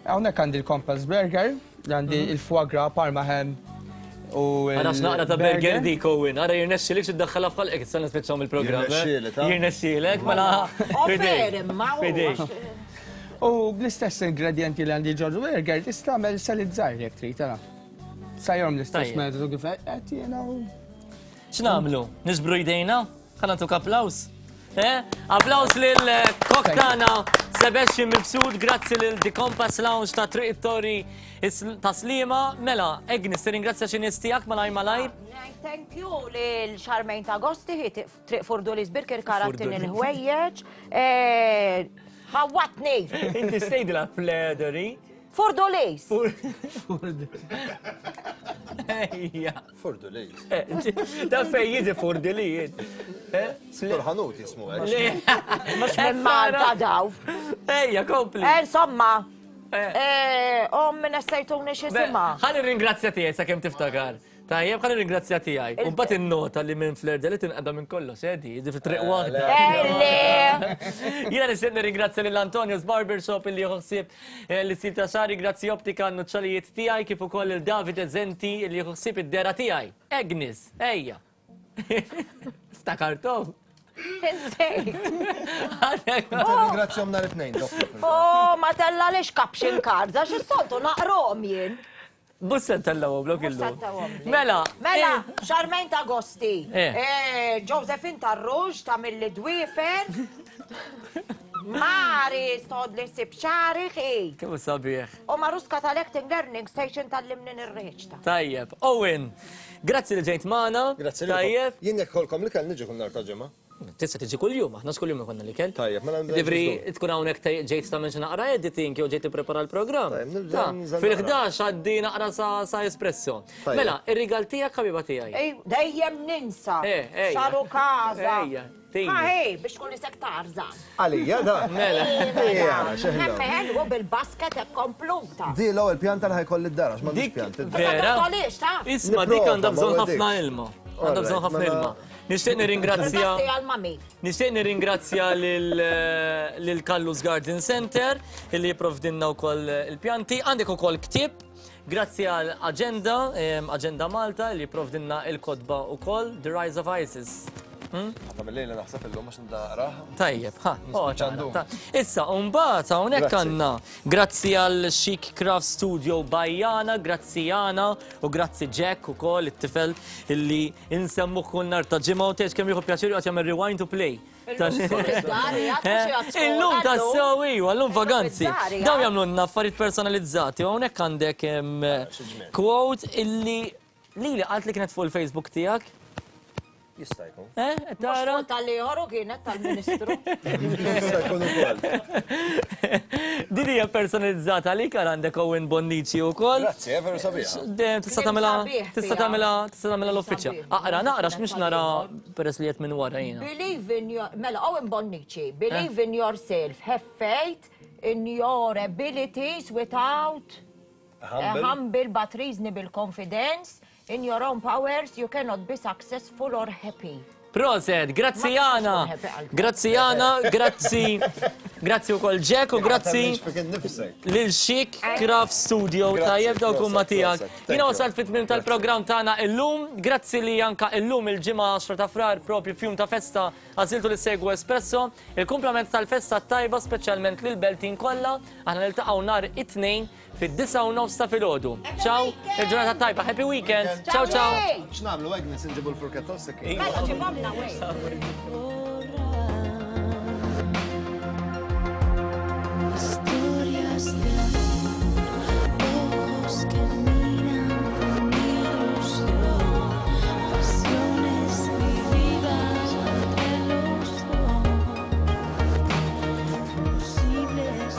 Hawnhekk għandi l-Compass Burger, għandi Mhm. il-foie gras, Parma ham u Għara x'naqra ta' burger dik, Owen, ara jirnexxilek xi ddaħħalha f'ħalqek, issa nispiċċaw mill-programm, eh? Jirnexxielek, ha? Jirnexxielek, mela Offer, imma u Fidejk. U bl-istess ingredienti li għandi ġol burger tista' tagħmel salad żgħir jekk trid, ara. Sajjom l-istess Tajjeb. metodu kif qed jiena u X'nagħmlu? Niġbru jdejna? Ħa nagħtuk applaws. Eh? Applaws lil kok tagħna Sebastian Mifsud, grazzi lil The Compass Lounge ta' Triq it-Torri ta' Sliema. Mela, Agnes, tirringrazzja xi nies tiegħek malajr malajr. Thank you lil Charmaine ta' Agosti, hi Triq Furdulis Birkirkara tin Furdulis. il-ħwejjeġ. Eh, ħawatni. Inti stejdilha Flederi. Furdulis. Ejja. Furdulis. Eh, da fej jiġi Furdulis. Eh? Turħanut jismu hekk. Le. Mhux minn Malta daw. Ejja, kompli. Eh, insomma. Eh, om minn essejtuni x'isimha. Ħalli ringrazzja tiegħi sakemm tiftakar. Tajjeb, ħalli ringrazzja tiegħi. U mbagħad innota li minn Fleur de Lys tinqeda minn kollox, eh, di, di fi triq waħda. Eh, Jiena nixtieq nirringrazzja lil Antonio's Barbershop illi jieħu ħsieb, eh, l-istil ta' xagħri, grazzi Optika għan-nuċċalijiet tiegħi, kif ukoll il David Eżenti illi jieħu ħsieb id-dera tiegħi. Agnes, ejja. Ftakartom? Insejt. Ringrazzjom nhar it-tnejn, doppju. Oh, ma tella lix caption cards, għax is-soltu naqrom jien. Mhux se ntellgħuhom blok illum. Mhux se ntellgħuhom. Mela, Mela, eh. Charmaine ta' Agosti. Eh. Eh, Josephine Tarruġ ta' Milli Dwiefer. Mari, stod li sib xari xi. Kemm sabiħ. U Maruska tal-Acting Learning Station tal-limni nirreċta. Tajjeb, Owen, grazzi li ġejt magħna. Grazzi Tajjeb. Jien jekk kolkom li kell niġi kull nhar ta' ġimgħa. Tista' tiġi kuljum, aħna x'kuljum ikollna l-ikel. Tajjeb, mela nibda Ġifri, tkun hawnhekk ġejt tagħmel xi naqra editing jew ġejt tipprepara l-programm. nibda nżel Fil-ħdax għaddi naqra sa espresso. Mela, ir-rigal tiegħek ħabiba tiegħi. Ej, dejjem ninsa. Eh, ejja. Xaru kaza. Ejja, tini. Ha, ej, biex tkun isek tarzan. Għalija da. Mela. Ejja, xeħlu. Hemm ħelu bil-basket hekk kompluta. Di l-ewwel pjanta li ħajkolli d-dar għax m'għandix pjanti. Vera? Tolix, ta? Isma' dik għandha bżonn Nipprova, ma ħafna wegħdikx. ilma. Għandha bżonn ħafna Alright, ilma. mela- Nixtieq nirringrazzja Grazzi għal-mami. Nixtieq nirringrazzja lil Kallus Garden Center illi jipprovdinna wkoll il-pjanti. Għandek ukoll ktieb grazzi għal Agenda, em, Agenda Malta li jipprovdinna il-kotba ukoll The Rise of ISIS. Ħata mill-lejla naħseb illum għax nibda naqraha. Tajjeb, ha, oh, Nispiċċa ta' Issa, mbagħad hawnhekk Grazzi. għandna grazzi għal Chic Craft Studio Bajjana, grazzi Jana u grazzi Jack ukoll it-tifel illi insemmuh kull nhar ta' ġimgħa u tgħid kemm jieħu pjaċir joqgħod jagħmel rewind to play. Illum ta' sew iwa, llum vaganzi. Dawn jagħmlulna affarijiet personalizzati u hawnhekk għandek em, quote illi lili qalt li kienet fuq il-Facebook tiegħek. Jista' jkun. Eh, tara? Mhux tal-ieħor u kienet tal-Ministru. Jista' jkun ukoll. Din hija personalizzata għalik għal għandek Owen Bonnici wkoll. Grazzi, eh, veru sabiħa. Dejjem tista' tagħmilha sabiħ tista' fiha. tagħmilha tista' tagħmilha l-uffiċċja. Aqra naqra x'mhix nara peress li qed minn wara jiena. Believe in your, mela, Owen Bonnici, believe in yourself, have faith in your abilities without a Humble. humble but reasonable confidence in your own powers, you cannot be successful or happy. Proset, grazzi Ma tistax Jana. tkun happy għal- Grazzi Jana, grazzi. Grazzi wkoll Jack u grazzi Fik innifsek. lil Chic Craft Studio Grazzi, tajjeb dawk huma proset, tiegħek. proset. Thank Jiena you. wasalt fit-tmiem tal-programm tagħna illum, grazzi li anka illum il-ġimgħa għaxra ta' frar propju fjum ta' festa għażiltu li segwu Espresso, il-kumplament tal-festa tajba speċjalment lil Beltin kollha, aħna niltaqgħu nhar it-tnejn fid-disgħa u nofs ta' filgħodu. Ciao, il-ġurnata tajba, happy weekend. Ciao ciao. X'nagħmlu Agnes inġibu l-furketta u s-sikkin. Mela ġibomna wej. Historias de amor, ojos que miran con ilusión, pasiones vividas entre los dos, posibles.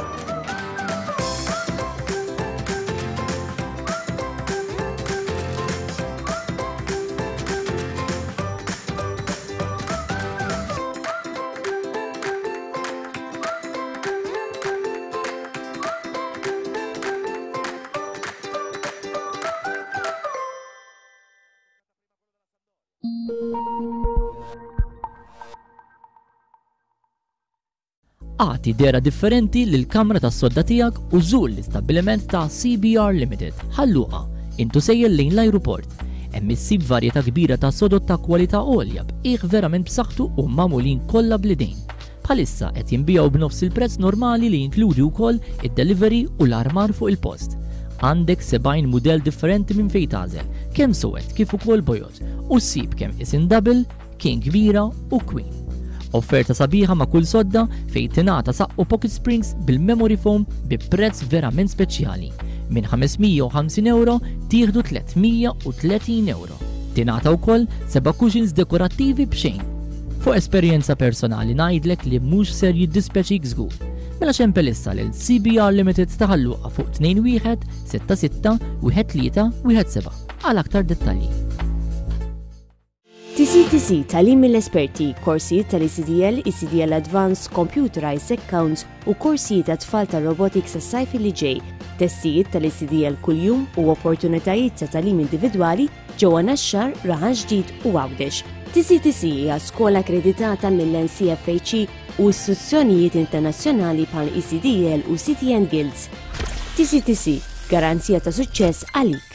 Agħti dehra differenti lil kamra tas-sodda tiegħek u żur l-istabbiliment ta' C B R Limited Ħal Luqa intu sejjer lejn l-ajruport. Hemm issib varjetà kbira ta' sodod ta' kwalità għolja b'qiegħ verament b'saħħtu u magħmulin kollha bl-idejn. Bħalissa qed jinbiegħu b'nofs il-prezz normali li jinkludi wkoll id-delivery u l-armar fuq il-post. Għandek sebgħin mudell differenti minn fejn tagħżel, kemm suwed kif ukoll bojod, u ssib kemm isin double, king kbira u queen. Offerta sabiħa ma' kull sodda fejn tingħata saqqu pocket springs bil-memory foam bi prezz verament speċjali. Minn ħames mija u ħamsin euro tieħdu tliet mija u tletin euro. Tingħata wkoll seba' cushions dekorattivi b'xejn. Fuq esperjenza personali ngħidlek li mhux ser jiddispjaċik żgur. Mela xempel issa lil C B R Limited ta' Ħal Luqa fuq tnejn wieħed sitta sitta wieħed tlieta wieħed seba' għal aktar dettalji. T C T C tagħlim mill-esperti, korsijiet tal-E C D L, E C D L Advanced, Computerized Accounts u korsijiet ta' tfal ta' robotics għas-sajf li ġej, testijiet tal-E C D L kuljum u opportunitajiet ta' tagħlim individwali ġewwa Naxxar, Raħal Ġdid u Għawdex. T C T C hija skola akkreditata mill-N C F H E u istituzzjonijiet internazzjonali bħal E C D L u C T N Guilds. T C T C, garanzija ta' suċċess għalik.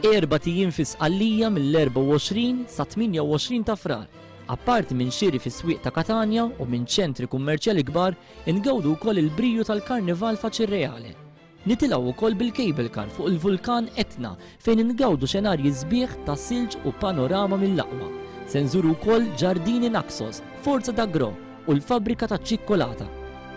Erba' tijiem fi Sqallija mill-erbgħa u għoxrin sa tmienja u għoxrin ta' Frar. Apparti minn xiri fis-swieq ta' Katanja u minn ċentri kummerċjali kbar, ingawdu wkoll il-briju tal-Karnival Faċirreale. Nitilgħu wkoll bil-cable car fuq il-vulkan Etna fejn ingawdu xenarji sbieħ ta' silġ u panorama mill-aqwa. Se nżuru wkoll Ġardini Naxos, Forza d'Agro u l-fabbrika ta' ċikkolata.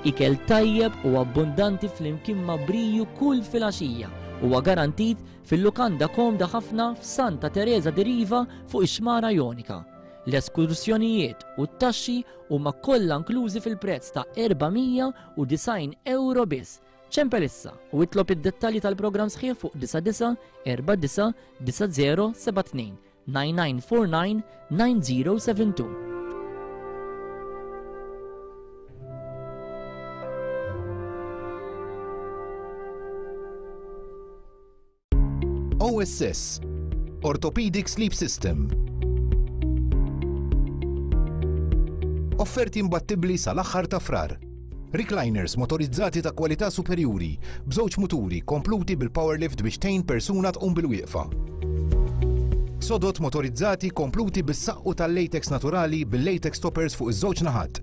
Ikel tajjeb u abbundanti flimkien ma' briju kull filgħaxija huwa garantit fil-lukanda komda ħafna f'Santa Teresa di Riva fuq ix-Xmara Jonika. L-eskursjonijiet u t-taxxi huma kollha inklużi fil-prezz ta' erba' mija u disgħin euro biss. Ċempel issa u itlob id-dettalji tal-programm sħiħ fuq disa' disa' erba' disa' disa' zero seba' tnejn nine nine four nine nine zero seven two. O S S, Orthopedic Sleep System. Offerti imbattibbli sal-aħħar ta' Frar. Recliners motorizzati ta' kwalità superjuri, b'żewġ muturi kompluti bil-power lift biex tgħin persuna tqum bil-wieqfa. Sodot motorizzati kompluti bis-saqqu tal-latex naturali bil-latex toppers fuq iż-żewġ naħat.